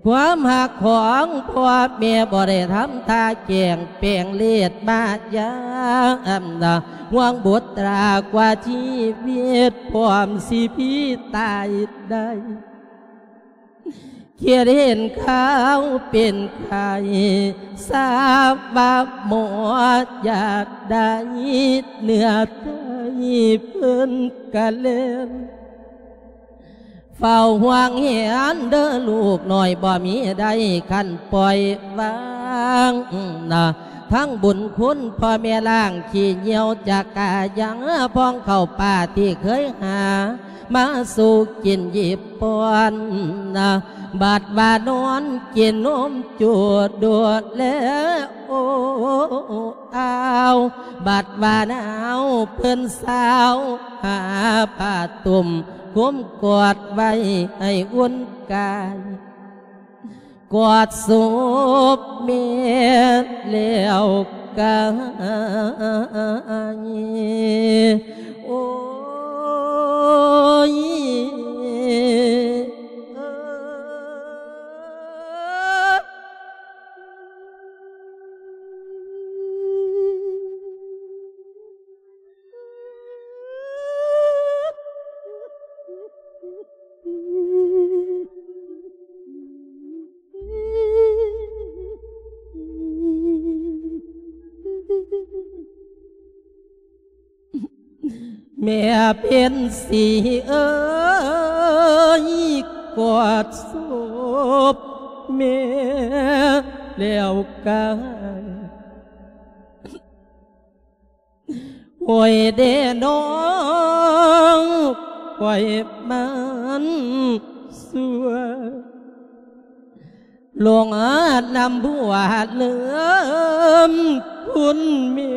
ຄວາມຮັກຂອງພໍ່ແມ່ບໍ່ໄດ້ທຳທ່າແກງ ແປງເລດມາຢາມນາ ຫ່ວງບຸດຕາກວ່າຊີວິດ ພ້ອມຊິພີຕາຍໄດ້ ຄິດເຫັນຂ່າວເປັນໄຂ້ ຊາບວ່າໝໍຢາກໄດ້ເນື້ອໄຕ ເພິ່ນກະແລ່ນ ເຝົ້າຫ່ວງແຫນເດີລູກນ້ອຍ ບໍ່ມີໄດ້ຄັນປ່ອຍວາງນາ ທັງບຸນຄຸນພໍ່ແມ່ລ້າງຂີ້ຍ່ຽວຈາກກາຍັງ ພອງເຂົ້າປາທີ່ເຄີຍຫາ ມາສູ່ກິນຢິບປ້ອນນາ ບັດວ່ານອນກິນນົມຈູດດູແລໂອອາວ ບັດວ່າໜາວເພິ່ນສາວຫາຜ້າຕຸ້ມ ຄຸມກອດໄວ້ໃຫ້ອຸ່ນກາຍ ກອດສົບແມ່ແລ້ວກາຍ ໂອ້ຍ ເອີ. ແມ່ເພັນສີເອີຍ ກອດສົບແມ່ແລ້ວກາຍ ໂອ້ຍເດນ້ອງ ຂ້ອຍມັນຊົ່ວ ຫຼົງນຳຜົວເລີມ ຄຸນແມ່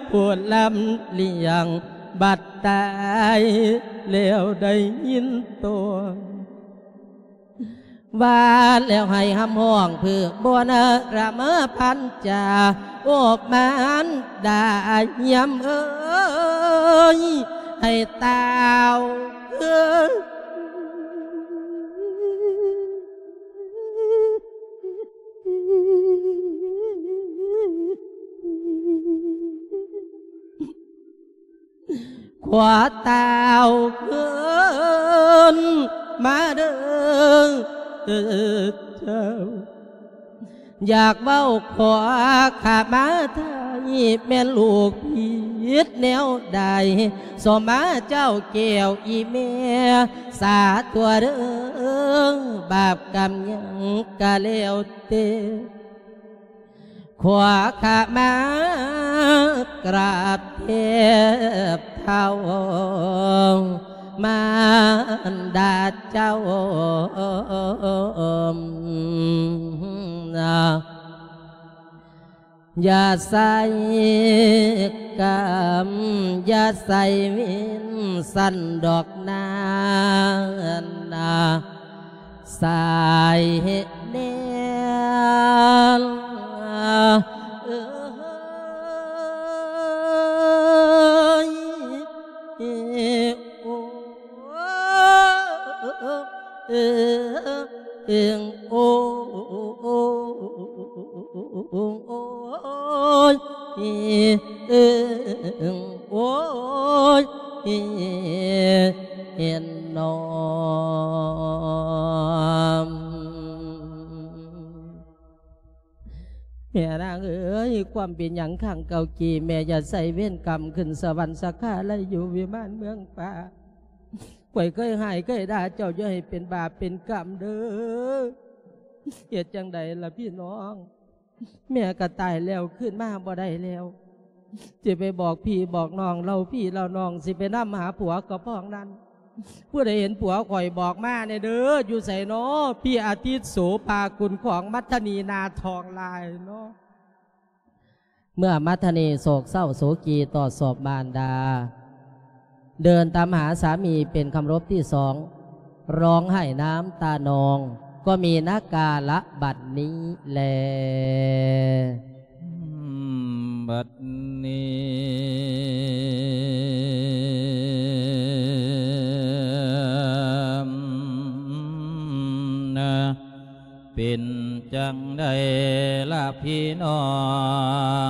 ຜູ້ລຳລ້ຽງ ບັດຕາຍແລ້ວໄດ້ຍິນຕົວ ວ່າແລ້ວໃຫ້ຮຳຮ້ອງເພື່ອບໍ່ນະລະມະພັນຈາ ໂອບມານດາຍາມເອີຍ ໃຫ້ຕ່າວເອີຍ ຂໍຕ່າວຄືນມາເດີເຈົ້າ ຢາກເວົ້າຂໍຂະມາໄທ ແມ່ນລູກຜິດແນວໃດ ສມມາເຈົ້າແກ້ວອີ່ແມ່ ສາຕົວະເດີ ບາບກຳຫຍັງກະແລ້ວແຕ່ ຂໍຂະມາກາບແທບເທົ້າມານດາເຈົ້າ ຢ່າໃສ່ກຳ ຢ່າໃສ່ເວນຊັ້ນດອກນາ ສາຍແນນເອີຍ ໂອ້ ເອີ ເອີ ໂອ້ ໂອ້ຍ ເອີ ໂອ້ຍ ເຫັນນອມ. ແມ່ນາງເອີຍ ຄວາມເປັນຫຍັງຄັ້ງເກົ່າກີ້ ແມ່ຢ່າໃສ່ເວນກຳ ຂຶ້ນສະຫວັນສັກຄາໄລຢູ່ວິມານເມືອງຟ້າ. ຂ້ອຍເຄີຍຮ້າຍເຄີຍດ່າເຈົ້າ ຢ່າໃຫ້ເປັນບາບເປັນກຳເດີ ເຮັດຈັ່ງໃດລະພີ່ນ້ອງ ແມ່ກໍຕາຍແລ້ວ ຄືນມາບໍ່ໄດ້ແລ້ວ ຊິໄປບອກພີ່ບອກນ້ອງ ເລົ່າພີ່ເລົ່ານ້ອງ ຊິໄປນຳຫາຜົວກໍພ້ອງນັ້ນ. ຜູ້ໃດເຫັນຜົວຂ້ອຍບອກມາແດ່ເດີ ຢູ່ໃສນໍ ພີ່ອາທິດໂສພາກຸນຂອງມັດທະນີນາທອງລາຍນໍ. ເມື່ອມັດທະນີໂສກເສົ້າໂສກີຕໍ່ສອບມານດາ ເດີນຕາມຫາສາມີເປັນຄຳລົບທີສອງ ຮ້ອງໄຫ້ນ້ຳຕານອງ ກໍມີນະກາລະບັດນີ້ແລ. ບັດນີ້ນະ ເປັນຈັ່ງໃດລະພີ່ນ້ອ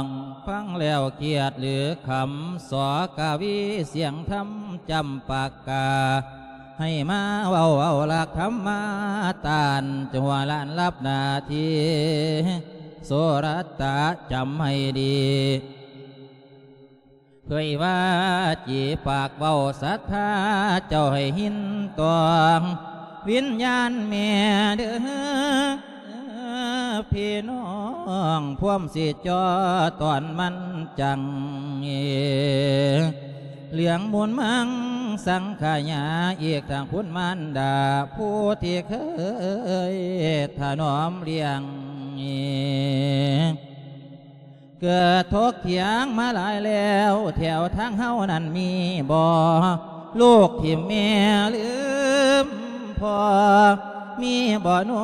ງ ຟັງແລ້ວຄຽດຫຼືຄຳ ສອກະວີສຽງທຳຈຳປາກາ ໃຫ້ມາເວົ້າເອົາຫຼັກທຳມາຕ້ານ ຈົງຫົວລ້ານລັບໜ້າທີ່ ໂສລະຕະຈຳໃຫ້ດີ ເຜີຍວ່າຈີປາກເວົ້າສັດທາເຈົ້າໃຫ້ຍິນຕ້ອງ ວິນຍານແມ່ເດີ ພີ່ນ້ອງພວມຊິຈໍຕອນມັນຈັງ ເຫຼືອງມູນມັງສັງຂະຍາ ອີກທັງຄຸນມານດາ ຜູ້ທີ່ເຄີຍຖະໜອມລ້ຽງ ເກີດຖົກຖຽງມາຫຼາຍແລ້ວ ແຖວທາງເຮົານັ້ນມີບໍ່ ລູກຖິ້ມແມ່ລືມພໍ່ ມີບໍ່ນໍ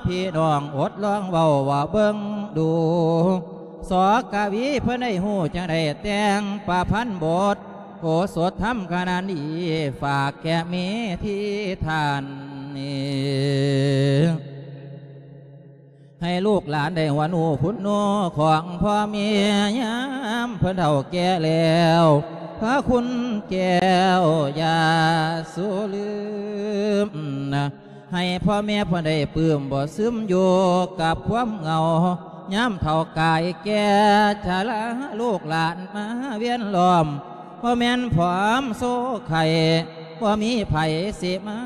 ພີ່ນ້ອງອົດລອງເວົ້າວ່າເບິ່ງດູ ສອກະວີເພິ່ນໄດ້ຮູ້ຈັ່ງໃດ ແຕ່ງປະພັນບົດ ໂອສົດທຳຂະນາດນີ້ ຝາກແກ່ເມທີທ່ານນີ້ ໃຫ້ລູກຫຼານໄດ້ຫວນຮູ້ຄຸນຮູ້ຂອງພໍ່ແມ່ ຍາມເພິ່ນເຖົ້າແກ່ແລ້ວ ພະຄຸນແກ້ວຢ່າສູ່ລືມນະ ໃຫ້ພໍ່ແມ່ເພິ່ນໄດ້ປຶ້ມບໍ່ຊຶມຢູ່ກັບຄວາມເຫງົາ ຍາມເຖົ້າກາຍແກ່ຊະລາ ລູກຫຼານມາວຽນລ້ອມ ບໍ່ແມ່ນຜອມໂຊໄຂ້ ບໍ່ມີໃຜຊິມາ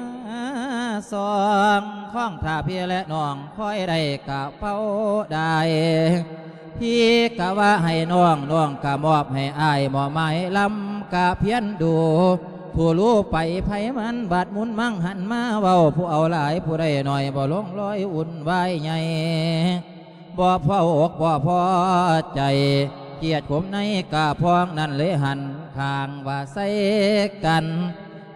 ສ່ອງ ຄອງຖ້າພີ່ແລະນ້ອງ ຄອຍໄດ້ກະເປົາໄດ້ ພີ່ກະວ່າໃຫ້ນ້ອງ ນ້ອງກະມອບໃຫ້ອ້າຍ ໝໍ້ໄມ້ລຳກະພຽນດູ ຜູ້ຮູ້ໄປໃຜມັນ ບາດມຸນມັງຫັນມາເວົ້າ ຜູ້ເອົາຫຼາຍຜູ້ໄດ້ໜ້ອຍ ບໍ່ລົງລອຍວຸ່ນວາຍໃຫຍ່ ບໍ່ພໍອົກບໍ່ພໍໃຈ ກຽດຂົມໃນກະພອງ ນັ້ນເລີຍຫັນຂ້າງວ່າໃສ່ກັນ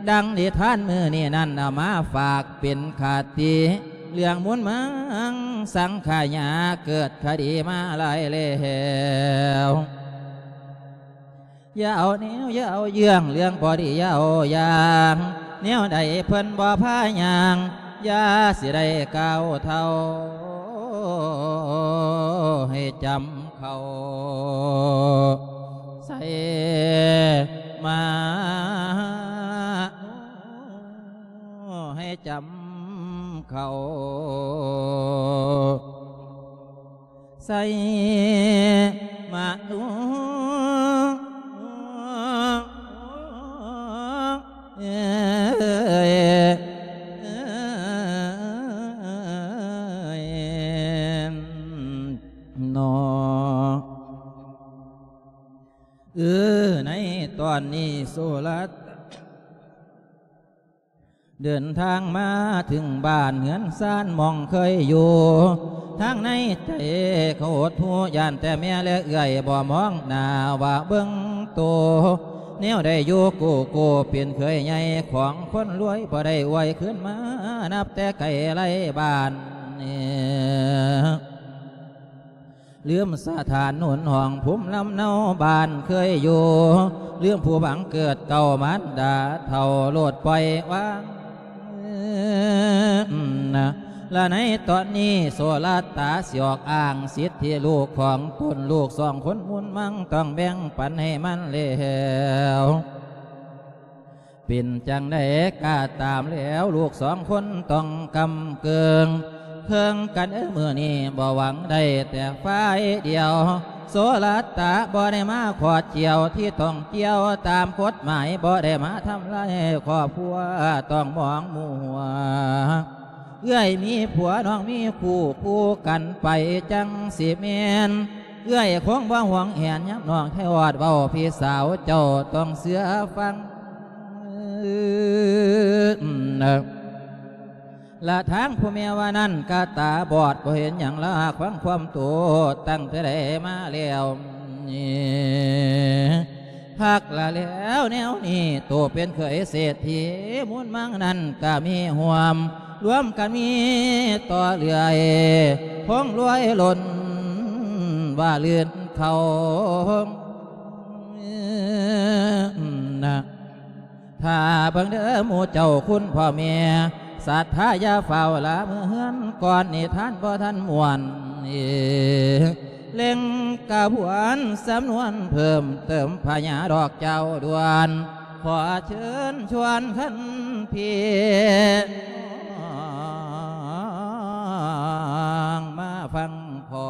ດັ່ງນິທານມື້ນີ້ນັ້ນ ເອົາມາຝາກເປັນຄະຕິ ເລື່ອງມູນມັງສັງຂະຍາ ເກີດຄະດີມາຫຼາຍແລ້ວ. ຢ່າເອົາແນວ ຢ່າເອົາເຍື່ອງ ເລື່ອງບໍ່ດີຢ່າເອົາຢ່າງ ແນວໃດເພິ່ນບໍ່ພາຍ່າງ ຢ່າຊິໄດ້ກ້າວເທົ້າ ໃຫ້ຈຳເຂົ້າໃສ່ມາ ໃຫ້ຈຳເຂົ້າ ໃສ່ມາ ເອີຍ ເອີຍ ເນາະ ເອີ ໃນຕອນນີ້ໂສລະຕະ ເດີນທາງມາເຖິງບ້ານເຮືອນຊານໝ່ອງເຄີຍຢູ່ ທາງໃນໃຈເຂົາຫົດຫູ່ ຢ້ານແຕ່ແມ່ແລະເອື້ອຍບໍ່ມອງໜ້າວ່າເບິ່ງໂຕ ແນວໃດຢູ່ກູ້ໆ ເປັນເຂີຍໃຫຍ່ຂອງຄົນລວຍ ບໍ່ໄດ້ອວຍຄືນມາ ນັບແຕ່ໄກໄລບ້ານ ລືມສະຖານໜູນຫ້ອງພູມລຳເນົາບ້ານເຄີຍຢູ່ ລືມຜູ້ບັງເກີດເກົ່າມານດາເຖົ້າໂລດປ່ອຍວາງ ລະໃນຕອນນີ້ໂສລະຕະຊິອອກອ້າງສິດທິລູກຂອງຕົນ ລູກສອງຄົນມູນມັງຕ້ອງແບ່ງປັນໃຫ້ມັນແລ້ວ. ເປັນຈັ່ງໃດກະຕາມແລ້ວ ລູກສອງຄົນຕ້ອງກຳເກີງ ເຄິ່ງກັນເອີ ມື້ນີ້ບໍ່ຫວັງໄດ້ແຕ່ຝ່າຍດຽວ ໂສລະຕະບໍ່ໄດ້ມາຂອດກ່ຽວ ທີ່ຕ້ອງກ່ຽວຕາມກົດໝາຍ ບໍ່ໄດ້ມາທຳລາຍຄອບຄົວ ຕ້ອງມອງມົວ ເອື້ອຍມີຜົວ ນ້ອງມີຄູ່ ຄູ່ກັນໄປຈັ່ງຊິແມ່ນ ເອື້ອຍຄົງບໍ່ຫວງແຫນ ຍາມນ້ອງໄທອອດເວົ້າ ພີ່ສາວເຈົ້າຕ້ອງເຊື່ອຟັງ. ລະທາງຜູ້ແມ່ວ່ານັ້ນກະຕາບອດ ບໍ່ເຫັນຫຍັງລະຫາກຟັງຄວາມໂຕ ຕັ້ງແຕ່ໃດມາແລ້ວ ພັກລະແລ້ວແນວນີ້ ໂຕເປັນເຂີຍເສດຖີມູນມັງນັ້ນກະມີຮ່ວມ ລວມກັນມີຕໍ່ເລື້ອຍ ຄົງລວຍລົ້ນວ່າລື່ນເຂົ້າ ນະ ຖ້າເບິ່ງເດີໝູ່ເຈົ້າຄຸນພໍ່ແມ່ ສັດທາຢ່າຟ້າວລາເມືອເຮືອນ ກ່ອນນິທານບໍ່ທັນມ່ວນ ເລັ່ງກະບວນສຳນວນເພີ່ມເຕີມພະຍາດອກເຈົ້າດ່ວນ ຂໍເຊີນຊວນຄັນພີ່ນ້ອງມາຟັງພໍ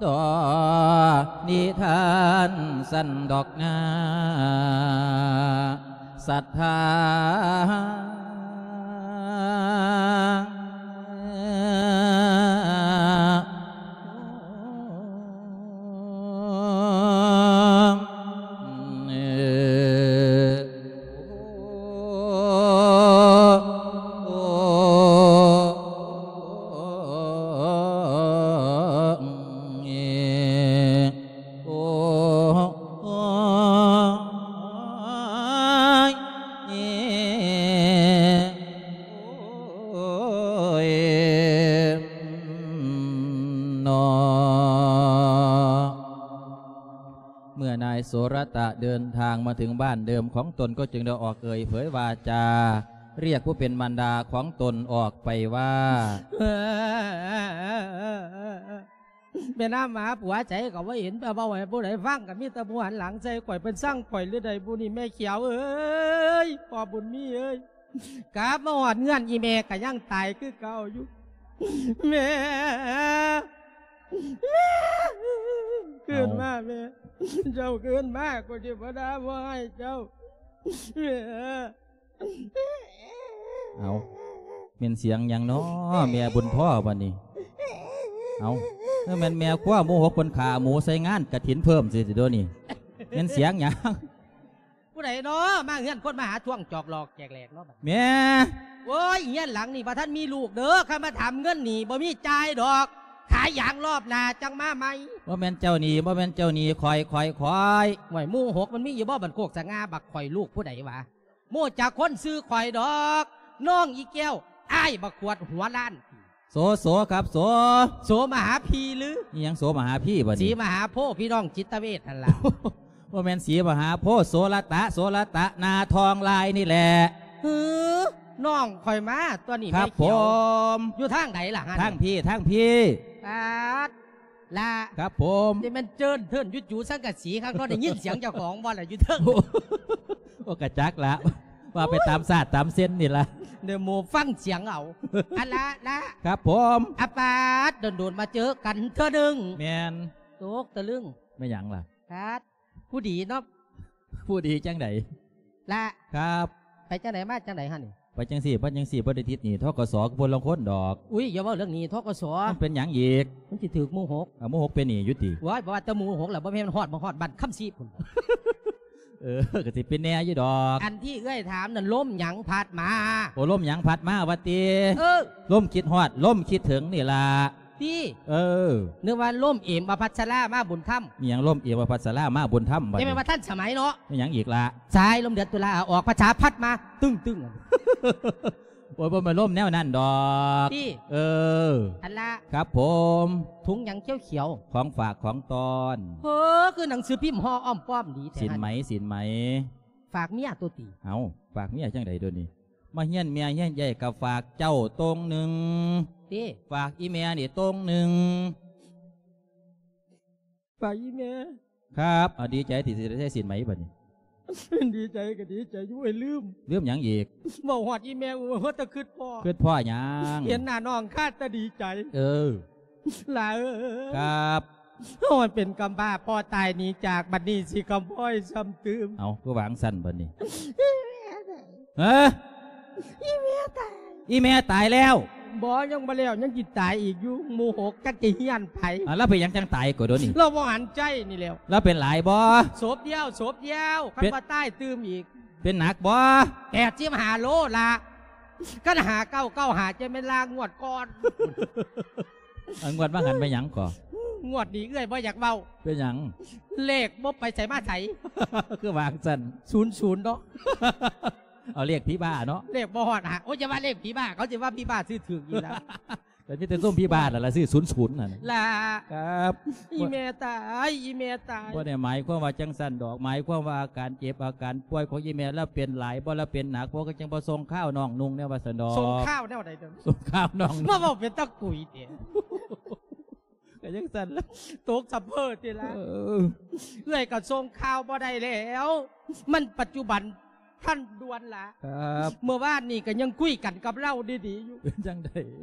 ຕໍ່ນິທານຊັ້ນດອກນາ ສັດທາ. ເມື່ອນາຍໂສລະຕະເດີນທາງມາເຖິງບ້ານເດີມຂອງຕົນ ກໍຈຶ່ງໄດ້ອອກເອີ່ຍເຜີຍວາຈາ ຮຽກຜູ້ເປັນມານດາຂອງຕົນອອກໄປວ່າ ແມ່ນາມຫາຜົວໃສກໍບໍ່ເຫັນ ເວົ້າໃຫ້ຜູ້ໃດຟັງ ກໍມີແຕ່ຜູ້ຫັນຫຼັງໃສ່ຂ້ອຍ ເພິ່ນຊັງຂ້ອຍຫຼືໃດບຸນີ້ ແມ່ຂຽວເອີຍ ພໍ່ບຸນມີເອີຍ ກັບມາຮອດເຮືອນອີແມ່ກໍຍັງຕາຍຄືເກົ່າຢູ່ ແມ່ ແມ່ ຄືນມາແມ່ ເຈົ້າຄືນມາ ຂ້ອຍຊິບໍ່ດ່າບໍ່ຮ້າຍເຈົ້າ ແມ່. ເອົາ ແມ່ນສຽງຫຍັງນໍ ແມ່ບຸນພໍບາດນີ້ ເອົາ ຄືແມ່ນແມ່ຄົວໝູ່ຫົກເພິ່ນຂ້າໝູໃສ່ງານກະຖິນເພີ່ມຊິດຽວນີ້ ແມ່ນສຽງຫຍັງ ຜູ້ໃດນໍ ມາເຮືອນຄົນມາຫາຊ່ວງຈອກຫຼອກແຈກແຫຼກນໍ ແມ່ ໂອ້ຍ ເຮືອນຫຼັງນີ້ບໍ່ທັນມີລູກເດີ ຄັນມາຖາມເງິນນີ້ບໍ່ມີຈ່າຍດອກ ຂ ອາຫຍັງ ຮອບໜ້າຈັ່ງມາໃໝ່. ບໍ່ແມ່ນເຈົ້ານີ້ ບໍ່ແມ່ນເຈົ້ານີ້ ຂ້ອຍ ຂ້ອຍ ຂ້ອຍ. ຫ້ວຍ ໝູ່ຫົກມັນມີຢູ່ບໍ່ ບ້ານໂຄກສະຫງ່າ ບັກຂ້ອຍລູກຜູ້ໃດວະ? ບໍ່ຮູ້ຈັກຄົນຊື່ຂ້ອຍດອກ ນ້ອງອີແກ້ວ ອ້າຍບັກຂວດຫົວລ້ານ. ໂສ ໂສ ຄັບ ໂສ. ໂສມະຫາພີຫຼື? ອີຫຍັງໂສມະຫາພີບັດນີ້? ສີມະຫາໂພ ພີ່ນ້ອງຈິດຕະເວດຫັ້ນລະ. ບໍ່ແມ່ນສີມະຫາໂພ ໂສລະຕະ ໂສລະຕະ ໜ້າທອງລາຍນີ້ແຫຼະ. ຫື ນ້ອງຂ້ອຍມາຕົວນີ້. ຄັບ ແມ່ຂຽວ ຜົມ. ຢູ່ທາງໃດລະຫັ້ນ? ທາງພີ້ ທາງພີ້. ປາດ ລະ ຄັບຜົມ. ນີ້ແມ່ນເຈີນເທີນຢູ່ຈູສັງກະສີຄັກເນາະ ໄດ້ຍິນສຽງເຈົ້າຂອງບໍ່ລະຢູ່ເທິງ? ໂອ້ ກະຈັກລະ ວ່າໄປຕາມຊາດຕາມເຊັນນີ້ລະ ເດີ ໝູ່ຟັງສຽງເອົາ. ອັນລະ ລະ ຄັບຜົມ. ອາປາດ ດົນໆມາເຈີກັນເທື່ອໜຶ່ງ. ແມ່ນ. ຕົກຕະລຶງ. ແມ່ນຫຍັງລະ? ປາດ ຜູ້ດີເນາະ. ຜູ້ດີຈັ່ງໃດ? ລະ ຄັບ. ໄປຈັ່ງໃດມາຈັ່ງໃດຫັ້ນນີ້? ໄປຈັ່ງຊີ້ ໄປຈັ່ງຊີ້ ບໍ່ໄດ້ຕິດໜີ້ ທກສ ຄືຄົນລາງຄົນດອກ. ອຸ້ຍ ຢ່າເວົ້າເລື່ອງໜີ້ ທກສ. ມັນເປັນຫຍັງອີກ? ມັນຊິຖືກໝູ່ຫົກ. ເອົາ ໝູ່ຫົກເປັນໜີ້ຢູ່ຕິ? ໂອ້ຍ ບໍ່ວ່າແຕ່ໝູ່ຫົກລະ ບໍ່ແມ່ນຮອດ ມາຮອດບ້ານຄຳຊີພຸ້ນ. ເອີ ກະຊິເປັນແດ່ຢູ່ດອກ. ອັນທີ່ເອື້ອຍຖາມນັ້ນ ລົມຫຍັງພັດມາ? ໂອ້ ລົມຫຍັງພັດມາວ່າຕິ? ເອີ ລົມຄິດຮອດ ລົມຄິດເຖິງນີ້ລະ. ຕິ? ເອີ ນຶກວ່າລົມເອມອະພັດສະລາມາບຸນທຳ. ມີຫຍັງລົມເອມອະພັດສະລາມາບຸນທຳບັດນີ້? ແຕ່ແມ່ນວ່າທັນສະໄໝເນາະ. ມີຫຍັງອີກລະ? ສາຍລົມເດືອນຕຸລາອອກພັດສາພັດມາຕຶ້ງໆ. ໂອ້ຍ ບໍ່ແມ່ນລົມແນວນັ້ນດອກ. ຕິ? ເອີ ອັນລະ ຄັບຜົມ. ຖົງຫຍັງຂຽວໆ? ຂອງຝາກຂອງຕ້ອນ. ເຮີ ຄືໜັງສືພິມຫໍ່ອ້ອມປ້ອມດີແທ້. ສິນໄໝ ສິນໄໝ. ຝາກເມຍຕົວະຕິ? ເອົ້າ ຝາກເມຍຈັ່ງໃດດຽວນີ້? ມາຮຽນແມ່ຮຽນເອື້ອຍກະຝາກເຈົ້າໂຕງໜຶ່ງ. ຕິ? ຝາກອີ່ແມ່ນີ້ໂຕງໜຶ່ງ. ຝາກອີ່ແມ່. ຄັບ ເອົາ ດີໃຈທີ່ຊິໄດ້ໃຊ້ສິນໃໝບັດນີ້? ດີໃຈກະດີໃຈຢູ່ ໂອ້ຍ ລືມ. ລືມຫຍັງອີກ? ເວົ້າຮອດອີ່ແມ່ ໂອ້ຍ ຮອດແຕ່ຄຶດພໍ້. ຄຶດພໍ້ຫຍັງ? ເຫັນໜ້ານ້ອງຄາດແຕ່ດີໃຈ. ເອີ ຫຼ້າເອີຍ. ຄັບ. ໂອ້ຍ ເປັນກຳພ້າພໍ່ຕາຍໜີຈາກ ບັດນີ້ຊິກຳພ້ອຍຊ້ຳຕື່ມ. ເອົ້າ ຄືວ່າຈັ່ງຊັ້ນບັດນີ້? ຮະ? ອີ່ແມ່ຕາຍ. ອີ່ແມ່ຕາຍແລ້ວ? ບໍ່ ຍັງບໍ່ແລ້ວ ຍັງຊິຕາຍອີກຢູ່. ໝູ່ຫົກຈັກຊິຮຽນໃຜ. ອາ ລາວເປັນຫຍັງຈັ່ງຕາຍກໍໂດນນີ້? ລາວບໍ່ຫັນໃຈນີ້ແລ້ວ. ລາວເປັນຫຼາຍບໍ່? ສົບດຽວ ສົບດຽວ ຄັນວ່າຕາຍຕື່ມອີກ. ເປັນໜັກບໍ່? ແປດສິບຫ້າໂລລະ. ຄັນຫ້າເກົ້າເກົ້າຫ້າ ຈະແມ່ນລາງງວດກ່ອນ. ເອົາ ງວດວ່າຫັ້ນໄປຫຍັງກໍ? ງວດນີ້ເອື້ອຍບໍ່ຢາກເວົ້າ. ເປັນຫຍັງ? ເລກບໍ່ໄປໃສມາໃສ. ຄືວ່າຈັ່ງຊັ້ນ? ສູນສູນເນາະ. ເອົາ ເລກຜີບ້າເນາະ. ເລກບໍ່ຮອດຫາ ໂອ້ຍ ຢ່າວ່າເລກຜີບ້າ ເຂົາຊິວ່າຜີບ້າຊື້ຖືກຢູ່ລະ. ແຕ່ມີແຕ່ຊຸມຜີບ້າລະ ລະຊື້ສູນສູນຫັ້ນລະ. ຄັບ. ອີ່ແມ່ຕາຍ ອີ່ແມ່ຕາຍ. ບໍ່ໄດ້ໝາຍຄວາມວ່າຈັ່ງຊັ້ນດອກ ໝາຍຄວາມວ່າອາການເຈັບອາການປ່ວຍຂອງອີ່ແມ່ລາວເປັນຫຼາຍບໍ່ ລາວເປັນໜັກບໍ່ ກໍຈັ່ງບໍ່ສົ່ງຂ່າວນ້ອງນຸ່ງແນວວ່າຊັ້ນດອກ. ສົ່ງຂ່າວແນວໃດເດີ? ສົ່ງຂ່າວນ້ອງນຸ່ງ. ມາເວົ້າເປັນຕາກຸຍເດ. ກະຈັ່ງຊັ້ນລະ ຕົກສະເພີຕິລະ. ເອີ ເອື້ອຍກະສົ່ງຂ່າວບໍ່ໄດ້ແລ້ວ ມັນປັດຈຸບັນທັນດ່ວນລະ. ຄັບ. ເມື່ອວານນີ້ກະຍັງຄຸຍກັນກັບລາວດີໆຢູ່. ເປັນຈັ່ງໃດ?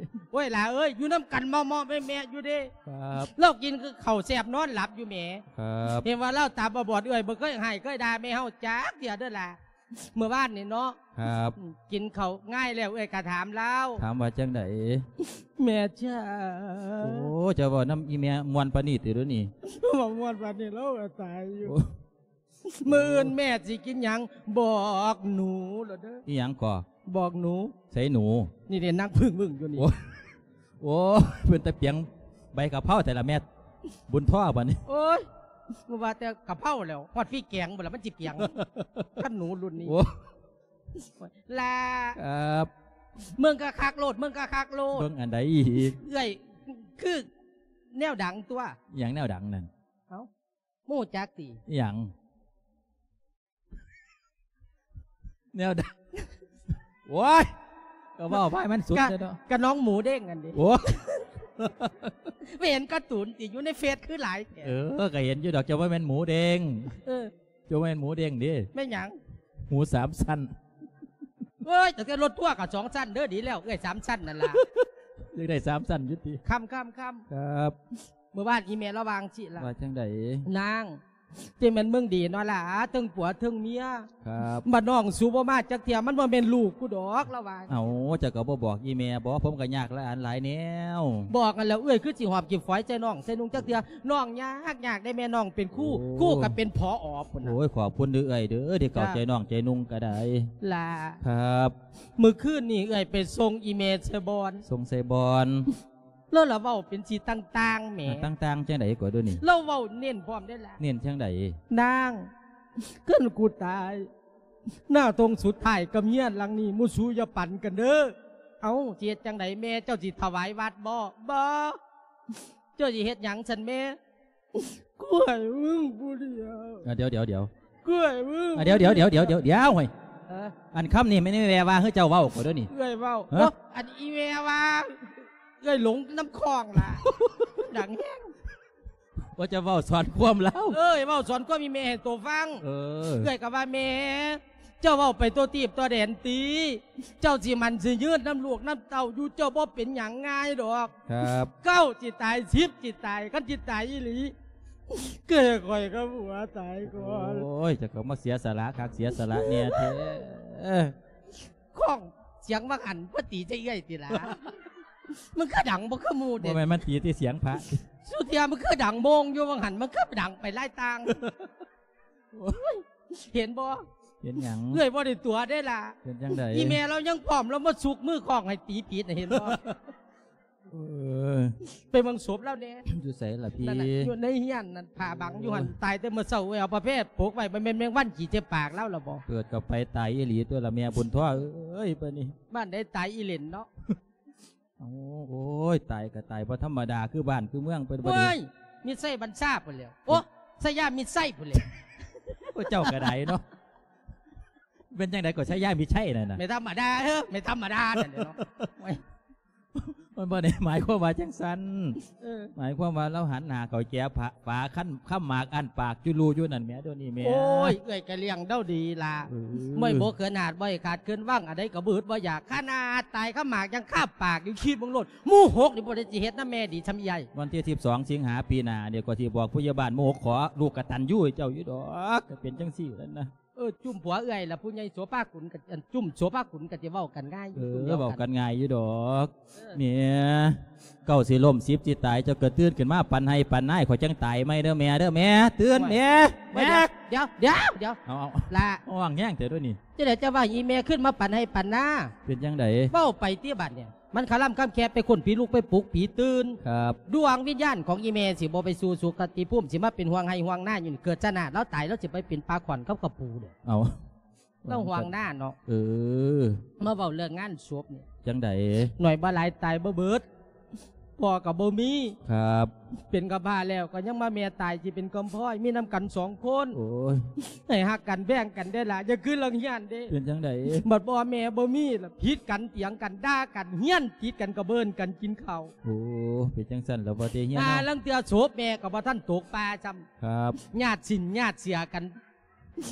ໂອ້ຍ ຫຼ້າເອີຍ ຢູ່ນຳກັນເໝາະໆແມະໆຢູ່ເດ້. ຄັບ. ລາວກິນເຂົ້າແຊບນອນຫຼັບຢູ່ແໝ. ຄັບ. ເຫັນວ່າລາວຕາບອດໆ ເອື້ອຍບໍ່ເຄີຍໃຫ້ເຄີຍດ່າແມ່ເຮົາຈັກເທື່ອເດີຫຼ້າ. ເມື່ອວານນີ້ເນາະ. ຄັບ. ກິນເຂົ້າງາຍແລ້ວ ເອື້ອຍກະຖາມລາວ. ຖາມວ່າຈັ່ງໃດ? ແມ່ເຈົ້າ. ໂອ້ ເຈົ້າເວົ້ານຳອີ່ແມ່ມ່ວນປານນີ້ຕິດຽວນີ້? ເວົ້າມ່ວນປານນີ້ລາວກະຕາຍຢູ່. ໂອ້ ມື້ອື່ນແມ່ຊິກິນຫຍັງ? ບອກໜູໂລດເດີ. ອີ່ຫຍັງກໍ? ບອກໜູ. ໃສໜູ? ນີ້ເດ້ ນັ່ງເພິ່ງວຶ້ງຢູ່ນີ້. ໂອ້ ໂອ້ ເປັນຕາປຽງໃບກະເພົາແທ້ລະແມ່ບຸນທໍບາດນີ້. ໂອ້ຍ ບໍ່ວ່າແຕ່ກະເພົາແລ້ວ ຮອດຟີ່ແກງພຸ້ນລະມັນຊິປຽງ ຄັນໜູລຸ້ນນີ້. ໂອ້ ລະ ຄັບ ເບິ່ງກະຄັກໂລດ ເບິ່ງກະຄັກໂລດ. ເບິ່ງອັນໃດອີກ? ເອື້ອຍ ຄືແນວດັງຕົວະ. ອີ່ຫຍັງແນວດັງນັ້ນ? ເອົ້າ ບໍ່ຮູ້ຈັກຕິ? ອີ່ຫຍັງ? ແນວໃດ? ໂອ້ຍ ກະເວົ້າໄປມັນສຸດແລ້ວເນາະ. ກະນ້ອງໝູເດ້ງຫັ້ນເດ. ໂອ້ ໄປເຫັນກາຕູນຕິ ຢູ່ໃນເຟສຄືຫຼາຍແທ້. ເອີ ກະເຫັນຢູ່ດອກ ເຈົ້າບໍ່ແມ່ນໝູເດ້ງ. ເອີ ເຈົ້າບໍ່ແມ່ນໝູເດ້ງເດ້. ແມ່ນຫຍັງ? ໝູສາມຊັ້ນ. ໂອ້ຍ ຕັ້ງແຕ່ລົດທົວກະສອງຊັ້ນເດີ. ດີແລ້ວ ເອື້ອຍສາມຊັ້ນນັ້ນລະ. ຢາກໄດ້ສາມຊັ້ນຢູ່ຕິ? ຄຳ ຄຳ ຄຳ. ຄັບ. ມື້ວານອີ່ແມ່ລາວວ່າຈັ່ງຊີ້ລະ. ວ່າຈັ່ງໃດ? ນາງ ຈັ່ງແມ່ນເບິ່ງດີເນາະຫຼ້າ ເທິງຜົວເທິງເມຍ. ຄັບ. ບັດນ້ອງສູບໍ່ມາຈັກເທື່ອ ມັນບໍ່ແມ່ນລູກກູດອກ ລາວວ່າ. ເອົ້າ ເຈົ້າກະບໍ່ບອກອີ່ແມ່ບໍ? ຜົມກະຍາກຫຼາຍອັນຫຼາຍແນວ. ບອກຫັ້ນແລ້ວ ເອື້ອຍຄືຊິຫອບກີບຝອຍໃສ່ນ້ອງໃສ່ນຸ່ງຈັກເທື່ອ. ນ້ອງຍາກ ຍາກໄດ້ແມ່ ນ້ອງເປັນຄູ ໂອ້ ຄູກະເປັນ ຜອ ພຸ້ນນະ. ໂອ້ຍ ຂອບຄຸນເດີເອື້ອຍເດີ ທີ່ເຂົ້າໃຈນ້ອງໃຈນຸ່ງກະໄດ້. ຫຼ້າ ຄັບ. ມື້ຄືນນີ້ເອື້ອຍໄປສົ່ງອີ່ແມ່ໃສ່ບ່ອນ ສົ່ງໃສ່ບ່ອນ. ລາວລະເວົ້າເປັນສີຕ່າງໆແໝ. ອ່າ ຕ່າງໆຈັ່ງໃດກໍເດີນີ້? ລາວເວົ້າເນັ້ນພ້ອມເດ້ລະ. ເນັ້ນຈັ່ງໃດ? ນາງ ຄັນກູຕາຍ ໜ້າຕົງສຸດທ້າຍກັບເຮືອນຫຼັງນີ້ ໝູ່ສູຢ່າປັນກັນເດີ. ເອົ້າ ຊິເຮັດຈັ່ງໃດແມ່? ເຈົ້າຊິຖວາຍວັດບໍ? ບໍ່. ເຈົ້າຊິເຮັດຫຍັງຊັ້ນແມ່? ກູໃຫ້ມຶງຜູ້ດຽວ. ອ່າ ດຽວໆໆ ກູໃຫ້ມຶງ. ອ່າ ດຽວໆໆໆ ດຽວ ເອີ ອັນຄຳນີ້ແມ່ນອີແມ່ວ່າ ຄືເຈົ້າເວົ້າກໍເດີນີ້? ເອື້ອຍເວົ້າ. ຮະ? ໂອ້ ອັນອີແມ່ວ່າ ເອື້ອຍຫຼົງນຳຂອງລະ ດັງແຮງ. ວ່າຈະເວົ້າສອນຄວາມລາວ. ເອີ ເວົ້າສອນຄວາມອີແມ່ໃຫ້ໂຕຟັງ. ເອີ ເອື້ອຍກໍວ່າ ແມ່ ເຈົ້າເວົ້າໄປທົ່ວທີບທົ່ວແດນຕິ ເຈົ້າຊິໝັ້ນຊິຍືນນຳລູກນຳເຕົ້າຢູ່ ເຈົ້າບໍ່ເປັນຫຍັງງ່າຍດອກ. ຄັບ ເກົ້າຊິຕາຍ ສິບຊິຕາຍ ຄັນຊິຕາຍອີ່ຫຼີ ເກີດໃຫ້ຂ້ອຍກັບຜົວຕາຍກ່ອນ. ໂອ້ຍ ເຈົ້າກໍມາເສຍສະຫຼະຄັກເສຍສະຫຼະແນ່ແທ້. ຂ້ອງສຽງວ່າຫັ້ນບໍ່ຕີໃສ່ເອື້ອຍຕິລະ? ມັນຄືດັງບໍ່ຄືໝູ່ເດ? ບໍ່ແມ່ນມັນຕີທີ່ສຽງພະ. ສຸເທຍ ມັນຄືດັງໂມງຢູ່ວ່າຫັ້ນ ມັນຄືດັງໄປຫຼາຍຕ່າງ. ໂອ້ຍ ເຫັນບໍ່? ເຫັນຫຍັງ? ເອື້ອຍບໍ່ໄດ້ຕົວະເດ້ລະ. ເປັນຈັ່ງໃດ? ອີແມ່ລາວຍັງພ້ອມ ລາວມາຊຸກມືຄ້ອງໃຫ້ຕີຜິດນະ ເຫັນບໍ່? ເອີ ໄປເບິ່ງສົບລາວແດ່. ຢູ່ໃສລະພີ່? ນັ້ນນະ ຢູ່ໃນເຮືອນນັ້ນ ຜ້າບັງຢູ່ຫັ້ນ. ໂອ້ຍ ຕາຍແຕ່ມື້ເຊົ້າ ເອື້ອຍເອົາຜ້າແພປົກໄວ້ ບໍ່ແມ່ນແມງວັນຂີ້ໃສ່ປາກລາວລະບໍ? ເກີດກໍໄປຕາຍອີ່ຫຼີຕົວລະແມ່ບຸນທົວເອີຍ ບາດນີ້. ບ້ານໃດຕາຍອີ່ເຫຼັ້ນເນາະ. ເອົາ ໂອ້ຍ ຕາຍກໍຕາຍບໍ່ທຳມະດາ ຄືບ້ານຄືເມືອງເພິ່ນ. ໂອ້ຍ ມິດໄຊບັນຊາພຸ້ນແຫຼ້ວ. ໂອ້ ໄຊຍາມິດໄຊພຸ້ນແຫຼ້ວ. ໂອ້ ເຈົ້າກໍໄດ້ເນາະ. ເປັນຈັ່ງໃດກໍໄຊຍາມິດໄຊນັ້ນນະ? ແມ່ນທຳມະດາເອີ ແມ່ນທຳມະດານັ້ນແຫຼະເນາະ. ໂອ້ຍ ມັນບໍ່ໄດ້ໝາຍຄວາມວ່າຈັ່ງຊັ້ນ. ເອີ ໝາຍຄວາມວ່າລາວຫັນໜ້າເຂົ້າແຈ ຝາ ຝາຄັນ ຄຳໝາກອັ້ນປາກຈຸລູຢູ່ນັ້ນແໝ ດຽວນີ້ແໝ. ໂອ້ຍ ເອື້ອຍກໍລ້ຽງລາວດີລະ. ເອີ ບໍ່ໃຫ້ບົກເຂີນຫາດ ບໍ່ໃຫ້ຂາດເຂີນວັງ ອັນໃດກໍບໍ່ອຶດບໍ່ຢາກ. ຂະໜາດຕາຍຄຳໝາກຍັງຄາບປາກຢູ່ ຄິດເບິ່ງໂລດ. ໝູ່ຫົກນີ້ບໍ່ໄດ້ຊິເຮັດນຳແມ່ດີຊ່ຳໃຫຍ່. ວັນທີສິບສອງສິງຫາປີໜ້ານີ້ ຂ້ອຍຊິບອກຜູ້ໃຫຍ່ບ້ານໝູ່ຫົກ ຂໍລູກກະຕັນຍູໃຫ້ເຈົ້າຢູ່ດອກ. ກໍເປັນຈັ່ງຊີ້ນັ້ນນະ. ເອີ ຈຸ້ມຜົວເອື້ອຍລະ ຜູ້ໃຫຍ່ໂສພາກຸນ ກໍ ອັນ ຈຸ້ມໂສພາກຸນກໍຊິເວົ້າກັນງ່າຍຢູ່. ເອີ ເວົ້າກັນງ່າຍຢູ່ດອກ. ເອີ ແມ່ ເກົ້າຊິລົ້ມ ສິບຊິຕາຍ ເຈົ້າກໍຕື່ນຂຶ້ນມາປັນໄຮ່ປັນນາ ຂ້ອຍຈັ່ງຕາຍໃໝ່ເດີແມ່ເດີ. ແມ່ ຕື່ນແມ່ ແມ່. ດຽວ ດຽວ ດຽວ ເອົາ ເອົາ ລະ ເອົາຫວັງແຮງແທ້ດ້ວຍນີ້. ຈັ່ງໃດເຈົ້າວ່າອີແມ່ຂຶ້ນມາປັນໄຮ່ປັນນາ? ເປັນຈັ່ງໃດ? ເວົ້າໄປຕິບາດນີ້. ມັນຄະລຳຄຳແຄບໄປຄົ້ນຜີລຸກໄປປຸກຜີຕື່ນ. ຄັບ ດວງວິນຍານຂອງອີແມ່ຊິບໍ່ໄປສູ່ສຸຄະຕິພູມ ຊິມາເປັນຫ່ວງໄຮ່ຫ່ວງນາຢູ່ນີ້. ເກີດຊາດໜ້າລາວຕາຍ ລາວຊິໄປເປັນປາຂອນກັບກະປູເດີ້. ເອົາ ລາວຫ່ວງນາເນາະ. ເອີ ມາເວົ້າເລື່ອງງານສົບນີ້. ຈັ່ງໃດ? ໜ້ອຍບໍ່ຫຼາຍຕາຍບໍ່ເບິດ. ພໍ່ກໍບໍ່ມີ. ຄັບ ເປັນກຳພ້າແລ້ວກໍຍັງມາແມ່ຕາຍ ຊິເປັນກຳພ້ອຍ ມີນຳກັນສອງຄົນ. ໂອ້ຍ ໃຫ້ຮັກກັນແບ່ງກັນໄດ້ລະ ຢ່າຄືລາງຮຽນເດ້. ເປັນຈັ່ງໃດ? ບັດພໍ່ແມ່ບໍ່ມີລະ ຜິດກັນ ຖຽງກັນ ດ່າກັນ ຮຽນຕິດກັນ ກະເບິ່ນກັນກິນເຂົ້າ. ໂອ້ ເປັນຈັ່ງຊັ້ນລະບໍ່ຕິຮຽນ. ອ່າ ເຮົາ ລາງເທື່ອສົບແມ່ກໍບໍ່ທັນຕົກປ່າຊ້ຳ. ຄັບ ຍາດສິນຍາດເສຍກັນ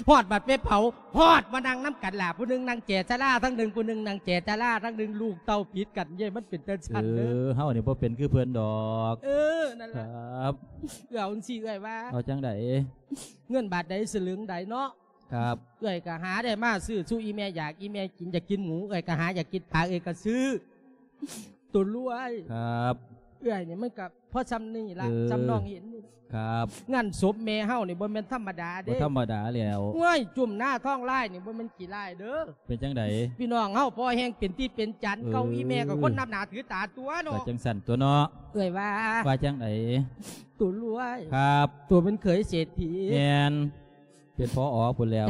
ຮອດບັດໄປເຜົາ ຮອດມານັ່ງນຳກັນລະ ຜູ້ໜຶ່ງນັ່ງແຈສາລາທາງໜຶ່ງ ຜູ້ໜຶ່ງນັ່ງແຈສາລາທາງໜຶ່ງ ລູກເຕົ້າຜິດກັນເດ້. ມັນເປັນຈັ່ງຊັ້ນເດີ. ເອີ ເຮົານີ້ບໍ່ເປັນຄືເພິ່ນດອກ. ເອີ ນັ້ນລະ. ຄັບ ເອື້ອຍ ເອົາຈັ່ງຊີ້ເອື້ອຍວ່າ. ເອົາຈັ່ງໃດ? ເງິນບາດໃດສະລຶງໃດເນາະ. ຄັບ ເອື້ອຍກໍຫາໄດ້ມາຊື້ສູ່ອີແມ່ຢາກ ອີແມ່ກິນຢາກກິນໝູ ເອື້ອຍກໍຫາຢາກກິນປາ ເອື້ອຍກໍຊື້. ໂຕລວຍ. ຄັບ ເອື້ອຍນີ້ມັນກໍພໍຊ່ຳນີ້ລະ. ເອີ ຊ່ຳນ້ອງເຫັນນີ້. ຄັບ ງານສົບແມ່ເຮົານີ້ບໍ່ແມ່ນທຳມະດາເດ້. ບໍ່ທຳມະດາແລ້ວ. ໂອ້ຍ ຈຸ້ມໜ້າທ້ອງລາຍນີ້ບໍ່ແມ່ນຂີ້ລາຍເດີ. ເປັນຈັ່ງໃດ? ພີ່ນ້ອງເຮົາພໍແຮງເປັນທີ່ເປັນຈັນ. ເອີ ເກົ່າອີແມ່ກໍຄົນນັບໜ້າຖືຕາຕົວະເນາະ. ວ່າຈັ່ງຊັ້ນຕົວະເນາະ. ເອື້ອຍວ່າ. ວ່າຈັ່ງໃດ? ໂຕລວຍ. ຄັບ ໂຕເປັນເຂີຍເສດຖີ. ແມ່ນ ເປັນ ຜອ ພຸ້ນແລ້ວ.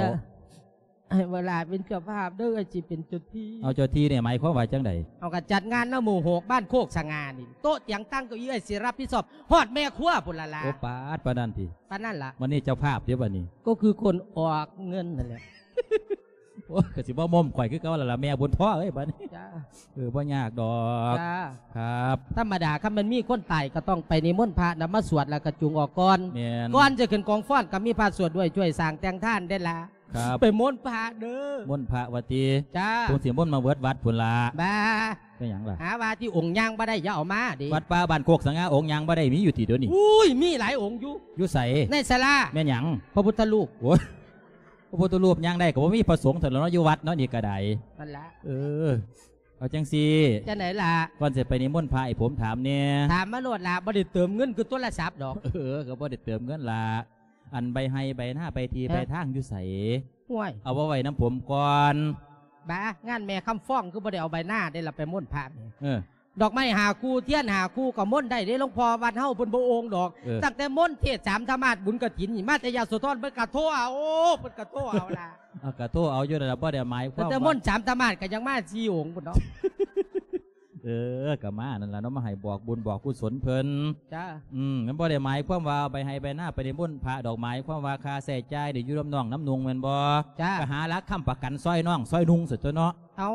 ໃຫ້ວະລາເປັນເຈົ້າພາບເດີ ເອື້ອຍຊິເປັນເຈົ້າທີ່. ເອົາ ເຈົ້າທີ່ນີ້ໝາຍຄວາມວ່າຈັ່ງໃດ? ເຮົາກໍຈັດງານນຳໝູ່ຫົກ ບ້ານໂຄກສະຫງ່ານີ້ ໂຕະຕຽງຕັ່ງເກົ້າອີ້ ເອື້ອຍຊິຮັບຜິດຊອບ ຮອດແມ່ຄົວພຸ້ນລະລະ. ໂອ້ ປາດ ປານນັ້ນຕິ? ປານນັ້ນລະ. ບັດນີ້ເຈົ້າພາບເດ້ບັດນີ້? ກໍຄືຄົນອອກເງິນຫັ້ນແຫຼະ. ໂອ້ຍ ກໍຊິບໍ່ມົ້ມຂ້ອຍຄືເກົ່າລະລະ ແມ່ບຸນທອງເອີຍ ບັດນີ້. ຈ້າ. ເອີ ບໍ່ຍາກດອກ. ຈ້າ. ຄັບ ທຳມະດາ ຄັນມັນມີຄົນຕາຍກໍຕ້ອງໄປນິມົນພະນຳມາສວດ ແລ້ວກໍຈູງອອກກ່ອນ. ແມ່ນ. ກ່ອນຈະຂຶ້ນກອງຟ້ອນກໍມີພະສວດດ້ວຍ ຊ່ວຍສ້າງແຕ່ງທານເດ້ລະ. ຄັບ ໄປມົນພະເດີ. ມົນພະວ່າຕິ? ຈ້າ. ຄົງຊິມົນມາເບິດວັດພຸ້ນລະ. ບ້າ. ເປັນຫຍັງລະ? ຫາວ່າທີ່ອົງຍ່າງບໍ່ໄດ້ ຢ່າເອົາມາເດ້. ວັດປ່າບ້ານໂຄກສະຫງ່າ ອົງຍ່າງບໍ່ໄດ້ ມີຢູ່ຕິດຽວນີ້? ອຸ້ຍ ມີຫຼາຍອົງຢູ່. ຢູ່ໃສ? ໃນສາລາ. ແມ່ນຫຍັງ? ພະພຸດທະຮູບ. ໂອ້ຍ ພະພຸດທະຮູບຍ່າງໄດ້ກໍບໍ່ມີພະສົງເທົ່ານັ້ນເນາະ ຢູ່ວັດເນາະ ນີ້ກໍໄດ້. ນັ້ນລະ. ເອີ ເອົາຈັ່ງຊີ້. ຈັ່ງໃດລະ? ກ່ອນຊິໄປນິມົນພະ ໃຫ້ຜົມຖາມແດ່. ຖາມມາໂລດລະ ບໍ່ໄດ້ເຕີມເງິນຄືໂທລະສັບດອກ. ເອີ ກໍບໍ່ໄດ້ເຕີມເງິນລະ. ອັນໃບໄຮ່ໃບນາ ໃບທີ່ ຮະ? ໃບທາງຢູ່ໃສ? ຫ້ວຍ ເອົາມາໄວ້ນຳຜົມກ່ອນ. ບາ ງານແມ່ຄຳຟອງຄືບໍ່ໄດ້ເອົາໃບນາເດ້ລະ ໄປມົນພະນີ້. ເອີ ດອກໄມ້ຫ້າຄູ່ ທຽນຫ້າຄູ່ກໍມົນໄດ້ເດ້ ຫຼວງພໍ່ວັດເຮົາເພິ່ນບໍ່ໂອ່ງດອກ. ເອີ ຕັ້ງແຕ່ມົນເທດສາມທຳມາດ ບຸນກະຖິນນີ້ ມາແຕ່ຍະໂສທອນ ເພິ່ນກໍໂທເອົາ ເພິ່ນກໍໂທເອົາລະ. ເອົາ ກໍໂທເອົາຢູ່ນັ້ນລະ ບໍ່ໄດ້ໝາຍຄວາມວ່າ ແຕ່ມົນສາມທຳມາດກໍຍັງມາສີ່ອົງພຸ້ນເນາະ. ເອີ ກໍມານັ້ນລະເນາະ ມາໃຫ້ບອກບຸນບອກກຸສົນເພິ່ນ. ຈ້າ. ອືມ ມັນບໍ່ໄດ້ໝາຍຄວາມວ່າເອົາໃບໄຮ່ໃບນາໄປນິມົນພະດອກ ໝາຍຄວາມວ່າຄ່າໃຊ້ຈ່າຍໄດ້ຢູ່ນຳນ້ອງນຳນຸ່ງແມ່ນບໍ່? ຈ້າ. ກໍຫາຫຼັກຄ້ຳປະກັນຊ່ອຍນ້ອງຊ່ອຍນຸ່ງຊະຕົວະເນາະ. ເອົາ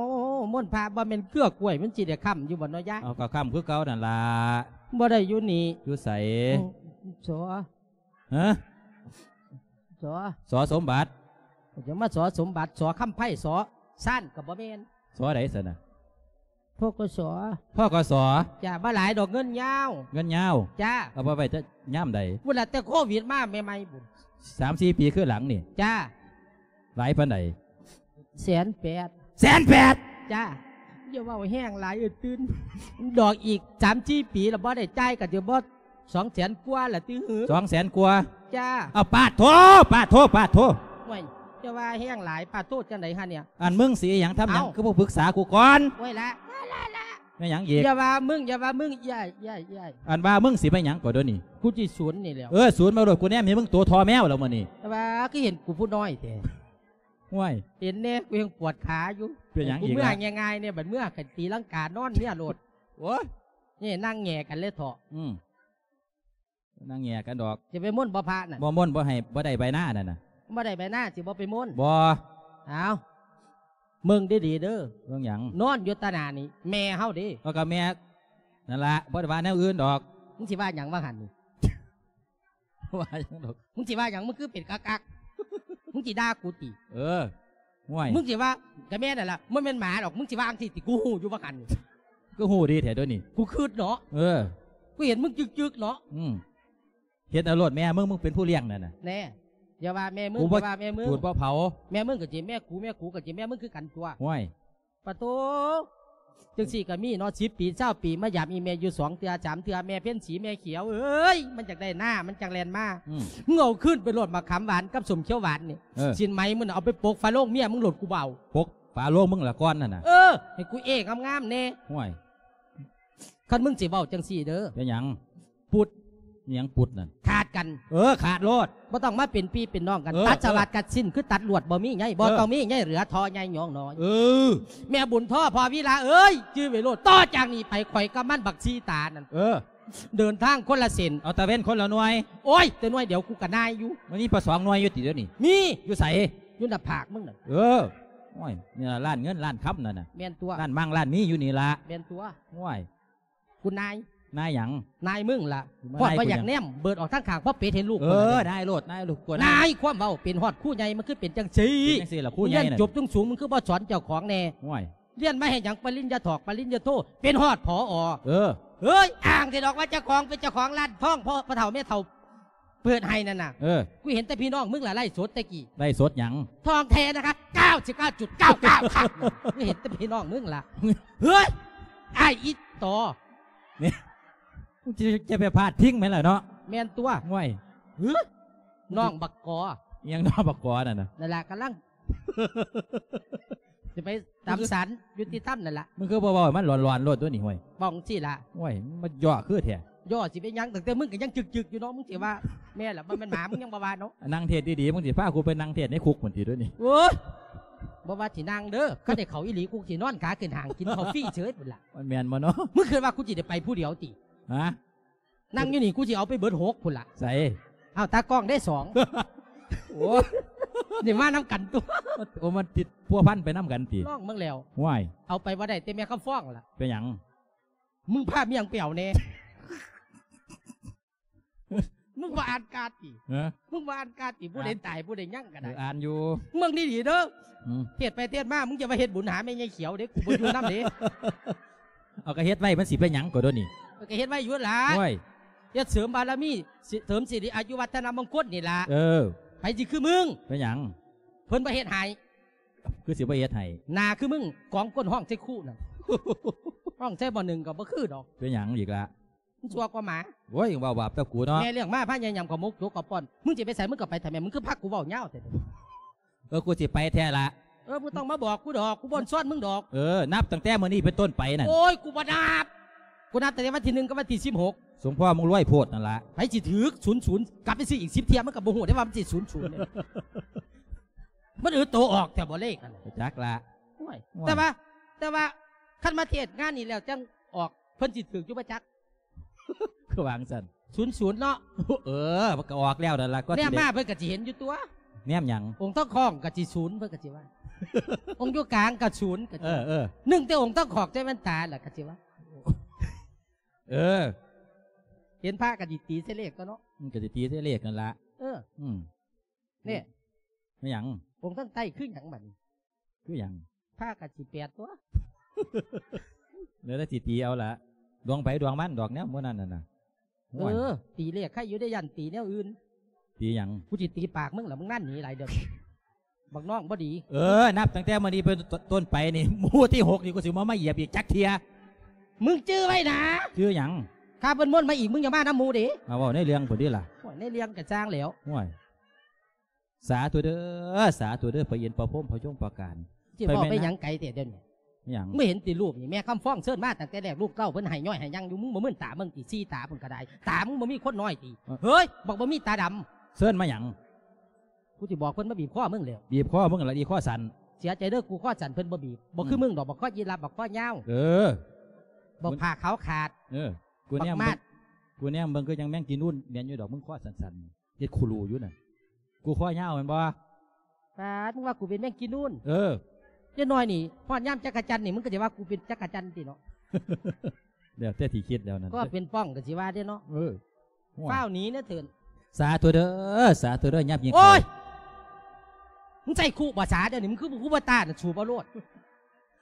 ມົນພະບໍ່ແມ່ນເກືອກລ້ວຍ ມັນຊິໄດ້ຄ້ຳຢູ່ບໍ່ເນາະຍາຍ? ເອົາ ກໍຄ້ຳຄືເກົ່ານັ້ນລະ. ບໍ່ໄດ້ຢູ່ນີ້. ຢູ່ໃສ? ໂອ້ ສ. ຮະ? ສ. ສ. ສົມບັດ. ຈະມາ ສ. ສົມບັດ ສ. ຄຳໄພ ສ. ຊານກໍບໍ່ແມ່ນ. ສ. ໃດຊັ້ນນະ? ພ.ກ.ສ. ພ.ກ.ສ. ຈ້າ ບໍ່ຫຼາຍດອກ ເງິນຍາວ. ເງິນຍາວ? ຈ້າ. ເອົາໄປໄວ້ແຕ່ຍາມໃດ? ພຸ້ນລະ ແຕ່ໂຄວິດມາໃໝ່ໆພຸ້ນ ສາມສີ່ປີຄືຫຼັງນີ້. ຈ້າ. ຫຼາຍປານໃດ? ແສນແປດ. ແສນແປດ? ຈ້າ. ຢ່າເວົ້າແຮງຫຼາຍ ເອີ ຕື່ນ ດອກອີກສາມສີ່ປີລະບໍ່ໄດ້ຈ່າຍ ກໍຈະບໍ່ສອງແສນກວ່າລະຕິຫື? ສອງແສນກວ່າ? ຈ້າ. ເອົາ ປາດໂທ ປາດໂທ ປາດໂທ. ໂອ້ຍ ຢ່າວ່າແຮງຫຼາຍ ປາດໂທຈັ່ງໃດຫະເນຍ? ອັນ ມຶງຊິອີ່ຫຍັງທຳຫຍັງ ເອົ້າ ຄືບໍ່ປຶກສາກູກ່ອນ? ໂອ້ຍລະ ລະ ລະ ລະ ແມ່ນຫຍັງອີກ? ຢ່າວ່າມຶງ ຢ່າວ່າມຶງ ຢ້າຍ ຢ້າຍ ຢ້າຍ. ອັນວ່າມຶງຊິໄປຫຍັງກໍດຽວນີ້? ກູຊິສູນນີ້ແຫຼ້ວ. ເອີ ສູນມາໂລດ ກູແນມໃຫ້ມຶງໂຕທໍ່ແມວແລ້ວມື້ນີ້. ແຕ່ວ່າຄືເຫັນກູຜູ້ນ້ອຍແທ້? ຫ້ວຍ ເຫັນແດ່ ກູຍັງປວດຂາຢູ່. ເປັນຫຍັງອີກລະ? ກູເມືອງ່າຍໆແດ່ ບັດເມືອກໍຕີລັງການອນເມຍໂລດ. ໂອ້ຍ ນີ້ນັ່ງແຫຍ່ກັນເລີຍເຖາະ. ອືມ ນັ່ງແຫຍ່ກັນດອກ. ຈະໄປມົນບໍ່ພະນັ້ນ? ບໍ່ມົນ ບໍ່ໃຫ້ ບໍ່ໄດ້ໃບນານັ້ນນະ. ບໍ່ໄດ້ໃບນາ ຊິບໍ່ໄປມົນ? ບໍ່. ອ້າວ ເບິ່ງດີໆເດີ. ເບິ່ງຫຍັງ? ນອນຢູ່ຕາໜ້ານີ້ ແມ່ເຮົາເດ້. ເອົາ ກໍແມ່ນັ້ນລະ ບໍ່ໄດ້ວ່າແນວອື່ນດອກ. ມຶງຊິວ່າຫຍັງວ່າຫັ້ນນີ້? ວ່າຫຍັງດອກ. ມຶງຊິວ່າຫຍັງ? ມຶງຄືເປັນກະກະ. ມຶງຊິດ່າກູຕິ? ເອີ ຫ້ວຍ ມຶງຊິວ່າ ກະແມ່ນນັ້ນລະ ມັນແມ່ນໝາດອກ. ມຶງຊິວ່າຈັ່ງຊີ້ຕິ? ກູຮູ້ຢູ່ວ່າຫັ້ນ. ຄືຮູ້ດີແທ້ໂຕນີ້? ກູຄິດເນາະ. ເອີ ກູເຫັນມຶງຈຶກໆເນາະ. ອືມ ເຮັດເອົາໂລດແມ່ມຶງ ມຶງເປັນຜູ້ລ້ຽງນັ້ນນະ. ແນ່ ຢ່າວ່າແມ່ມຶງ ຢ່າວ່າແມ່ມຶງ ຈູດບໍ່ເຜົາ. ແມ່ມຶງກໍຊິແມ່ກູ ແມ່ກູກໍຊິແມ່ມຶງຄືກັນຕົວະ. ຫ້ວຍ ປະໂຕ ຈັ່ງຊີ້ກໍມີເນາະ. ສິບປີຊາວປີ ມາຢາມອີ່ແມ່ຢູ່ສອງເທື່ອສາມເທື່ອ. ແມ່ເພັນສີ ແມ່ຂຽວເອີຍ ມັນຢາກໄດ້ນາ ມັນຈັ່ງແລ່ນມາ. ອືມ ມຶງເອົາຄືນໄປໂລດ ໝາກຂາມຫວານກັບສົ້ມຂຽວຫວານນີ້. ເອີ ສິ້ນໄໝມຶງເອົາໄປປົກຝາໂລງເມຍມຶງໂລດ ກູເບົາ. ປົກຝາໂລງມຶງລະກ່ອນຫັ້ນນະ. ເອີ ໃຫ້ກູເອງາມໆແດ່. ຫ້ວຍ ຄັນມຶງຊິເວົ້າຈັ່ງຊີ້ເດີ. ເປັນຫຍັງ? ປຸດ. ອີ່ຫຍັງປຸດນັ້ນ? ຂາດກັນ. ເອີ ຂາດໂລດ. ບໍ່ຕ້ອງມາເປັນພີ່ເປັນນ້ອງກັນ. ເອີ ຕັດສະຫວັດ ເອີ ກັດສິ້ນ ຄືຕັດລວດ ບໍ່ມີໃຍ ບໍ່ ເອີ ຕ້ອງມີໃຍ ເຫຼືອທໍ່ໃຫຍ່ຍອງນ້ອຍ. ເອີ ແມ່ບຸນທໍພໍ່ວິລາເອີຍ ຈື່ໄວ້ໂລດ. ຕໍ່ຈາກນີ້ໄປ ຂ້ອຍກັບມັນບັກຊີຕານັ້ນ ເອີ ເດີນທາງຄົນລະເສັ້ນ ເອົາຕາເວັນຄົນລະໜ່ວຍ. ໂອ້ຍ ແຕ່ໜ່ວຍດຽວກູກະນາຍຢູ່. ມັນມີປະສອງໜ່ວຍຢູ່ຕິດຽວນີ້? ມີ. ຢູ່ໃສ? ຢູ່ໜ້າຜາກມຶງນັ້ນ. ເອີ ໂອ້ຍ ນີ້ລະຮ້ານເງິນຮ້ານຄຳນັ້ນນະ. ແມ່ນຕົວະ. ຮ້ານມັ່ງຮ້ານມີຢູ່ນີ້ລະ. ແມ່ນຕົວະ. ໂອ້ຍ ກູນາຍ. ນາຍຫຍັງ? ນາຍມຶງລະ. ມາ ຮອດບໍ່ຢາກແນມ ເບີດອອກທາງຂ້າງ ພໍເປັດເຫັນລູກ. ເອີ ນາຍໂລດ ນາຍລູກ ນາຍ ຄວາມເວົ້າເປັນຮອດຄູໃຫຍ່ ມັນຄືເປັນຈັ່ງຊີ້? ເປັນຈັ່ງຊີ້ລະ ຄູໃຫຍ່ ຮຽນຈົບສູງໆ ມຶງຄືບໍ່ສອນເຈົ້າຂອງແດ່? ໂອ້ຍ ຮຽນມາເຮັດຫຍັງ ປະລິນຍາຖອກ ປະລິນຍາໂທ ເປັນຮອດ ຜອ. ເອີ ເຮີ້ຍ ອ້າງແຕ່ດອກວ່າເຈົ້າຂອງເປັນເຈົ້າຂອງຮ້ານທອງ ພໍ່ ພໍ່ເຖົ້າແມ່ເຖົ້າ ເປີດໃຫ້ນັ້ນນະ. ເອີ ກູເຫັນແຕ່ພີ່ນ້ອງມຶງລະໄລຟ໌ສົດແຕ່ກີ້. ໄລຟ໌ສົດຫຍັງ? ທອງແທ້ນະຄະ ເກົ້າສິບເກົ້າຈຸດເກົ້າເກົ້າ ຄັບ. ກູເຫັນແຕ່ພີ່ນ້ອງມຶງລະ. ເຮີ້ຍ ອ້າຍອີ່ຕໍ ນີ້ ມຶງຈະ ຈະໄປພາດພິງແມ່ນລະເນາະ. ແມ່ນຕົວະ. ໂອ້ຍ ຫື ນ້ອງບັກກອ. ອີ່ຫຍັງນ້ອງບັກກອນັ້ນນະ? ນັ້ນລະ ກຳລັງ ຊິໄປຕາມສານຍຸຕິທຳນັ້ນລະ. ມຶງຄືບໍ່ເວົ້າໃຫ້ມັນຫຼອນໆໂລດຕົວະນີ້ ໂອ້ຍ ເວົ້າຈັ່ງຊີ້ລະ. ໂອ້ຍ ມັນມາຍໍ້ຄືແທ້. ຍໍ້ຊິເປັນຫຍັງ? ຕັ້ງແຕ່ມຶງກໍຍັງຈຶກໆຢູ່ເນາະ. ມຶງຊິວ່າແມ່ລະ ບໍ່ແມ່ນໝາ ມຶງຍັງບໍ່ວ່າເນາະ. ນັ່ງເທດດີໆ ມຶງຊິພາກູໄປນັ່ງເທດໃນຄຸກພຸ້ນຕິດຽວນີ້? ໂອ້ຍ ບໍ່ວ່າຊິນັ່ງເດີ ຄັນໄດ້ເຂົ້າອີ່ຫຼີ ກູຊິນອນຂາຂຶ້ນຫ້າງກິນເຂົ້າຟຣີເສີຍພຸ້ນລະ. ມັນແມ່ນບໍ່ເນາະ? ມຶງຄິດວ່າກູຊິໄດ້ໄປຜູ້ດຽວຕິ? ຮະ? ນັ່ງຢູ່ນີ້ ກູຊິເອົາໄປເບິດຫົກພຸ້ນລະ. ໃສ? ເອົາ ຕາກ້ອງໄດ້ສອງ. ໂອ້ ນີ້ມານຳກັນຕົວະ. ໂອ້ ມັນຕິດພົວພັນໄປນຳກັນຕິ? ລອງເບິ່ງແລ້ວ. ຫ້ວຍ ເອົາໄປບໍ່ໄດ້ ແຕ່ແມ່ຄຳຟອງລະ. ເປັນຫຍັງ? ມຶງພາເມຍມຶງໄປເອົາແດ່. ມຶງບໍ່ອ່ານກາດຕິ? ຮະ? ມຶງບໍ່ອ່ານກາດຕິ? ອ່ານ ຜູ້ໃດຕາຍ ຜູ້ໃດຍັງກໍໄດ້. ເອີ ອ່ານຢູ່. ເບິ່ງດີໆເດີ. ອືມ ເທດໄປເທດມາ ມຶງຢ່າວ່າເຮັດບຸນຫາແມ່ໃຫຍ່ຂຽວເດ້ ກູບໍ່ຢູ່ນຳເດ້. ເອົາ ກໍເຮັດໄວ້ ມັນຊິເປັນຫຍັງກໍໂດນນີ້? ເອີ ກໍເຮັດໄວ້ຢູ່ລະ. ໂອ້ຍ ເຮັດເສີມບາລະມີ ເສີມສິລິອາຍຸວັດທະນະມົງຄົນນີ້ລະ. ເອີ ໃຜຊິຄືມຶງ? ເປັນຫຍັງ? ເພິ່ນບໍ່ເຮັດໃຫ້. ຄືຊິບໍ່ເຮັດໃຫ້? ໜ້າຄືມຶງ ກອງກົ້ນຮ້ອງໃສ່ຄູນັ້ນ. ຮ້ອງໃສ່ໝໍ້ໜຶ່ງກໍບໍ່ຄືດອກ. ເປັນຫຍັງອີກລະ? ມັນຊົ່ວກວ່າໝາ. ໂອ້ຍ ເວົ້າບາບແຕ່ກູເນາະ. ແມ່ລ້ຽງມາພາຍາຍາມເຂົ້າໝົກຈົກເຂົ້າປ້ອນ. ມຶງຊິໄປໃສ ມຶງກໍໄປແທ້ແມ່. ມຶງຄືພາກູເວົ້າຍາວແທ້? ເອີ ກູຊິໄປແທ້ລະ. ເອີ ບໍ່ຕ້ອງມາບອກກູດອກ ກູບໍ່ຊອນມຶງດອກ. ເອີ ນັບຕັ້ງແຕ່ມື້ນີ້ເປັນຕົ້ນໄປນັ້ນ. ໂອ້ຍ ກູບໍ່ນັບ. กูนับตั้งแต่วันที่หนึ่งกับวันที่สิบหก สมพอมึงรวยโพดนั่นละ ไผสิถืก ศูนย์ศูนย์ กลับไปซื้ออีกสิบเทื่อ มันก็บ่ฮู้ได้ว่ามันสิ ศูนย์ศูนย์ เนี่ย มันอืดโตออกแท้บ่เลขนั่นน่ะ จักละ โอ้ย โอ้ย แต่ว่า แต่ว่า คันมาเทศน์งานนี้แล้วจั่งออก เพิ่นสิถืกอยู่บ่จัก คือวางซั่น ศูนย์ศูนย์ เนาะ เออ มันก็ออกแล้วนั่นล่ะ ก็สิ แนมมา ได้ เพิ่นก็สิเห็นอยู่ตั๊ว แนมหยัง องค์ทองคองก็สิศูนย์ เพิ่นก็สิว่า องค์อยู่กลางก็ศูนย์ ก็สิ เออ เออ นึ่งแต่องค์ทองคองใส่แว่นตาล่ะก็สิว่า เออ เห็นพระก็สิตีใส่เลขตั๊วเนาะ มันก็สิตีใส่เลขนั่นล่ะ เออ อืม นี่ แม่นหยัง องค์ทางใต้คือหยังบัดนี้ คือหยัง พระก็สิแปดตั๊ว แล้วแต่สิตีเอาล่ะ ดวงไผดวงมันดอกแนวมื้อนั้นน่ะนะ โอ้ย เออ ตีเลขใครอยู่ได้ ย่านตีแนวอื่น ตีหยัง กูสิตีปากมึงล่ะ มึงนั่นหนีหลายเดือน บักน้องบ่ดี เออ นับตั้งแต่มื้อนี้เป็นต้นไปนี่ หมู่ที่หกนี่กูสิบ่มาเหยียบอีกจักเทื่อ มึงจื่อไว้นะ จื่อหยัง ถ้าเพิ่นมนต์มาอีก มึงอย่ามานำหมู่เด้ มาเว้าในเรื่องพุ้นติล่ะ โอ้ย ในเรื่องก็ซ่างแล้ว โอ้ย สาธุเด้อ สาธุเด้อ พระอินทร์ พระพรหม พระยม พระการ สิเว้าไปหยังไกลแท้เดี๋ยวนี้ หยัง มึงเห็นติรูปนี่ แม่คำฟ้องเชิญมาตั้งแต่แรก ลูกเต้าเพิ่นให้ย้อยให้ยังอยู่ มึงบ่มื่นตาเบิ่งติ สี่ตาพุ้นก็ได้ ตามึงบ่มีคนน้อยติ เอ้อ เฮ้ย บักบ่มีตาดำ เชิญมาหยัง กูสิบอกเพิ่นมาบีบคอมึงแล้ว บีบคอมึงล่ะ อีคอสั้น เสียใจเด้อ กูคอสั้นเพิ่นบ่บีบ บ่คือ อืม มึงดอก บักคอยีราฟ บักคอยาว เออ บักผ้าขาวขาด เออ กูแนม บักมาด กูแนมเบิ่งคือจั่งแมงจีนูนแม่นอยู่ดอก มึงคอสั้นๆ เฮ็ดคูรูอยู่น่ะ กูคอยาวแม่นบ่ ปาด มึงว่ากูเป็นแมงจีนูน เออ จักหน่อยนี่ ฮอดยามจักจั่นนี่ มึงก็สิว่ากูเป็นจักจั่นติเนาะ แล้วแต่สิคิดแล้วนั่น ก็เป็นป้องก็สิว่าเด้เนาะ เออ โอ้ย ฟ้าวหนีนะเถิน สาธุเด้อ สาธุเด้อ ยามยิง โอ้ย เขา มึงใส่คุบ่สาเดี๋ยวนี้ มึงคือบ่คุบ่ตาน่ะ สูบเอาโลด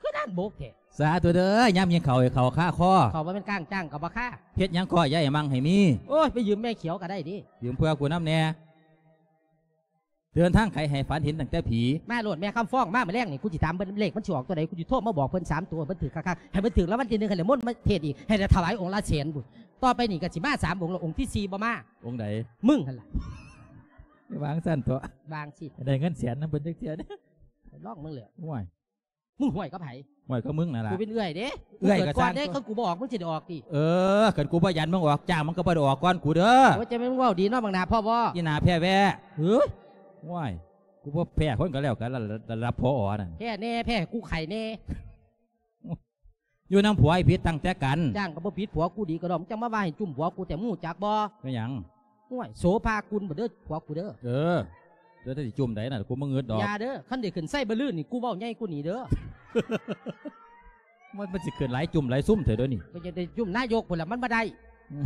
คือด้านบกแท้ สาธุเด้อ ยามยิงเขาให้เขาคาคอ เขาบ่แม่นก้างจ้างก็บ่คา เฮ็ดหยังก็อย่าให้มั่งให้มี โอ้ย ไปยืมแม่เขียวก็ได้เด้ ยืมเพื่อกูนำแหน่ เดินทางไกลให้ฝันเห็นตั้งแต่ผี มาโลดแม่คำฟ้อง มามื้อแลงนี่ กูสิถามเพิ่นเลขมันสิออกตัวใด กูสิโทรมาบอกเพิ่นสามตัว เพิ่นถืกคักๆ ให้เพิ่นถืกรางวัลที่หนึ่ง ให้ได้มนต์มาเทศน์อีก ให้ได้ถวายองค์ละแสนพุ้น ต่อไปนี่ก็สิมาสามองค์แล้ว องค์ที่สี่บ่มา องค์ใด มึงหั่นล่ะ วางซั่นเถาะ วางสิ ได้เงินแสนนำเพิ่นจักเทื่อเด้ ลองมึงแหละ โอ้ย มึงห้วยกับไผ ห้วยกับมึงนั่นล่ะ กูเป็นเอื้อยเด้ เอื้อย มึงเกิดก่อนเด้ ก็สร้างตัว คันกูบ่ออก มึงสิได้ออกติ เออ คันกูบ่ยันมึงออก จ้างมึงก็บ่ได้ออกก่อนกูเด้อ โอ้ย จะแม่นมึงเว้าดีเนาะ บักหน้าพ่อบ่ อีหน้าแพ้แว่ เฮ้ย โอ้ย กูบ่แพ้คนก็แล้วกัน ระ ระดับ ผอ นั่น แพ้แน่ แพ้กูไข่แน่ อยู่นำผัวให้ผิดตั้งแต่กัน จ้างก็บ่ผิด ผัวกูดีก็ดอก มึงจั่งมาว่าให้จุ่มผัวกู แต่มึงรู้จักบ่ เป็นหยัง โอ้ย โสภากุลบ่เด้อ ผัวกูเด้อ เออ เดี๋ยวสิจุ่มใดน่ะ กูบ่งึดดอก อย่าเด้อ คันได้ขึ้นไซบ่ลื่นนี่ กูเว้าใหญ่กว่านี้เด้อ มัน มันสิขึ้นหลายจุ่มหลายซุ่มเถาะเดี๋ยวนี้ ก็จะได้จุ่มนายกพุ้นล่ะ มันบ่ได้ อืม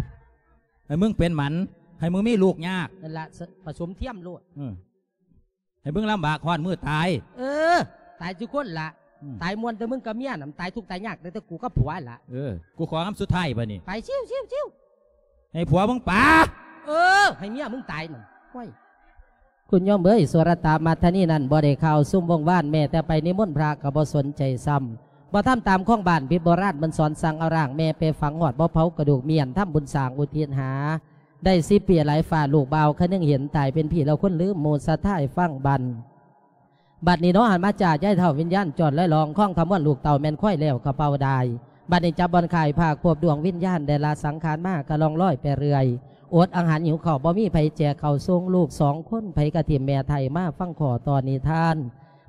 ให้มึงเป็นหมัน ให้มึงมีลูกยาก นั่นล่ะ ผสมเทียมโลด เออ ให้มึงลำบากฮอดมื้อตาย เออ ตายทุกคนล่ะ อืม ตายม่วนแต่มึงกับเมียน่ะ มันตายทุกข์ตายยาก แต่ แต่กูกับผัวล่ะ เออ กูขอคำสุดท้ายบัดนี้ ไป ชิวๆๆ ให้ผัวมึงป๋า เออ ให้เมียมึงตายนั่น โอ้ย คุณโยมเอ้ย สุรตามัทธนีนั่นบ่ได้ข่าวซุมวงวาน แม้แต่ไปนิมนต์พระก็บ่สนใจซ้ำ บ่ทำตามของบ้าน ผิดโบราณมันสอน สั่งเอาร่างแม่ไปฝัง ฮอดบ่เผากระดูกเมี้ยน ทำบุญสร้างอุทิศหา ได้สิบปีหลายฟ้า ลูกบ่าวคนหนึ่งเห็น ตายเป็นผีแล้วคนลืม หมู่ศรัทธาให้ฟังบัด บัดนี้เนาะ หันมาจ้า ยายเฒ่าวิญญาณจอดลอยลอง ของขมวดลูกเต้าแม่นควายแล้วกระเป๋าได้ บัดนี้จับบ่อนขายภาคพบดวงวิญญาณ ได้ละสังขารมาก็ล่องลอยไปเรื่อย อดอาหารหิวข้าวบ่มีไผแจกข้าวส่งลูกสองคน ไผกะถิ่มแม่ไท้มาฟังข้อต่อนิทาน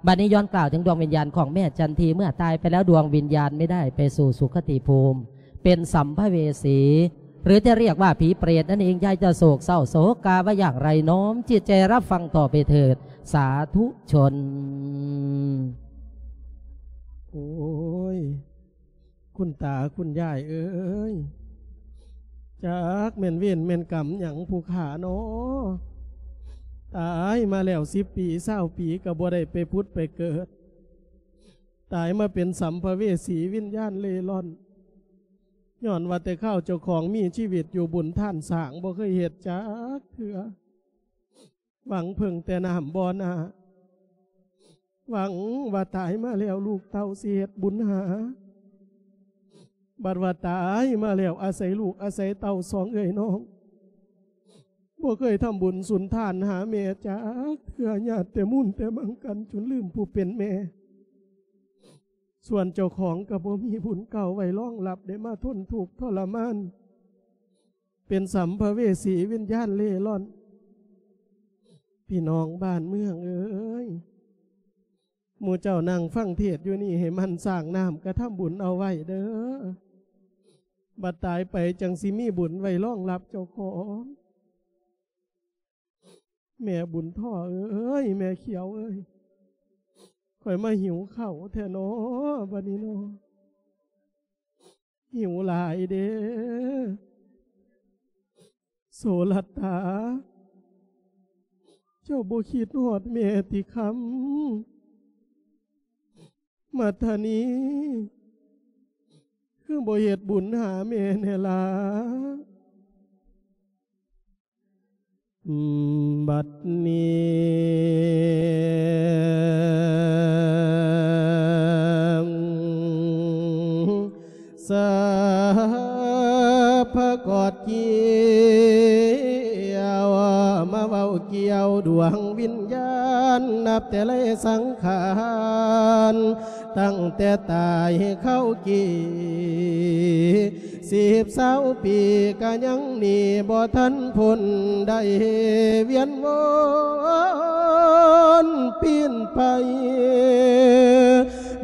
บัดนี้ย้อนกล่าวถึงดวงวิญญาณของแม่จันที เมื่อตายไปแล้วดวงวิญญาณไม่ได้ไปสู่สุคติภูมิ เป็นสัมภเวสี หรือจะเรียกว่าผีเปรตนั่นเอง ยายจะโศกเศร้าโศกาว่าอย่างไร น้อมจิตใจรับฟังต่อไปเถิด สาธุชน โอ้ย คุณตาคุณยายเอ้ย จักแม่นเวรแม่นกรรมหยังผู้ข้าน้อ ตายมาแล้วสิบปีซาวปีก็บ่ได้ไปผุดไปเกิด ตายมาเป็นสัมภเวสีวิญญาณเล่ร่อน ย้อนว่าแต่คราวเจ้าของมีชีวิตอยู่บุญทานสร้างบ่เคยเฮ็ดจักเทื่อ หวังเพิ่งแต่น้ำบ่อหน้า หวังว่าตายมาแล้วลูกเต้าสิเฮ็ดบุญหา บัดว่าตายมาแล้วอาศัยลูกอาศัยเต้าสองเอื้อยน้อง บ่เคยทำบุญสุนทานหาแม่จักเทื่อ ญาติแต่มุ่นแต่มั่งกันจนลืมผู้เป็นแม่ ສ່ວນເຈົ້າຂອງກໍບໍ່ມີບຸນເກົ່າໄວ້ຮອງຮັບ ໄດ້ມາທົນທຸກທໍລະມານ ເປັນສຳພະເວສີວິນຍານເລ່ລ່ອນ. ພີ່ນ້ອງບ້ານເມືອງເອີຍ, ໝູ່ເຈົ້ານັ່ງຟັງເທດຢູ່ນີ້ ໃຫ້ໝັ່ນສ້າງນ້ຳກະທຳບຸນເອົາໄວ້ເດີ. ບັດຕາຍໄປຈັ່ງຊິມີບຸນໄວ້ຮອງຮັບເຈົ້າຂອງ. ແມ່ບຸນທໍເອີຍ, ແມ່ຂຽວເອີຍ, ຂ້ອຍມາຫິວເຂົ້າແທ້ນໍ ບັດນີ້ນໍ. ຫິວຫຼາຍເດ້. ໂສລັດຕາ, ເຈົ້າບໍ່ຄິດຮອດແມ່ຕິຄຳ? ມັດທະນີ, ຄືບໍ່ເຮັດບຸນຫາແມ່ແດ່ລະ? ບັດນີ້ ສາພະກອດກ່ຽວ ມາເວົ້າກ່ຽວດວງວິນຍານ ນັບແຕ່ໄລສັງຂານ ຕັ້ງແຕ່ຕາຍເຂົ້າກີ່ ສິບຊາວປີກະຍັງໜີບໍ່ທັນພົ້ນ ໄດ້ວຽນວົນປິ່ນໄປ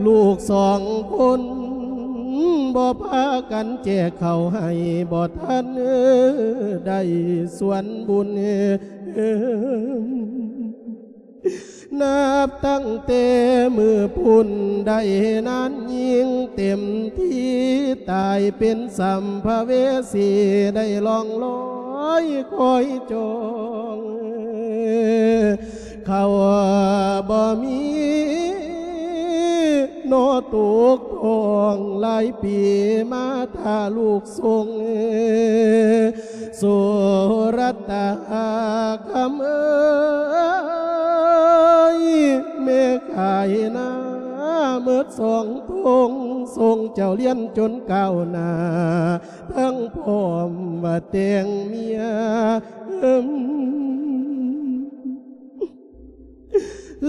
ລູກສອງຄົນບໍ່ພາກັນແຈກເຂົ້າໃຫ້ ບໍ່ທັນໄດ້ສວນບຸນ. ນັບຕັ້ງແຕ່ມື້ພຸ້ນໄດ້ນານຍິ່ງເຕັມທີ່ ຕາຍເປັນສຳພະເວສີ ໄດ້ລ່ອງລອຍຄອຍຈອງ ເຂົ້າບໍ່ມີ ນໍຕົກທ້ອງ ຫຼາຍປີມາຖ້າລູກສົ່ງ ສຸລັດຕາຄຳເອີຍ ແມ່ຂາຍນາເໝິດສອງທົ່ງ ສົ່ງເຈົ້າລຽນຈົນກ້າວໜ້າ ທັງພ້ອມວ່າແຕ່ງເມຍ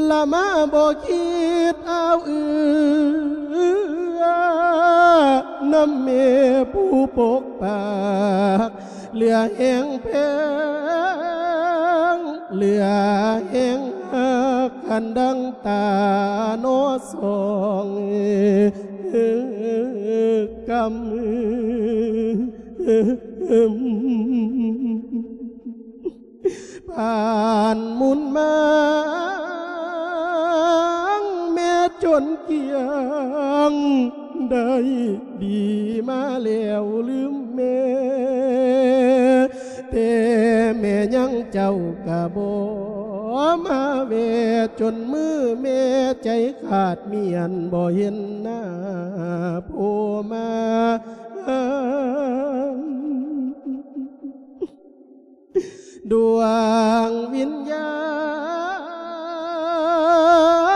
ລະມາບໍ່ຄິດອາວເອື້ອນຳແມ່ຜູ້ປົກປັກ ເຫຼືອແຮງແພງ ເຫຼືອແຮງຮັກ ຄັນດັ່ງຕານໍສອງກຳ. ຜ່ານໝູນມາງແມ່ຈົນກຽງ ໄດ້ດີມາແລ້ວລືມແມ່ ແຕ່ແມ່ຍັງເຈົ້າກະບໍ່ມາແວ່ ຈົນມື້ແມ່ໃຈຂາດມ້ຽນ ບໍ່ເຫັນໜ້າຜູ້ມາ ດວງວິນຍາ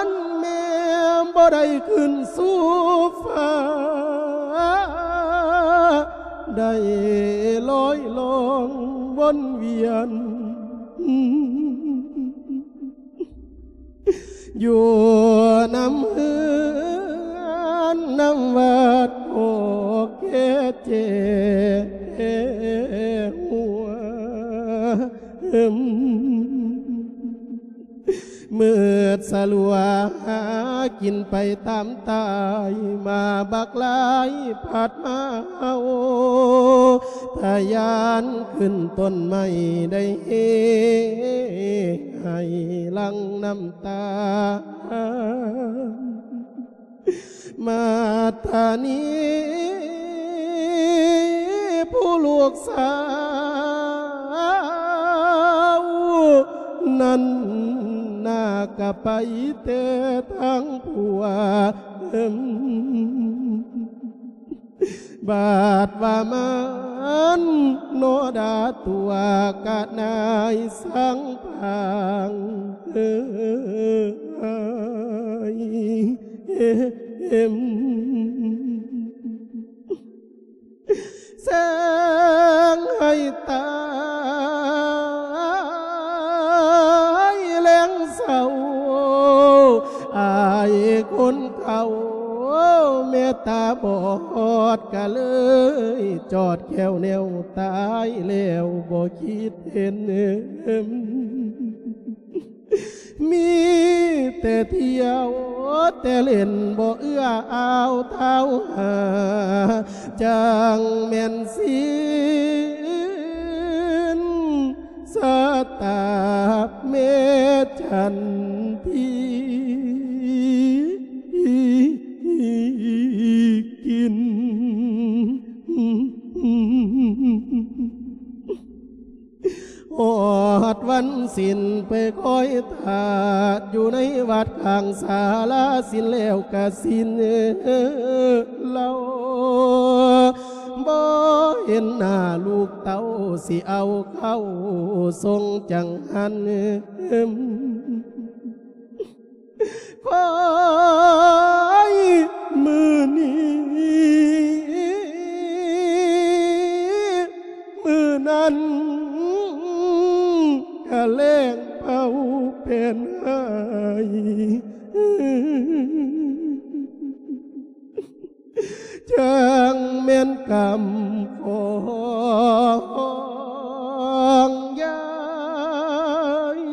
ນແມ່ບໍ່ໄດ້ຂຶ້ນສູ່ຟ້າ ໄດ້ລອຍລ່ອງວົນວຽນ ຢູ່ນຳເຮືອນນຳວັດ ໂອເຄເຈຫົວ ມືດສະຫຼົວ ຫາກິນໄປຕາມຕາຍ ໝາກບັກຫຼາຍພັດມາເອົາ ທະຍານຂຶ້ນຕົ້ນໄມ້ ໄດ້ເຮໄຫ້ຫຼັ່ງນ້ຳຕາ. ມາດທານີ ຜູ້ລູກສາວນັ້ນ ໜ້າກະໄປແຕ່ທາງຜົວ ບາດວ່າມັນໂນດາຕົວກະນາຍສັງພັງ ເອີຍ ເອັມ ແສງໃຫ້ຕາຍແລງເສົ້າ ອາຍຄົນເຖົ້າ ຕາບອດກະເລີຍຈອດແຂ້ວແນວຕາຍແລ້ວບໍ່ຄິດເຫັນ ມີແຕ່ທ່ຽວແຕ່ຫຼິ້ນບໍ່ເອື້ອອາວທ້າວຫາ ຈັ່ງແມ່ນສິນຊະຕາແມ່ຈັນທີກິນ. ຮອດວັນສິນໄປຄອຍຖ້າ ຢູ່ໃນວັດຂ້າງສາລາສິນແລ້ວກະສິນເລົ່າ ບໍ່ເຫັນໜ້າລູກເຕົ້າ ຊິເອົາເຂົ້າສົ່ງຈັງຫັນ ຄອຍມື້ນີ້ມື້ນັ້ນ ກະແລ້ງເຜົາເປັນໄຫ້ ຈັ່ງແມ່ນກຳຂອງຍາຍ.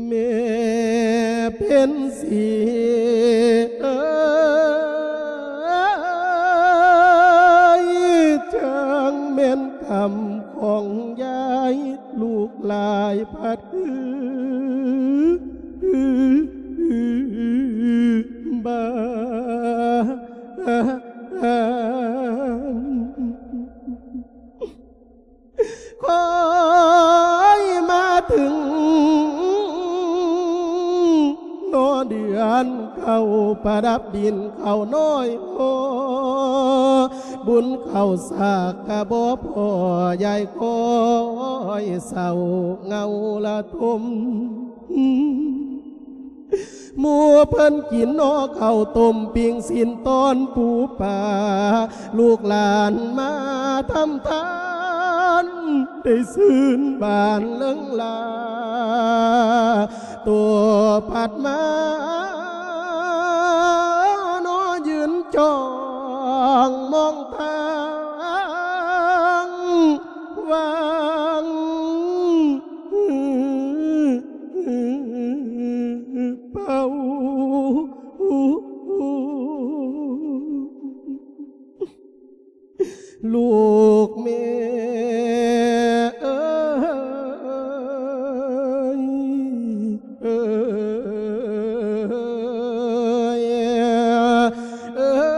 ແມ່ເພັນສີເອີຍ ຈັ່ງແມ່ນກຳຂອງຍາຍ ລູກຫຼາຍພັດຄືບ້ານ. ຄອຍມາເຖິງໜໍ່ເດືອນເຂົ້າປະດັບດິນເຂົ້ານ້ອຍ ໂອ ບຸນເຂົ້າສາກກະບໍ່ພໍ ຍາຍຄອຍເສົ້າເຫງົາລະທົມ. ໝູ່ເພິ່ນກິນໜໍ່ເຂົ້າຕົ້ມ ປີ້ງຊີ້ນຕ້ອນປູປາ ລູກຫຼານມາທຳທານ ໄດ້ຊື່ນບານເລິງລາ ໂຕພັດມາ ໜໍ່ຢືນຈ້ອງມອງທາງ ຫວ່າງເປົ່າ ລູກແມ່ເອີຍ ເອີຍ ເອີຍ.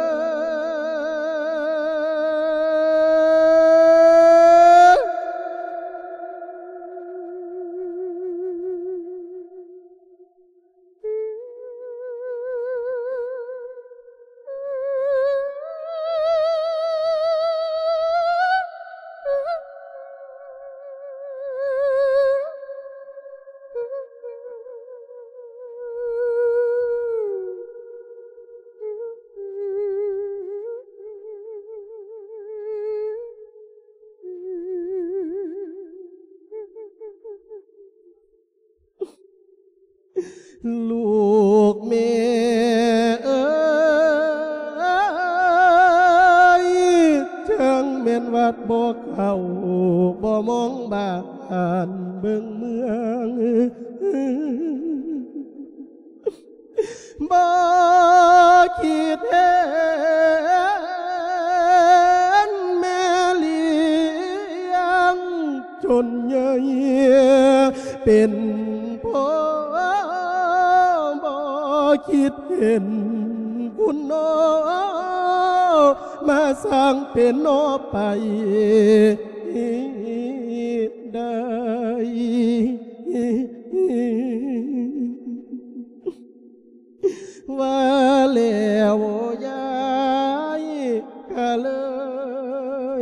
ລູກແມ່ເອີຍ ຈັ່ງແມ່ນວັດບໍ່ເຂົ້າ ບໍ່ມອງບ້ານເບິ່ງເມືອງ ບໍ່ຄິດເຫັນແມ່ລ້ຽງຈົນໃຫຍ່ເປັນພໍ່ ບໍ່ຄິດເຫັນຄຸນນ້ອ ມາສ້າງເປັນໜໍ່ໄປໄດ້ ວ່າແລ້ວຍາຍກະເລີຍ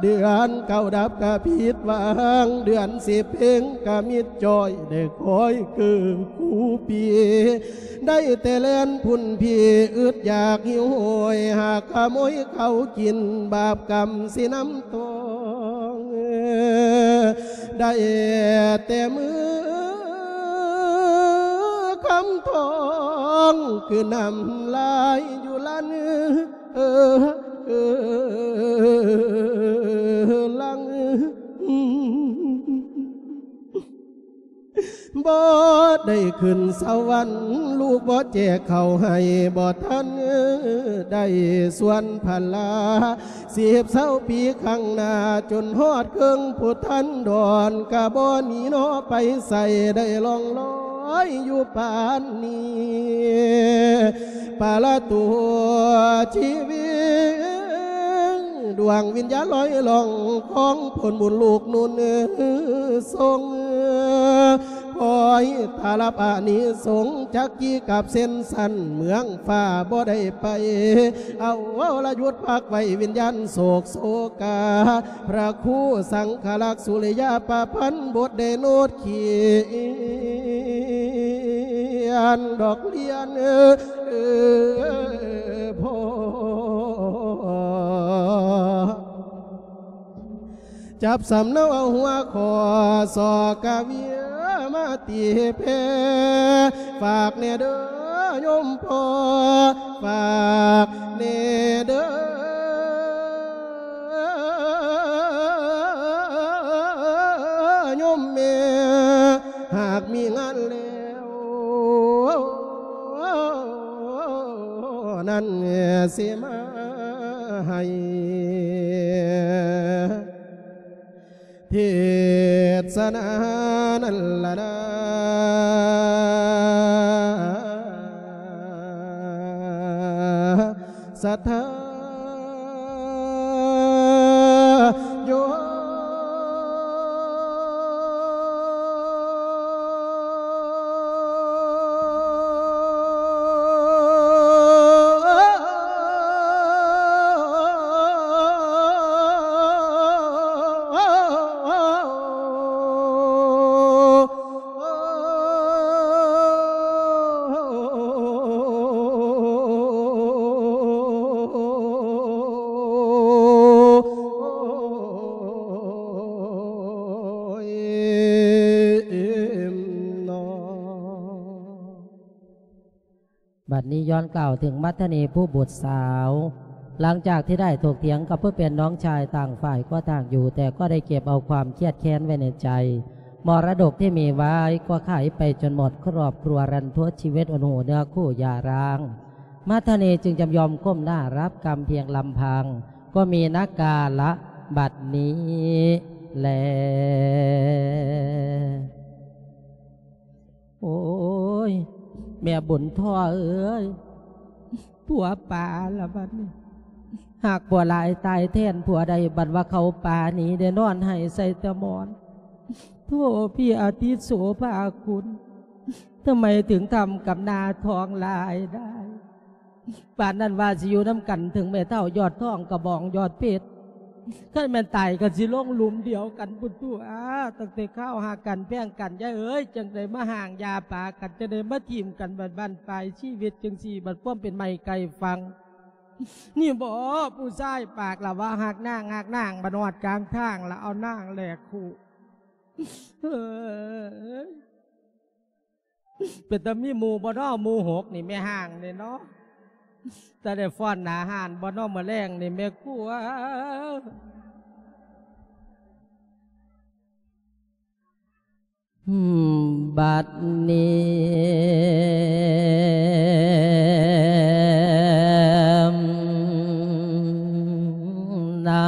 ເດືອນເກົ້າດັບກະຜິດຫວັງ ເດືອນສິບເພັງກະມິດຈ້ອຍ ໄດ້ຄອຍເກີດຄູ່ປີ ໄດ້ແຕ່ແລ່ນພຸ້ນພີ້ ອຶດຢາກຫິວໂຫຍ ຫາກຂະໂມຍເຂົ້າກິນ ບາບກຳຊິນຳ ຕ້ອງ ໄດ້ແຕ່ມືຄຳທອງ ຄືນ້ຳລາຍຢູ່ລັນ ເອີ ເອີ ຫຼັງ ບໍ່ໄດ້ຂຶ້ນສະຫວັນ ລູກບໍ່ແຈກເຂົ້າໃຫ້ ບໍ່ທັນໄດ້ສວນພັນລາ ສິບເຊົາປີຂ້າງໜ້າ ຈົນຮອດເຄິ່ງພຸດທັນດອນ ກະບໍ່ໜີໜໍໄປໃສ ໄດ້ລ່ອງລອຍຢູ່ປານນີ້ ປະລະຕູຊີວິດ ດວງວິນຍານລອຍລ່ອງ ຂອງຜົນບຸນລູກນຸ່ນສົ່ງ ຄອຍຖ້າຮັບອານິສົງ ຈັກກີກັບເສັ້ນສັ້ນ ເມືອງຟ້າບໍ່ໄດ້ໄປ ເອົາລະຢຸດພັກໄວ້ ວິນຍານໂສກໂສກາ ພະຄູສັງຄະລັກ ສຸລິຍາປະພັນບົດ ໄດ້ໂນດຂຽນດອກລຽນ ເອີ ພໍ່ ຈັບສຳເນົາເອົາຫົວຂໍ້ ສໍກະເວຍມາຕີແຜ່ ຝາກແດ່ເດີໂຍມພໍ່ ຝາກແດ່ເດີໂຍມແມ່ ຫາກມີງານແລ້ວ ນັ້ນຊິມາໃຫ້ເທດສະນານັ້ນລະນາ ສັດທາໂຍມ. ບັດນີ້ຍ້ອນກ່າວເຖິງມັດທະນີຜູ້ບຸດສາວ ຫຼັງຈາກທີ່ໄດ້ຖົກຖຽງກັບຜູ້ເປັນນ້ອງຊາຍ ຕ່າງຝ່າຍກໍຕ່າງຢູ່ ແຕ່ກໍໄດ້ເກັບເອົາຄວາມຄຽດແຄ້ນໄວ້ໃນໃຈ. ມໍລະດົກທີ່ມີໄວ້ກໍຂາຍໄປຈົນໝົດ ຄອບຄົວລັນທົດ ຊີວິດອົນຫູເນື້ອຄູ່ຢ່າຮ້າງ. ມັດທະນີຈຶ່ງຈຳຍອມກົ້ມໜ້າຮັບກຳພຽງລຳພັງ ກໍມີນະກາລະບັດນີ້ແລ. ໂອ້ຍ ແມ່ບຸນທໍ່ເອີຍ ຜົວປາລະບັດນີ້ ຫາກຜົວຫຼາຍຕາຍແທນຜົວໄດ້ ບັດວ່າເຂົາປານີ້ໄດ້ນອນໄຫ້ໃສ່ຕະໝອນ. ໂທ ພີ່ອາທິດໂສພາຄຸນ ທຳໄມເຖິງທຳກັບໜ້າທ້ອງຫຼາຍໄດ້? ປານນັ້ນວ່າຊິຢູ່ນຳກັນ ເຖິງແມ່ເຖົ້າຍອດທອງກະບອງຍອດເພັດ ຄັນແມ່ນຕາຍກໍຊິລົງຫຼຸມດຽວກັນພຸ້ນຕົວະ. ຕັ້ງແຕ່ຄາວຮັກກັນແພງກັນ ຍາຍເອີຍ ຈັ່ງໄດ້ມາຮ້າງຢ່າປາກັນ ຈັ່ງໄດ້ມາຖິ້ມກັນ ບັດບັ້ນປາຍຊີວິດຈັ່ງຊີ້ ບັດຄວາມເປັນໄມ້ໃກ້ຝັ່ງ ນີ້ບໍ ຜູ້ຊາຍປາກລະວ່າຮັກນາງ ຮັກນາງ ບັດຮອດກາງທາງລະເອົານາງແລກຄູ່. ເອີຍ ເປັນຕາມີໝູ່ບໍ່ນໍ ໝູ່ຫົກນີ້ແມ່ຮ້າງນີ້ເນາະ ຕາໄດ້ຟ້ອນໜ້າຮ້ານບໍ່ນໍ ມື້ແລງນີ້ແມ່ຄົວ. ບັດນີ້ນະ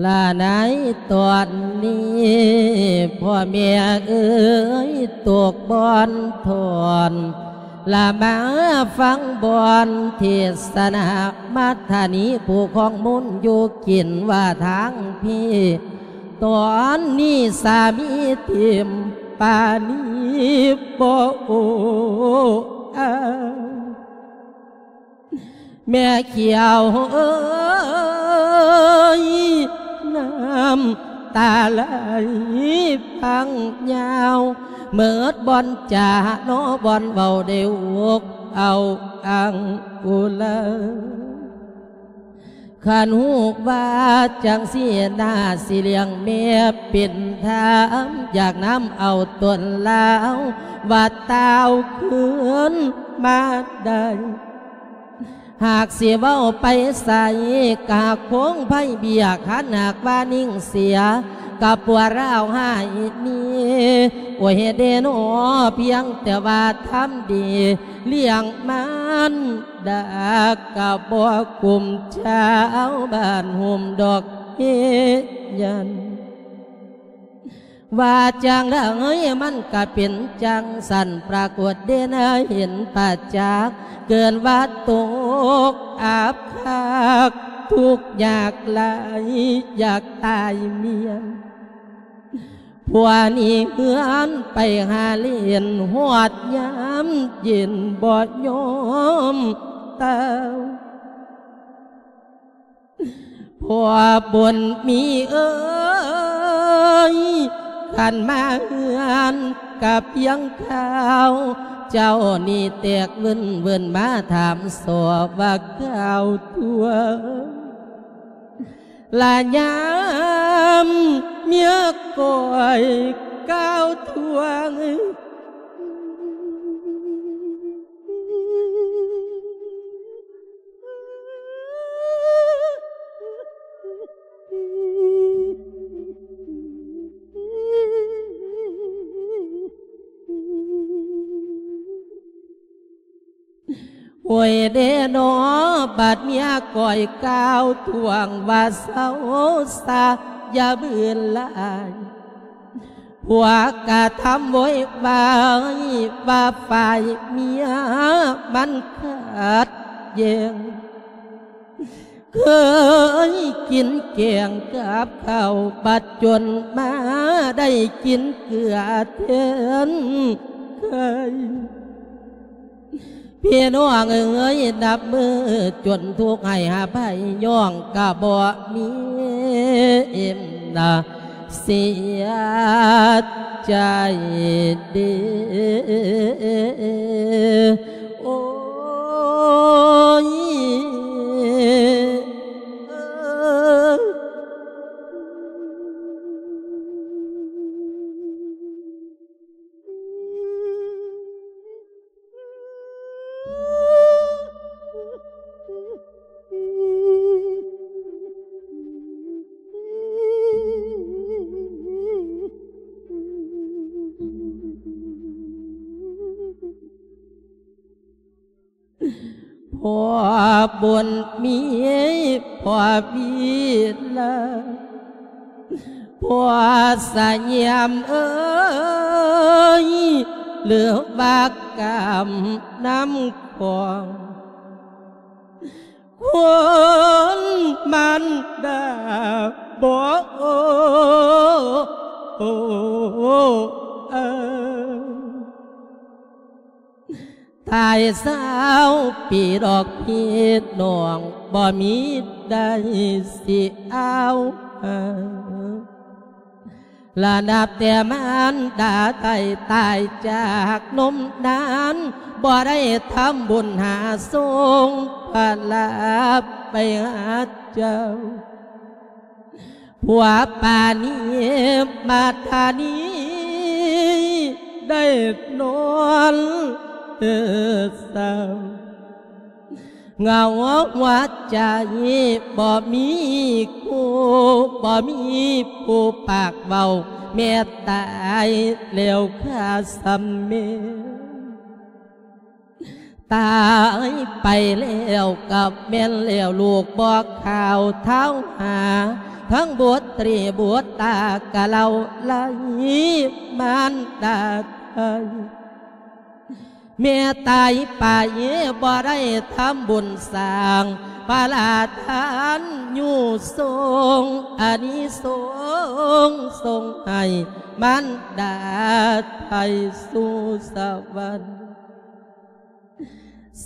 ລະໃນຕອນນີ້ ພໍ່ແມ່ເອີຍ ຕົກບ່ອນທອນ ລະມາຟັງບ່ອນເທດສະນາ ມັດທະນີຜູ້ຄອງມົນຢູ່ກິນວ່າທາງພີ້ ຕອນນີ້ສາມີຖິ້ມປານີບໍ່ໂອ້ອາຍ ແມ່ຂຽວເອີຍ. ເອີຍ ນ້ຳຕາໄຫຼພັງຍາວ ເໝິດບ່ອນຈາເນາະ ບ່ອນເວົ້າໄດ້ອົກເອົາອັ່ງອຸລາ. ຄັນຮູ້ວ່າຈັ່ງຊີ້ນາ ຊິລ້ຽງແມ່ເປັນທາມ ຢາກນຳເອົາຕົນລາວ ວ່າຕ່າວຄືນມາໄດ້. ຫາກຊິເວົ້າໄປໃສ ກະຄົງໄພເບຍ ຄັນຫາກວ່ານິ່ງເສຍ ກະປົວລາວຫາຍມີ. ໂອ້ຍເດເນາະ ພຽງແຕ່ວ່າທຳດີລ້ຽງມັນດາ ກະບໍ່ກຸ້ມຊາວບ້ານໂຮມດອກເຮຍນ. ວ່າຈັ່ງໃດມັນກະເປັນຈັ່ງຊັ້ນ ປາກົດເດນໃຫ້ເຫັນປະຈັກ ເກີນວ່າຕົກອັບຄັກ ທຸກຍາກຫຼາຍ ຢາກຕາຍມ້ຽນ. ຜົວໜີເຮືອນໄປຫາຫຼິ້ນ ຮອດຍາມເຢັນບໍ່ຍອມຕື່ນ. ພໍ່ບຸນມີເອີຍ ຄັນມາເຮືອນກະພຽງຄາວ ເຈົ້ານີ້ແຕກວຶ້ນໆ ມາຖາມສໍ່ວ່າກ່າວທວງ ລະຍາມເມຍຂ້ອຍກ່າວທວງ. ໂອ້ຍເດເນາະ ບາດເມຍຂ້ອຍກ່າວທວງວ່າເຊົາຊາ ຢ່າບືນຫຼາຍ. ຜົວກະທຳໂວຍວາຍວ່າຝ່າຍເມຍມັນຂັດແຍ່ງ. ເຄີຍກິນແກງກັບເຂົ້າ ບັດຈົນມາໄດ້ກິນເກືອແທນໄຂ່. ພີ່ນ້ອງເອີຍ ນັບມື້ຈົນທຸກໃຫ້ຫາໄພ ຍ້ອງກະບໍ່ມີເອັມນາ ເສຍໃຈເດ ໂອ້ຍ ເອີ. ພໍ່ບຸນມີ ພໍ່ວີລະ ພໍ່ສະຫຍາມເອີຍ ຫຼືວ່າກຳນຳຂອງ ຄົນມັນດາບໍ່ໂອ ໂອ ເອີ. ຕາຍຊາວປີດອກພີ່ນ້ອງ ບໍ່ມີໃດຊິເອົາຫາ ລະນັບແຕ່ມານດາໄດ້ຕາຍຈາກນົມນານ ບໍ່ໄດ້ທຳບຸນຫາສົ່ງພະລາໄປຫາເຈົ້າ. ຜົວປານີມາທານີ ໄດ້ນອນເອີເສົ້າ ເຫງົາຫົວໃຈບໍ່ມີຄູ່ ບໍ່ມີຜູ້ປາກເວົ້າ ແມ່ຕາຍແລ້ວຂ້າສ່ຳແມ່. ຕາຍໄປແລ້ວກໍແມ່ນແລ້ວ ລູກບໍ່ຂ່າວທ້າວຫາ ທັງບຸດຕຣີບຸດຕາກະເລົ່າໄລ່ມານດາໄທ ແມ່ຕາຍໄປບໍ່ໄດ້ທຳບຸນສ້າງພະລາທານ ຢູ່ສົ່ງອານິສົງ ສົ່ງໃຫ້ມານດາໄທສູ່ສະຫວັນ.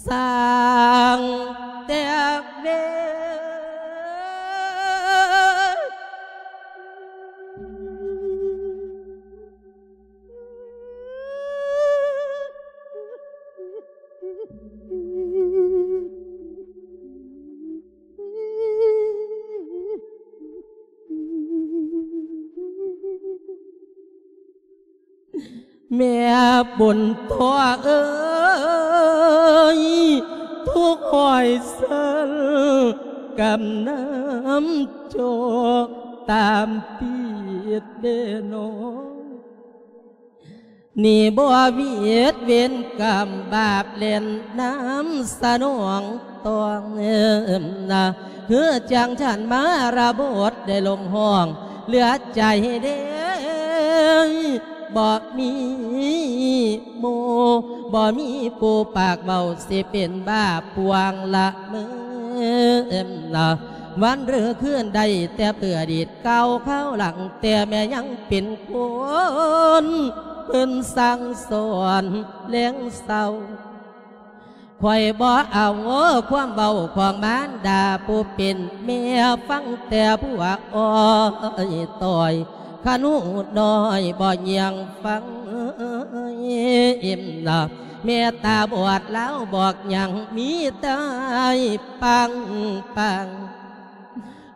ສ້າງແຕ່ເວ ແມ່ບຸນທໍ່ເອີຍ ທຸກຮ້ອຍເຊີນ ກຳນຳໂຈກຕາມຕິດເດນ້ອງ ນີ້ບໍ່ຫວຽດເວນກຳບາບແລ່ນນຳສະໜອງຕ້ອງນະ ຄືຈັ່ງທ່ານມາລະບົດໄດ້ລົງຮ້ອງເຫຼືອໃຈເດ້ ບໍ່ມີໝູ່ ບໍ່ມີຜູ້ປາກເວົ້າ ຊິເປັນບ້າພວງລະເມີນະ ວັນຫຼືຄືນໄດ້ແຕ່ເພື່ອດີດ ກ່າວຄາວຫຼັງແຕ່ແມ່ຍັງເປັນຄົນ ເພິ່ນສັ່ງສອນແລງເຊົ້າ ຂ້ອຍບໍ່ເອົາຄວາມເວົ້າຂອງມານດາຜູ້ເປັນແມ່ ຟັງແຕ່ພວກອ້ອຍຕ້ອຍ ຂະໜູນ້ອຍບໍ່ຍ່ຽງຟັງເອັມນະ ແມ່ຕາບອດລາວບອກຫຍັງ ມີແຕ່ປາງ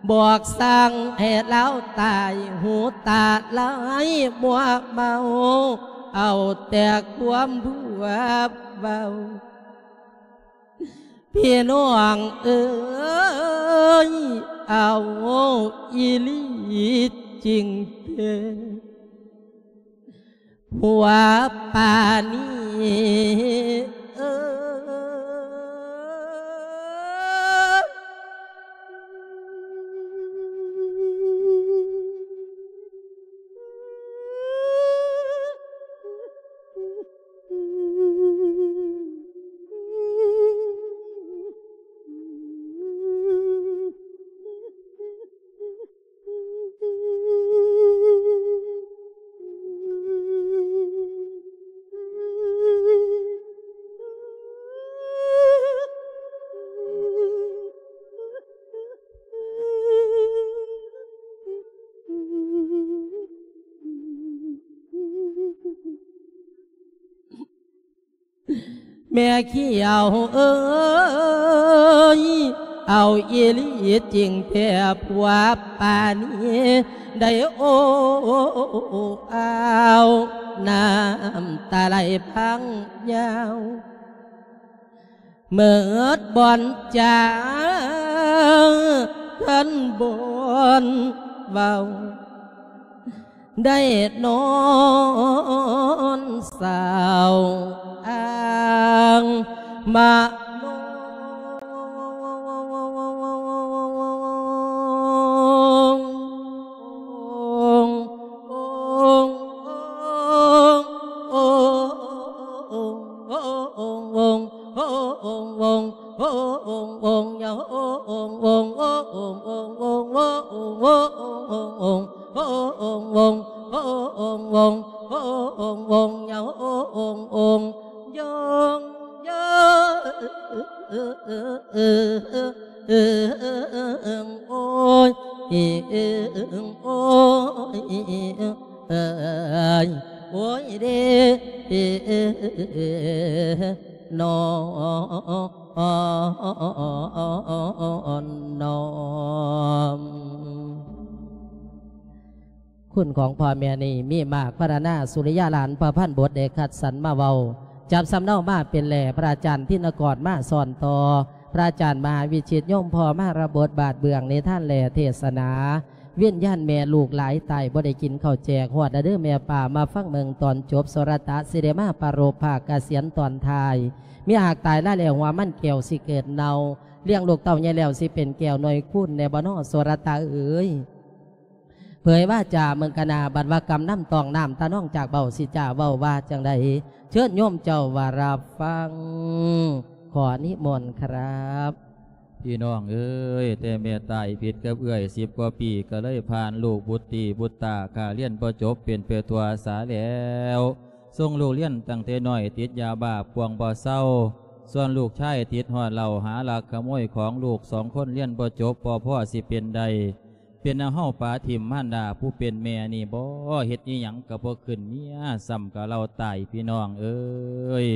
ໆ ບອກສັ່ງໃຫ້ລາວຕາຍ ຫູຕາລາຍມົວເມົາ ເອົາແຕ່ຄວາມບົວເບົາ ພີ່ນ້ອງເອີຍ ເອົາອີ່ຫຼີຈິງເດ້. ຜົວປານີເອີຍ. ແມ່ຂຽວເອີຍ ເອົາອີ່ຫຼີຈິງແທ້ຜົວປານີ ໄດ້ໂອ້ອາວ ນ້ຳຕາໄຫຼພັງຍາວ ເໝິດບ່ອນຈາ ຄັນບ່ອນເວົ້າ ໄດ້ນອນເສົ້າອ້າງມະໂນ. ໂອ້ຍ ໂອ້ຍ ໂອ້ຍເດ ນອນ ນອນ. ຄຸນຂອງພໍ່ແມ່ນີ້ມີມາກ ພັນລະນາ ສຸລິຍາຫຼານ ພະພັນບົດ ໄດ້ຄັດສັນມາເວົ້າ ຈັບສຳເນົາມາເປັນແຫຼ ພະອາຈານທິນນະກອນມາສອນຕໍ່ ພະອາຈານມະຫາວິຊິດ ໂຍມພໍ່ມາລະບົດ ບາດເບື້ອງນິທານແລເທດສະໜາ ວິນຍານແມ່ລູກຫຼາຍຕາຍ ບໍ່ໄດ້ກິນເຂົ້າແຈກ ຮອດລະເດີແມ່ປ້າ ມາຟັງເບິ່ງຕອນຈົບ ໂສລະຕະ ຊິໄດ້ມາປະໂລບພາກກະສຽນຕອນທ້າຍ ມີຫາກຕາຍລາແລ້ວ ຫົວມັນແກ້ວຊິເກີດເນົ່າ ລ້ຽງລູກເຕົ້າໃຫຍ່ແລ້ວ ຊິເປັນແກ້ວໜ່ວຍຄູນແດ່ບໍ່ນໍ ໂສລະຕະເອີຍ. ເຜີຍວາຈາເມືອງກະນາ ບັດວ່າກຳນຳຕ້ອງນ້ຳຕານອງຈາກເບົາ ຊິຈາເວົ້າວ່າຈັ່ງໃດ ເຊີນໂຍມເຈົ້າວ່າຮັບຟັງ ຂໍນິມົນຄັບ. ພີ່ນ້ອງເອີຍ ແຕ່ແມ່ຕາຍຜິດກັບເອື້ອຍສິບກວ່າປີ ກໍເລີຍຜ່ານລູກບຸດຕີບຸດຕາ ຂ້າຮຽນບໍ່ຈົບເປັນໄປທົ່ວສາແລ້ວ ສົ່ງລູກຮຽນຕັ້ງແຕ່ນ້ອຍ ຕິດຢາບ້າປ່ວງບໍ່ເຊົາ ສ່ວນລູກຊາຍຕິດຮອດເຫຼົ້າ ຫາລັກຂະໂມຍຂອງ ລູກສອງຄົນຮຽນບໍ່ຈົບ ບໍ່ພໍຊິເປັນໄດ້ ເປັນເອົາເຮົາປະຖິ້ມມານດາຜູ້ເປັນແມ່ນີ້ບໍ ເຮັດອີ່ຫຍັງກໍບໍ່ຂຶ້ນເມຍ ຊ້ຳກໍເລົ່າຕາຍ ພີ່ນ້ອງເອີຍ.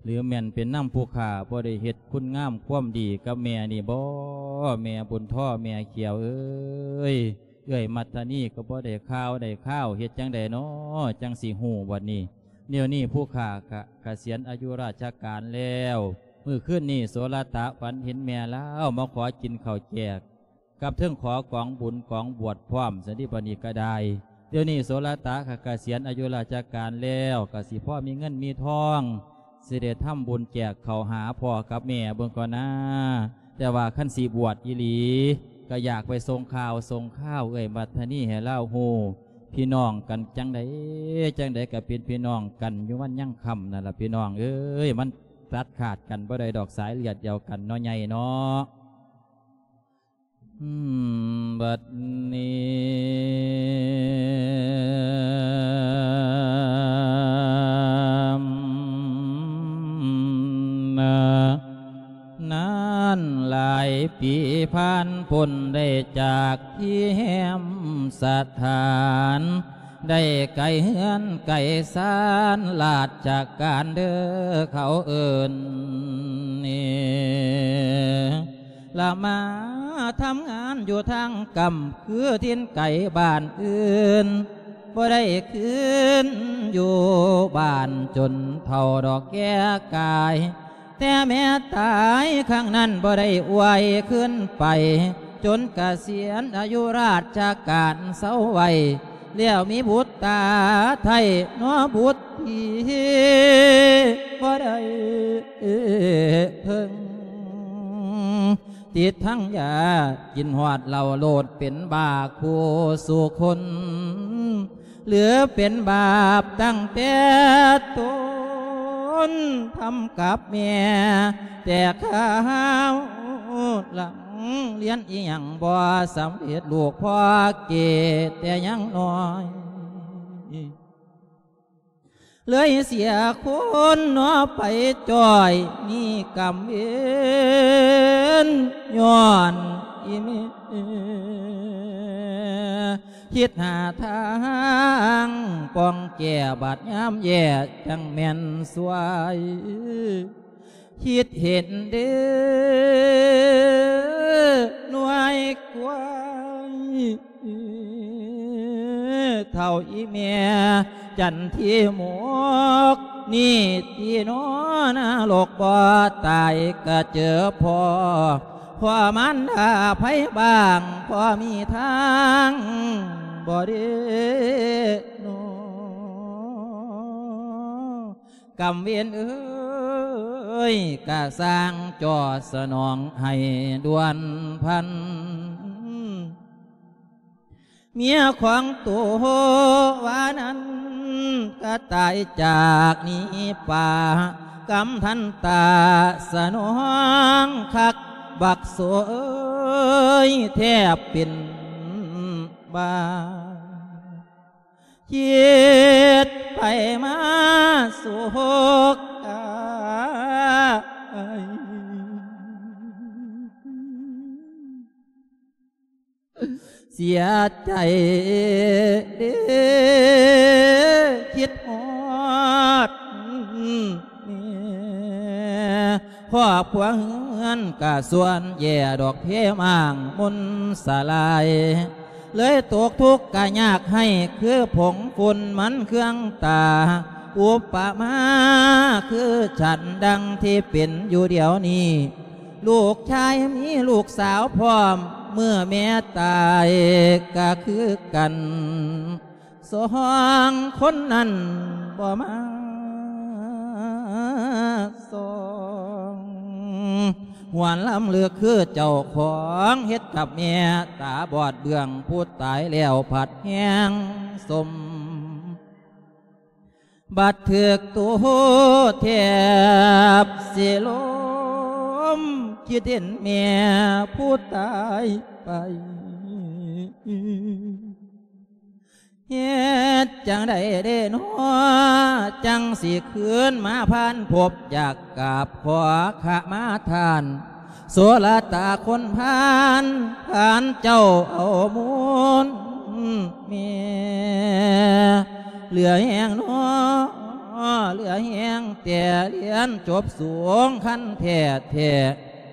ຫຼືແມ່ນເປັນນຳຜູ້ຂ້າ ບໍ່ໄດ້ເຮັດຄຸນງາມຄວາມດີກັບແມ່ນີ້ບໍ ແມ່ບຸນທໍ ແມ່ຂຽວເອີຍ. ເອື້ອຍມັດທະນີກໍບໍ່ໄດ້ຂ່າວໄດ້ຄາວ ເຮັດຈັ່ງໃດນໍ ຈັ່ງຊິຮູ້ບັດນີ້ ດຽວນີ້ຜູ້ຂ້າກະກະສຽນອາຍຸລາຊະການແລ້ວ. ມື້ຄືນນີ້ໂສລະຕະຝັນເຫັນແມ່ລາວມາຂໍກິນເຂົ້າແຈກ ກັບເທິງຂໍກອງບຸນກອງບວດພ້ອມ ຊັ້ນຕິ ບັດນີ້ກະໄດ້. ດຽວນີ້ໂສລະຕະກະກະສຽນອາຍຸລາຊະການແລ້ວ ກະຊິພໍມີເງິນມີທອງ ຊິໄດ້ທຳບຸນແຈກເຂົ້າຫາພໍ່ກັບແມ່ເບິ່ງກ່ອນນາ. ແຕ່ວ່າຄັນຊິບວດອີ່ຫຼີ ກະຢາກໄປສົ່ງຂ່າວສົ່ງຄາວເອື້ອຍມັດທະນີໃຫ້ລາວຮູ້. ພີ່ນ້ອງກັນຈັ່ງໃດ ຈັ່ງໃດກະເປັນພີ່ນ້ອງກັນຢູ່ວັນຍັງຄ່ຳນັ້ນລະພີ່ນ້ອງເອີຍ. ມັນຕັດຂາດກັນບໍ່ໄດ້ດອກ ສາຍເລືອດດຽວກັນເນາະ ໃຫຍ່ເນາະ. ອືມ ບັດນີ້ ນາ ນານຫຼາຍປີຜ່ານພົ້ນ ໄດ້ຈາກທີ່ແຮມສະຖານ ໄດ້ໄກເຮືອນໄກຊານລາຊະການເດີເຂົາເອີ້ນນີ້ ລະມາທຳງານຢູ່ທາງກຳ ຄືຖິ່ນໄກບ້ານອື່ນ ບໍ່ໄດ້ຄືນຢູ່ບ້ານຈົນເຖົ້າດອກແກ່ກາຍ. ແຕ່ແມ່ຕາຍຄັ້ງນັ້ນບໍ່ໄດ້ອວຍຄືນໄປ ຈົນກະສຽນອາຍຸລາຊະການເຊົາໄວ້ ແລ້ວມີບຸດຕາໄທເນາະບຸດທີ່ ບໍ່ໄດ້ເພິ່ງ ຕິດທັງຢາກິນຮອດເຫຼົ້າໂລດ ເປັນບ້າຄູ່ສູ່ຄົນ ຫຼືເປັນບາບຕັ້ງແຕ່ຕົ້ນ ທຳກັບແມ່ແຕ່ຄາວຫຼັງ ຮຽນອີ່ຫຍັງບໍ່ສຳເລັດ ລູກພໍ່ເກແຕ່ຍັງນ້ອຍ ເລີຍເສຍຄົນເນາະໄປຈ້ອຍ ມີກຳເວນຍ້ອນອີ່ແມ່ ຄິດຫາທາງປ້ອງແກ້ ບາດຍາມແຍ່ຈັ່ງແມ່ນຊ່ວຍ ຄິດເຫັນເດ້ໜ່ວຍກວຍ ເຖົ້າອີ່ແມ່ຈັນທີໝົກ ນີ້ຕິເນາະນະລົກບໍ່ຕາຍກະເຈີພໍ່ ພໍ່ມານດາໃຜບ້າງ ພໍມີທາງບໍ່ເດເນາະ ກຳເວນເອີຍ ກະສ້າງຈໍສະໜອງໃຫ້ດ່ວນພັນ ເມຍຂອງໂຕວ່ານັ້ນ ກະຕາຍຈາກໜີປ່າ ກຳທັນຕາສະໜອງຄັກ ບັກໂສເອີຍ ແທບເປັນບ້າ ຄິດໄປມາໂສກາຍ ເສຍໃຈເດ້ ຄິດຮອດແມ່ ຄອບຄົວເຮືອນກະສ່ວນແຍ່ ດອກເພມ້າງມົນສະລາຍ ເລີຍຕົກທຸກກະຍາກໄຮ້ ຄືຜົງຝຸ່ນມັນເຄືອງຕາ ອຸປະມາຄືສັນດັ່ງທີ່ເປັນຢູ່ດຽວນີ້ ລູກຊາຍມີລູກສາວພ້ອມ ເມື່ອແມ່ຕາຍກະຄືກັນ ສອງຄົນນັ້ນບໍ່ມາສ່ອງ ຫວນລຳເລິກຄືເຈົ້າຂອງ ເຮັດກັບແມ່ຕາບອດເບື້ອງຜູ້ຕາຍແລ້ວ ພັດແຮງສົມ ບັດຖືກໂຕແທບຊິລົ້ມ ຄິດເຫັນແມ່ຜູ້ຕາຍໄປ ເຮັດຈັ່ງໃດເດເນາະ ຈັ່ງຊິຄືນມາຜ່ານພົບ ຢາກກາບຂໍຂະມາທ່ານ ໂສລະຕາຄົນພານ ທ່ານເຈົ້າເອົາມູນແມ່ ເຫຼືອແຮງເນາະ ເຫຼືອແຮງແຕ່ຮຽນຈົບສູງ ຄັນແທ້ແທ້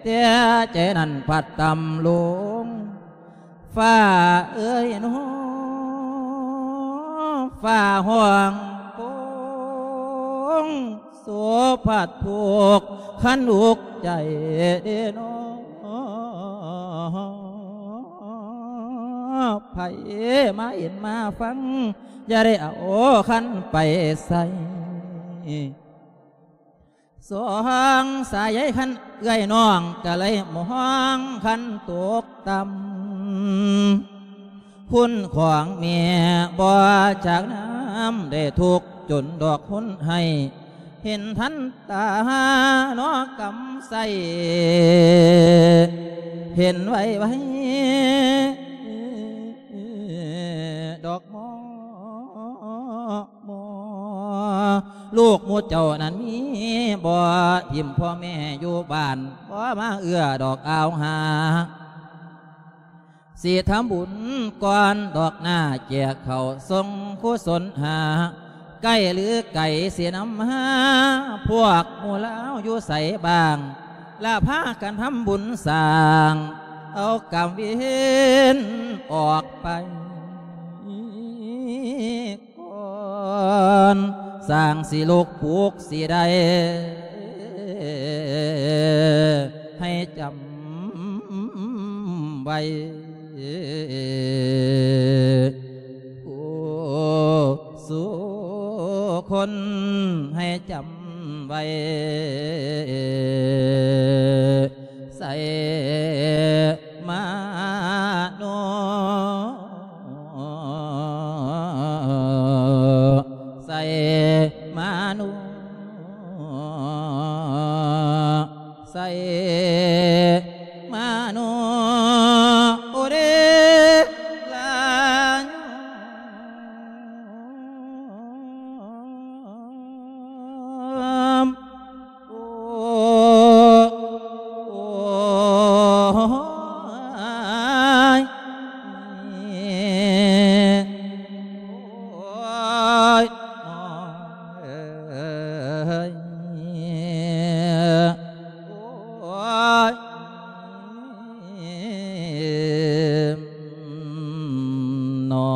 ແຕ່ໃຈນັ້ນພັດຕ່ຳລົງ ຟ້າເອີຍເນາະ ຟ້າຮ້ອງໂພ ຄົງໂສພັດທຸກຄັນອຸກໃຈເດນໍ ໃຜມາເຫັນມາຟັງ ຢ່າໄດ້ເອົາຄັນໄປໃສ່ ສອງສາຍໃຍຄັນເອື້ອຍນ້ອງກະໄລມອງຄັນຕົກຕ່ຳ ຄຸນຂອງແມ່ບໍ່ຈາກນຳ ໄດ້ທຸກຈົນດອກຮຸນໄຫ້ ເຫັນທັນຕາເນາະກຳໄສ້ ເຫັນໄວໆດອກໝໍ ໝໍ ລູກໝູ່ເຈົ້ານັ້ນມີບໍ່? ຖິ້ມພໍ່ແມ່ຢູ່ບ້ານ ບໍ່ມາເອື້ອດອກອາວຫາ ຊິທຳບຸນກ່ອນດອກໜ້າ ແຈກເຂົ້າສົ່ງກຸສົນຫາ ໃກ້ຫຼືໄກຊິນຳຫາ ພວກໝູ່ລາວຢູ່ໃສບ້າງ ລະພາກັນທຳບຸນສ້າງ ເອົາກຳເວັນອອກໄປກ່ອນ ສ້າງຊິລຸກປຸກຊິໄດ້ ໃຫ້ຈຳໄວ້ ຜູ້ສູ່ຄົນໃຫ້ຈຳໄວ້ ໄຊມາໂນ ໄຊມາໂນ ໄຊມາໂນ ໂອເດລາໂຍ ໂອ ໂອຍ ໂອຍ ໂອຍ ໂອຍ ເນາ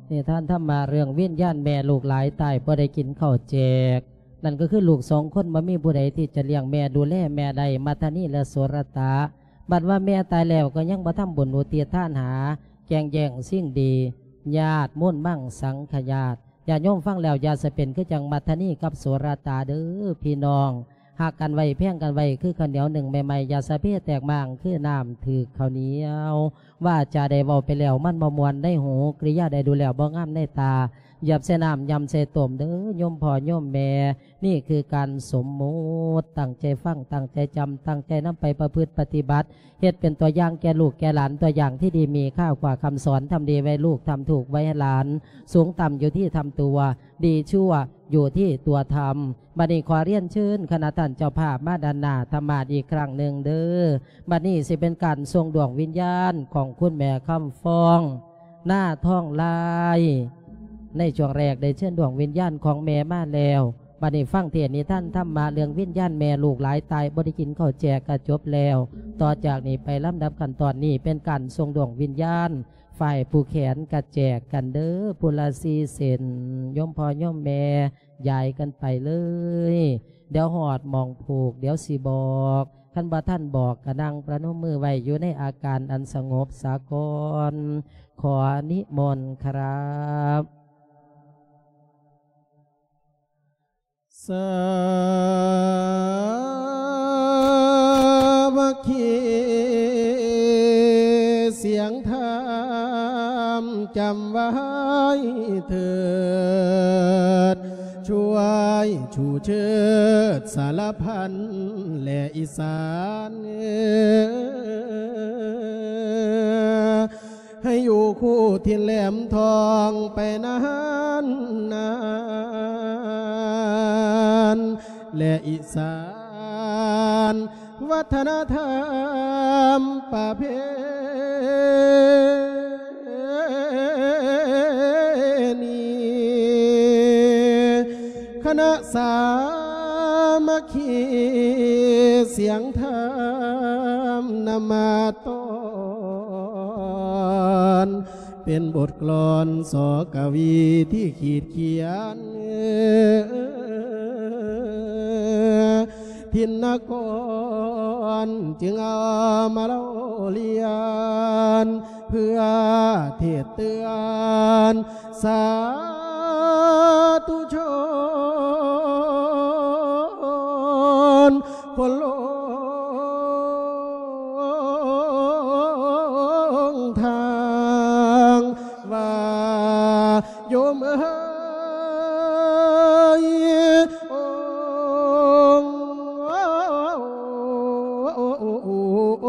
ະ. ນິທານທຳມະເລື່ອງວິນຍານແມ່ລູກຫຼາຍຕາຍບໍ່ໄດ້ກິນເຂົ້າແຈກ ນັ້ນກໍຄືລູກສອງຄົນບໍ່ມີຜູ້ໃດທີ່ຈະລ້ຽງແມ່ ດູແລແມ່ໄດ້ ມັດທະນີ ແລະ ໂສລະຕະ. ບັດວ່າແມ່ຕາຍແລ້ວກໍຍັງບໍ່ທຳບຸນອຸທິດທານຫາ ແກ່ງແຍ່ງຊິງດີ ຍາດມູນມັງສັງຄະຍາດ. ຍາດໂຍມຟັງແລ້ວຢ່າສະເປັນຄືຈັ່ງມັດທະນີກັບໂສລະຕະເດີພີ່ນ້ອງ. ຮັກກັນໄວ້ແພງກັນໄວ້ຄືເຂົ້າໜຽວໜຶ້ງໃໝ່ໆ ຢ່າສະເພແຕກມ້າງຄືນ້ຳຖືກເຂົ້າໜຽວ. ວາຈາໄດ້ເວົ້າໄປແລ້ວມັນບໍ່ມ່ວນໃນຫູ ກິລິຍາໄດ້ດູແລ້ວບໍ່ງາມໃນຕາ ຢາບໃສ່ນ້ຳ ຢຳໃສ່ຕົ້ມເດີໂຍມພໍ່ໂຍມແມ່. ນີ້ຄືການສົມມຸດ ຕັ້ງໃຈຟັງ ຕັ້ງໃຈຈຳ ຕັ້ງໃຈນຳໄປປະພຶດປະຕິບັດ ເຮັດເປັນຕົວຢ່າງແກ່ລູກແກ່ຫຼານ ຕົວຢ່າງທີ່ດີມີຄ່າກວ່າຄຳສອນ ທຳດີໄວ້ລູກ ທຳຖືກໄວ້ໃຫ້ຫຼານ ສູງຕ່ຳຢູ່ທີ່ທຳຕົວ ດີຊົ່ວຢູ່ທີ່ຕົວທຳ. ບັດນີ້ຂໍຮຽນເຊີນຄະນະທ່ານເຈົ້າພາບມາດ້ານໜ້າທຳມາດອີກຄັ້ງໜຶ່ງເດີ. ບັດນີ້ຊິເປັນການສົ່ງດວງວິນຍານຂອງຄຸນແມ່ຄຳຟອງ ນາທອງລາຍ. ໃນຊ່ວງແລກໄດ້ເຊີນດວງວິນຍານຂອງແມ່ມາແລ້ວ. ບັດນີ້ຟັງເທດນິທານທຳມະເລື່ອງວິນຍານແມ່ລູກຫຼາຍຕາຍບໍ່ໄດ້ກິນເຂົ້າແຈກກະຈົບແລ້ວ. ຕໍ່ຈາກນີ້ໄປລຳດັບຂັ້ນຕອນນີ້ເປັນການສົ່ງດວງວິນຍານ ຝ່າຍຜູ້ແຂນກະແຈກກັນເດີ ຜູ້ລະສີ່ເສັ້ນ ໂຍມພໍ່ໂຍມແມ່ ຢາຍກັນໄປເລີຍ. ດຽວຮອດໝ່ອງຜູກ ດຽວຊິບອກ ຄັນບໍ່ທັນບອກກະນັ່ງປະນົມມືໄວ້ຢູ່ໃນອາການອັນສະຫງົບສາກ່ອນ. ຂໍນິມົນຄັບ. ສາມັກຄີສຽງທຳ ຈຳໄວ້ເຖີດ ຊ່ວຍຊູເຊີດສາລະພັນ ແລະ ອີສານເອີ ໃຫ້ຢູ່ຄູ່ຖິ່ນແຫຼມທອງໄປນານນານ ແລະ ອີສານວັດທະນະທຳປະເພນີ ຄະນະສາມັກຄີສຽງທຳນຳມາຕ້ອນ ເປັນບົດກລອນ ສ ກະວີ ທີ່ຂີດຂຽນ ທິນນະກອນ ຈຶ່ງເອົາມາເລົ່າລຽນ ເພື່ອເທດເຕືອນ ສາທຸຊົນ ຄົນຫຼົງທາງ ວ່າໂຍມເອີຍ ໂອ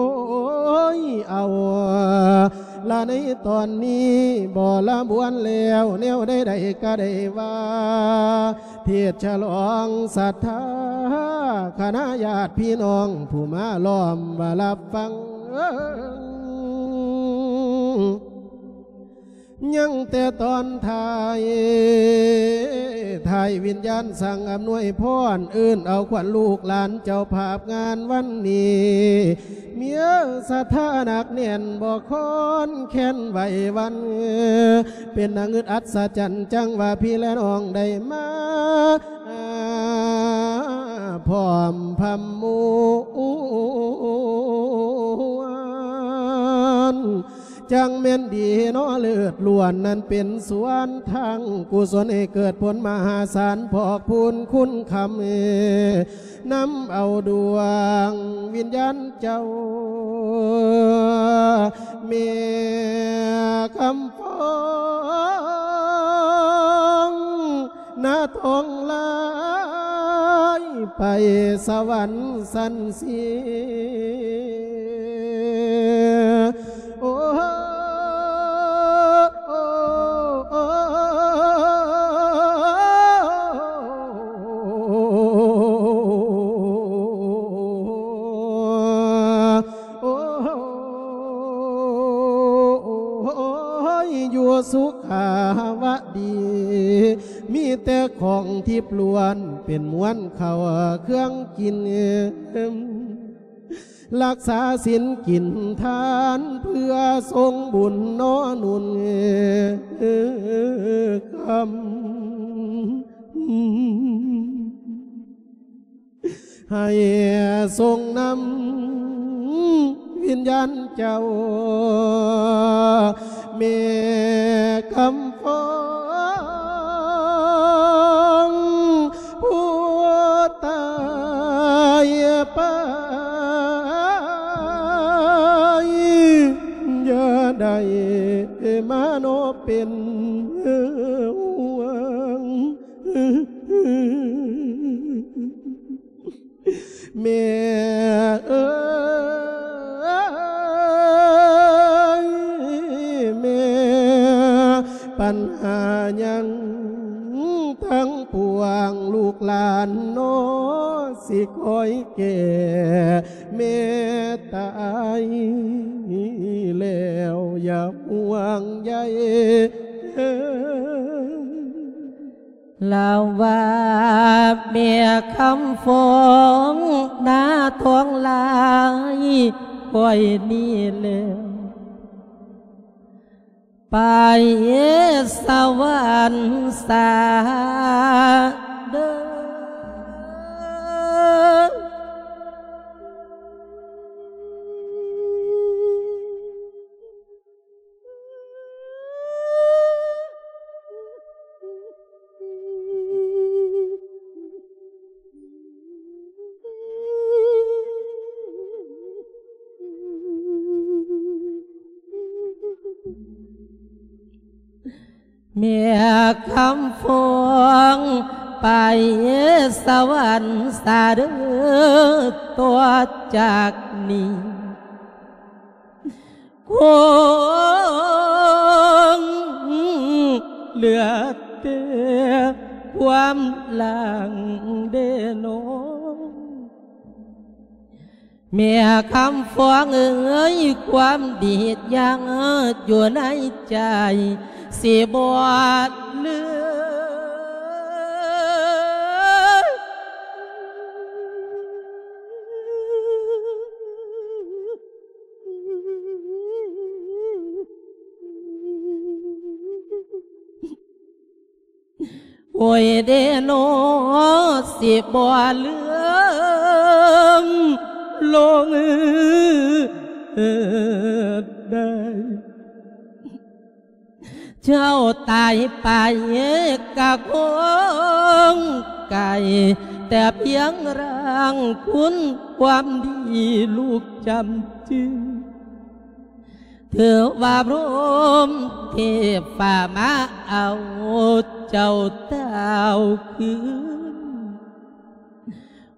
້ຍ ເອົາລະໃນຕອນນີ້ ບໍລະບວນແລ້ວ ແນວໃດໆກະໄດ້ວ່າ ເທດສະຫຼອງສັດທາ ຄະນະຍາດພີ່ນ້ອງ ຜູ້ມາລ້ອມວ່າຮັບຟັງ ຍັງແຕ່ຕອນທ້າຍ ທ້າຍວິນຍານສັ່ງອຳນວຍພອນ ເອີ້ນເອົາຂວັນລູກຫຼານເຈົ້າພາບງານວັນນີ້ ມີສັດທາໜັກແໜ້ນ ບໍ່ຄອນແຄ້ນໄຫວຫວັ່ນ ເປັນໜ້າງຶດອັດສະຈັນ ຈັ່ງວ່າພີ່ແລະນ້ອງໄດ້ມາ ພ້ອມພຳມວນ ຈັ່ງແມ່ນດີເນາະ ເລີດລ້ວນນັ້ນເປັນສວນທາງກຸສົນ ໃຫ້ເກີດຜົນມະຫາສານ ພອກພູນຄຸນຄຳ ນຳເອົາດວງວິນຍານເຈົ້າ ແມ່ຄຳຟອງ ນາທອງລາຍ ໄປສະຫວັນຊັ້ນເສຍ ໂອ້ ໂອ້ຍ ຢູ່ສຸຂາວະດີ ມີແຕ່ຂອງທິບລ້ວນ ເປັນມວນເຂົ້າເຄື່ອງກິນ ລັກສາສິນກິນທານ ເພື່ອສົ່ງບຸນໜໍໜູນ ຄຳ ໃຫ້ສົ່ງນຳວິນຍານເຈົ້າ ແມ່ຄຳຟອງ ຜູ້ຕາຍໄປ ຢ່າໄດ້ມາເນາະເປັນຫ່ວງ ແມ່ເອີຍ ແມ່ ບັນຫາຫຍັງທັງປວງ ລູກຫຼານເນາະ ຊິຄອຍແກ່ແມ່ຕາຍແລ້ວ ຢ່າຫ່ວງໃຍ. ລາວວ່າແມ່ຄຳຟອງ ນາທອງລາຍ ຂ້ອຍນີ້ແລ້ວ ໄປສະຫວັນສາເດີ. ແມ່ຄຳຟອງ ໄປສະຫວັນສາເດີ ຕໍ່ຈາກນີ້ ຄົງເຫຼືອແຕ່ຄວາມຫຼັງເດເນາະ. ແມ່ຄຳຟອງເອີຍ ຄວາມດີດຍັງຢູ່ໃນໃຈ ຊິບໍ່ເຫຼືອ. ໂອ້ຍເດເນາະ ຊິບໍ່ລືມລົງໄດ້ ເຈົ້າຕາຍໄປກະຄົງໄກ ແຕ່ພຽງຮ່າງຄຸນຄວາມດີລູກຈຳຈື່ ຖືວ່າພົມເທບຟ້າມາເອົາເຈົ້າຕ່າວຄືນ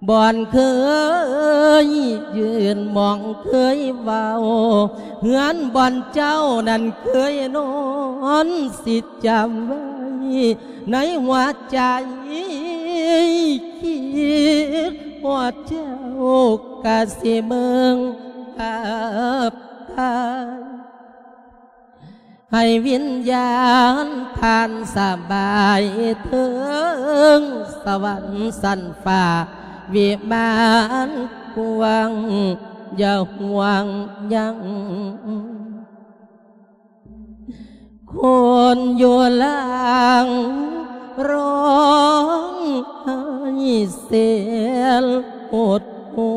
ບ່ອນເຄີຍຢືນໝ່ອງເຄີຍເວົ້າ ເຮືອນບ່ອນເຈົ້ານັ້ນເຄີຍນອນ ຊິຈຳໄວ້ໃນຫົວໃຈ ຄິດຮອດເຈົ້າກະຊິເບິ່ງພາບຖ່າຍ ໃຫ້ວິນຍານທ່ານສະບາຍເທິງສະຫວັນຊັ້ນຟ້າ ວິມານກວ້າງຢ່າຫ່ວງຍັງ ຄົນຢູ່ຫຼັງຮ້ອງໄຫ້ເສນຫົດຫູ່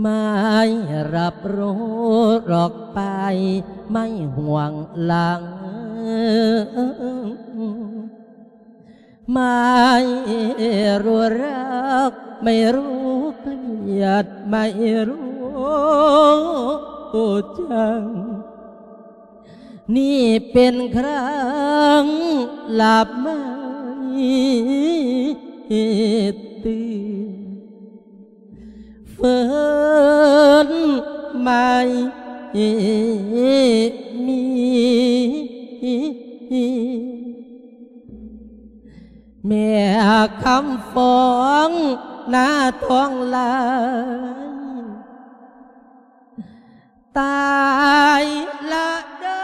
ໄມ້ຮັບໂລດອອກໄປ ໄມ້ຫວງຫຼັງ ໄມ້ຮູ້ຮັກ ໄມ້ຮູ້ກຽດ ໄມ້ຮູ້ຈັງ ນີ້ເປັນຄັ້ງລາບໄມ້ຕື່ນ ເຟີນໄມ້ມີ ແມ່ຄຳຟອງໜ້າທອງລາຍ ຕາຍລະເດີ.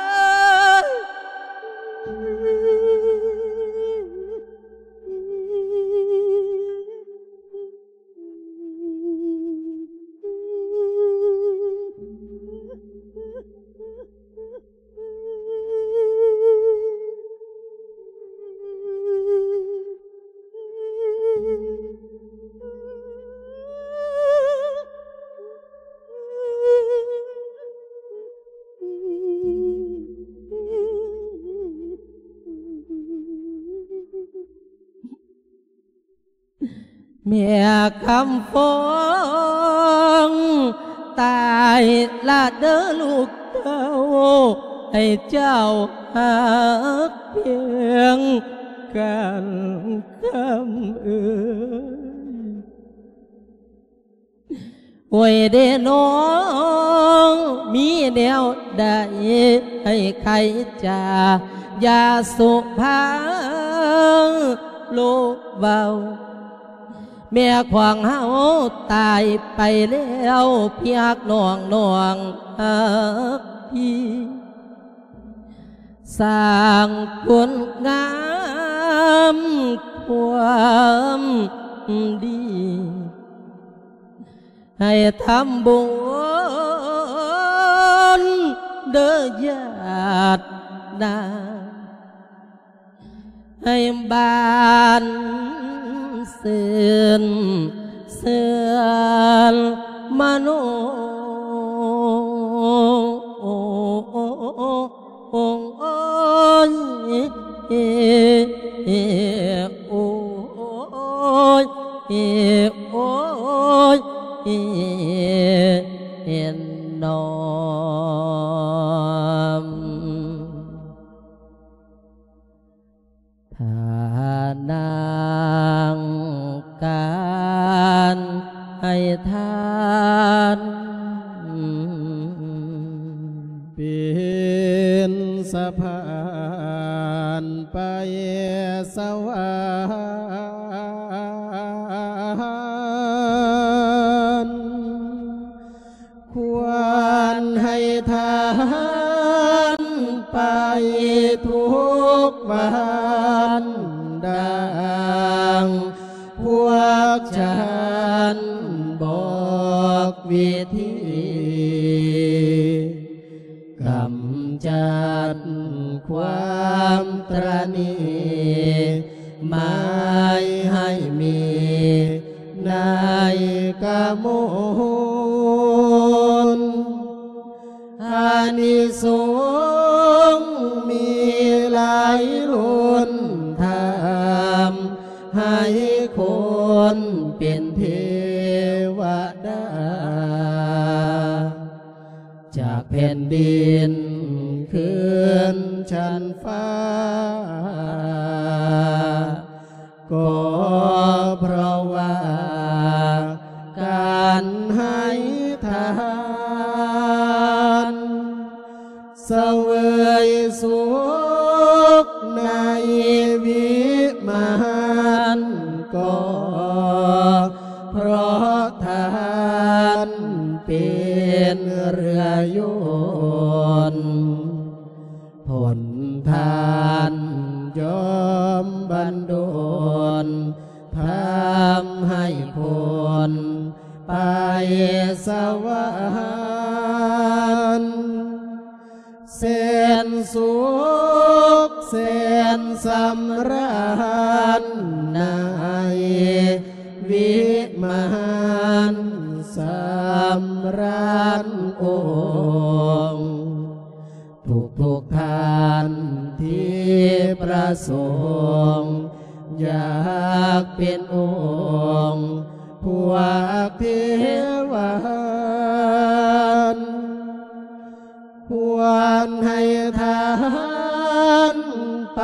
ແມ່ຄຳຟອງ ຕາຍລະເດີລູກເຕົ້າ ໃຫ້ເຈົ້າຮັກພຽງກັນຄຳເອີຍ. ໂອ້ຍເດນ້ອງ ມີແນວໃດໃຫ້ໄຂຈາ ຢ່າສຸພາໂລເວົ້າ ແມ່ຂອງເຮົາຕາຍໄປແລ້ວ ພຽກນ້ອງ ນ້ອງຮັກພີ່ ສ້າງຄຸນງາມຄວາມດີ ໃຫ້ທຳບຸນເດີຍາດນາ ໃຫ້ບ້ານຊື່ນເຊື່ອນມະໂນ ໂອ້ຍ ໂອ້ຍ ໂອ້ຍ ໂອ້ຍ ເນາະ. ທ່ານາງການໃຫ້ທານ ເປັນສະພານໄປສະຫວັນ ຄວນໃຫ້ທານໄປທຸກວັນ ດັ່ງພວກທ່ານບອກວິທີ ກຳຈັດຄວາມຕຣະໜີ ມງ ອານິສົງມີຫຼາຍລົ້ນທຳ ໃຫ້ຄົນເປັນເທວະດາ ຈາກແຜ່ນດິນຂຶ້ນຊັ້ນຟ້າ ກໍເພາະວ່າການໃຫ້ທານ ສະເຫວີຍສຸກໃນວິມານ ກໍເພາະທານເປັນເຮືອຍົນ ຜົນທານຍ່ອມບັນດົນ ທຳໃຫ້ຄົນໄປສະຫວັນ ແສນສຸກແສນສຳລານ ໃນວິມານສຳລານອົງ ທຸກໆທ່ານທີ່ປະສົງ ຢາກເປັນອົງພວກເທວານ ຄວນໃຫ້ທານໄປ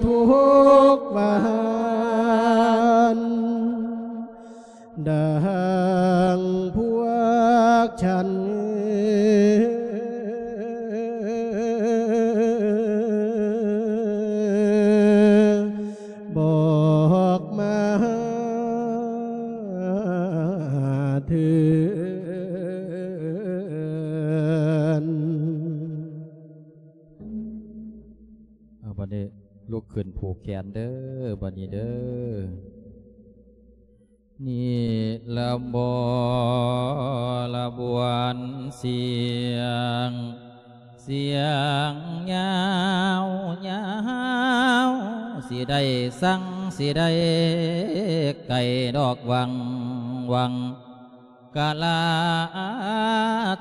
ທຸກວັນ ດັ່ງພວກສັນບອກມາເທີ້ນ. ເອົາ ບັດນີ້ລຸກຂຶ້ນຜູກແຂນເດີ ບັດນີ້ເດີ. ນິລະບໍລະບວນສຽງ ສຽງຍາວຍາວ ຊິໄດ້ສັງ ຊິໄດ້ໄກ່ດອກວັງວັງ ກະລາ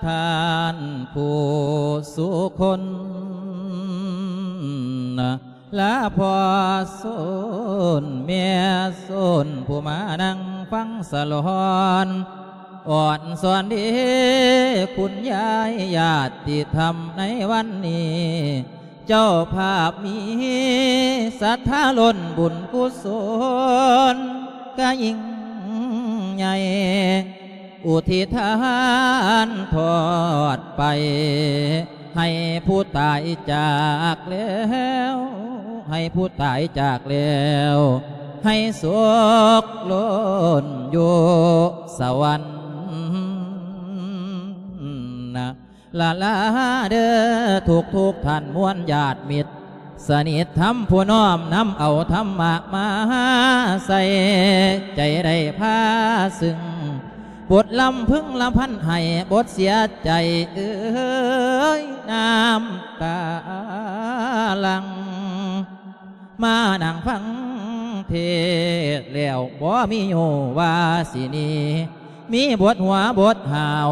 ທ່ານຜູ້ສຸຄົນ ລາພໍ່ສົນແມ່ສົນ ຜູ້ມານັ່ງຟັງສະຫຼອນ ອ່ອນສອນເດ ຄຸນຍາຍຍາດຕິທຳໃນວັນນີ້ ເຈົ້າພາບມີສັດທາລົ້ນບຸນກຸສົນກະຍິ່ງໃຫຍ່ ອຸທິດທານທອດໄປ ໃຫ້ຜູ້ຕາຍຈາກແລ້ວ ໃຫ້ຜູ້ຕາຍຈາກແລ້ວ ໃຫ້ສຸກລົ້ນຢູ່ສະຫວັນນະ ລະລາເດີ ທຸກໆທ່ານມວນຍາດມິດ ສະໜິດທຳຜູ້ນ້ອມນຳເອົາທຳມະມາໃສ່ໃຈ ໄດ້ພາຊຶ່ງບົດລຳພຶງລຳພັນໃຫ້ບົດເສຍໃຈເອີຍ ນ້ຳຕາຫຼັ່ງ ມານັ່ງຟັງເທດແລ້ວ ບໍ່ມີຮູ້ວ່າຊິໜີ ມີບົດຫົວບົດຫາວ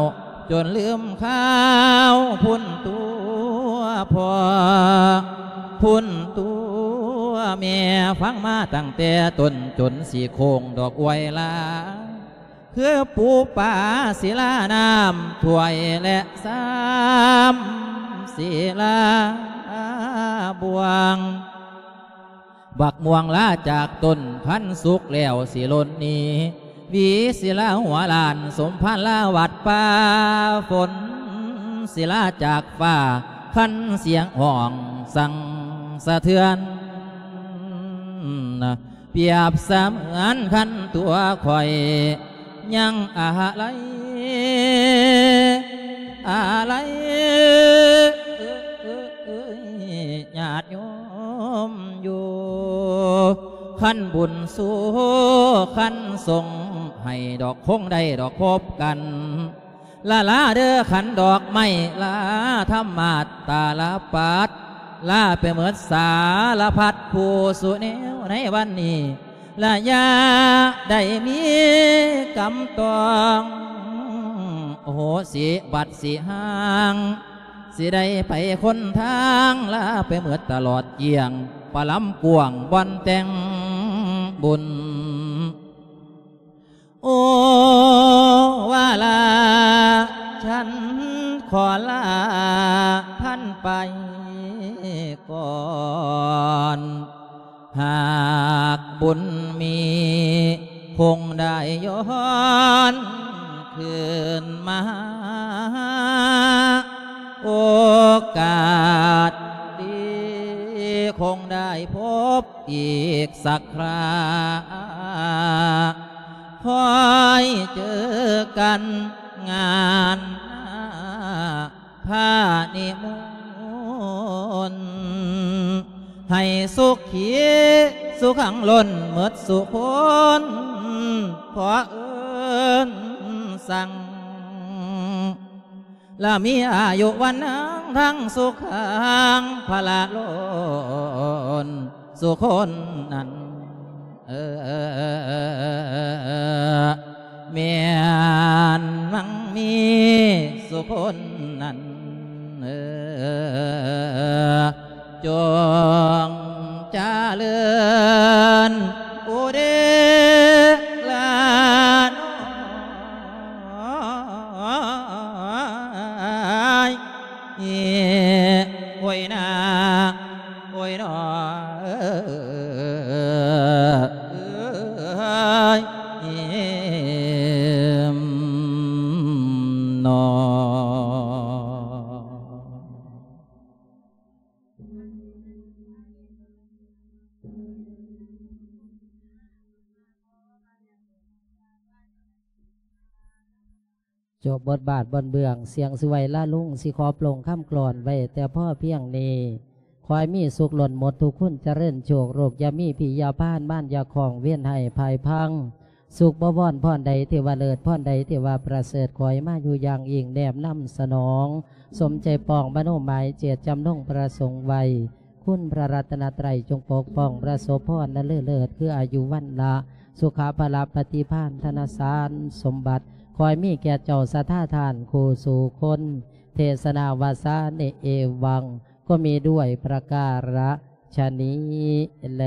ຈົນລືມຂ່າວພຸ້ນຕົວພໍ່ ພຸ້ນຕົວແມ່ ຟັງມາຕັ້ງແຕ່ຕົ້ນຈົນຊິໂຄ້ງດອກອວຍລາ ຄືປູປາສິລານ້ຳຖ້ວຍ ແລະ ຊາມສິລາບ່ວງ ບັກມ່ວງລາຈາກຕົ້ນ ຄັນສຸກແລ້ວຊິຫຼົ່ນໜີ ຫວີສິລາຫົວລ້ານ ສົມພານລາວັດປ່າ ຝົນສິລາຈາກຟ້າ ຄັນສຽງຮ້ອງສັ່ນສະເທືອນ ປຽບສະເໝືອນຄັນຕົວຂ້ອຍ ຍັງອາໄລ ອາໄລ ຍາດໂຍມຢູ່ ຄັນບຸນສູ່ ຄັນສົງໃຫ້ດອກ ຄົງໄດ້ດອກພົບກັນ ລາລາເດີ ຂັນດອກໄມ້ລາທຳມາດຕາລະປັດ ລາໄປເໝິດສາລະພັດຜູ້ສູ່ແນວໃນວັນນີ້ ລະຢ່າໄດ້ມີກຳຕ້ອງ ໂຫສິບັດສິຮ່າງ ຊິໄດ້ໄປຄົນທາງ ລາໄປໝົດຕະຫຼອດກ້ຽງ ປະລຳກວ້າງບ່ອນແຕ່ງບຸນ. ໂອວາລາ ສັນຂໍລາທ່ານໄປກ່ອນ ຫາກບຸນມີ ຄົງໄດ້ຍ້ອນຄືນມາ ໂອກາດດີ ຄົງໄດ້ພົບອີກສັກຄຣາ ຄ່ອຍເຈີກັນງານໜ້າ ພະນິມົນ ໃຫ້ສຸຂີສຸຂັງລົ້ນໝົດສຸຄົນ ຂໍເອີ້ນສັ່ງ ລະມີອາຍຸວັນນະທັງສຸຂັງ ພະລະລົ້ນສຸຄົນນັ້ນ ເອີ ແມ່ນມັງມີສຸຄົນນັ້ນ ເອີ ຈົ່ງຈະເລີນອຸເດລະນ້ອຍ ໂອ້ຍນາ ໂອ້ຍນ້ອຍ ເອີຍນ້ອຍ. ຈົບບົດບາດບ່ອນເບື້ອງ ສຽງຊິໄຫວ້ລາລຸງ ຊິຂໍໂປງຄຳກລອນໄວ້ແຕ່ພໍພຽງນີ້. ຂໍໃຫ້ມີສຸກລົ້ນໝົດທຸກຄຸນຈະເລີນໂຊກ ໂລກຢ່າມີພິດຢ່າພານ ມານຢ່າຂ້ອງ ເວນຮ້າຍພາຍພັງ ສຸກບໍວອນພອນໃດທີ່ວ່າເລີດ ພອນໃດທີ່ວ່າປະເສີດ ຂໍໃຫ້ມາຢູ່ຢ່າງອີງແນບນຳສະໜອງ ສົມໃຈປອງມະໂນໝາຍເຈດຈຳນົງປະສົງໄວ້. ຄຸນພະລັດຕະນະໄຕ ຈົ່ງປົກປ້ອງປະສົບພອນອັນເລີດເລີດ ຄືອາຍຸວັນນະ ສຸຂະພະລະປະຕິພານທະນະສານສົມບັດ ຂໍໃຫ້ມີແກ່ເຈົ້າສັດທາທ່ານຄູ່ສູ່ຄົນ. ເທສະນາວາສານິເອວັງ ກໍມີດ້ວຍປະກາລະຊະນີ້ແລ.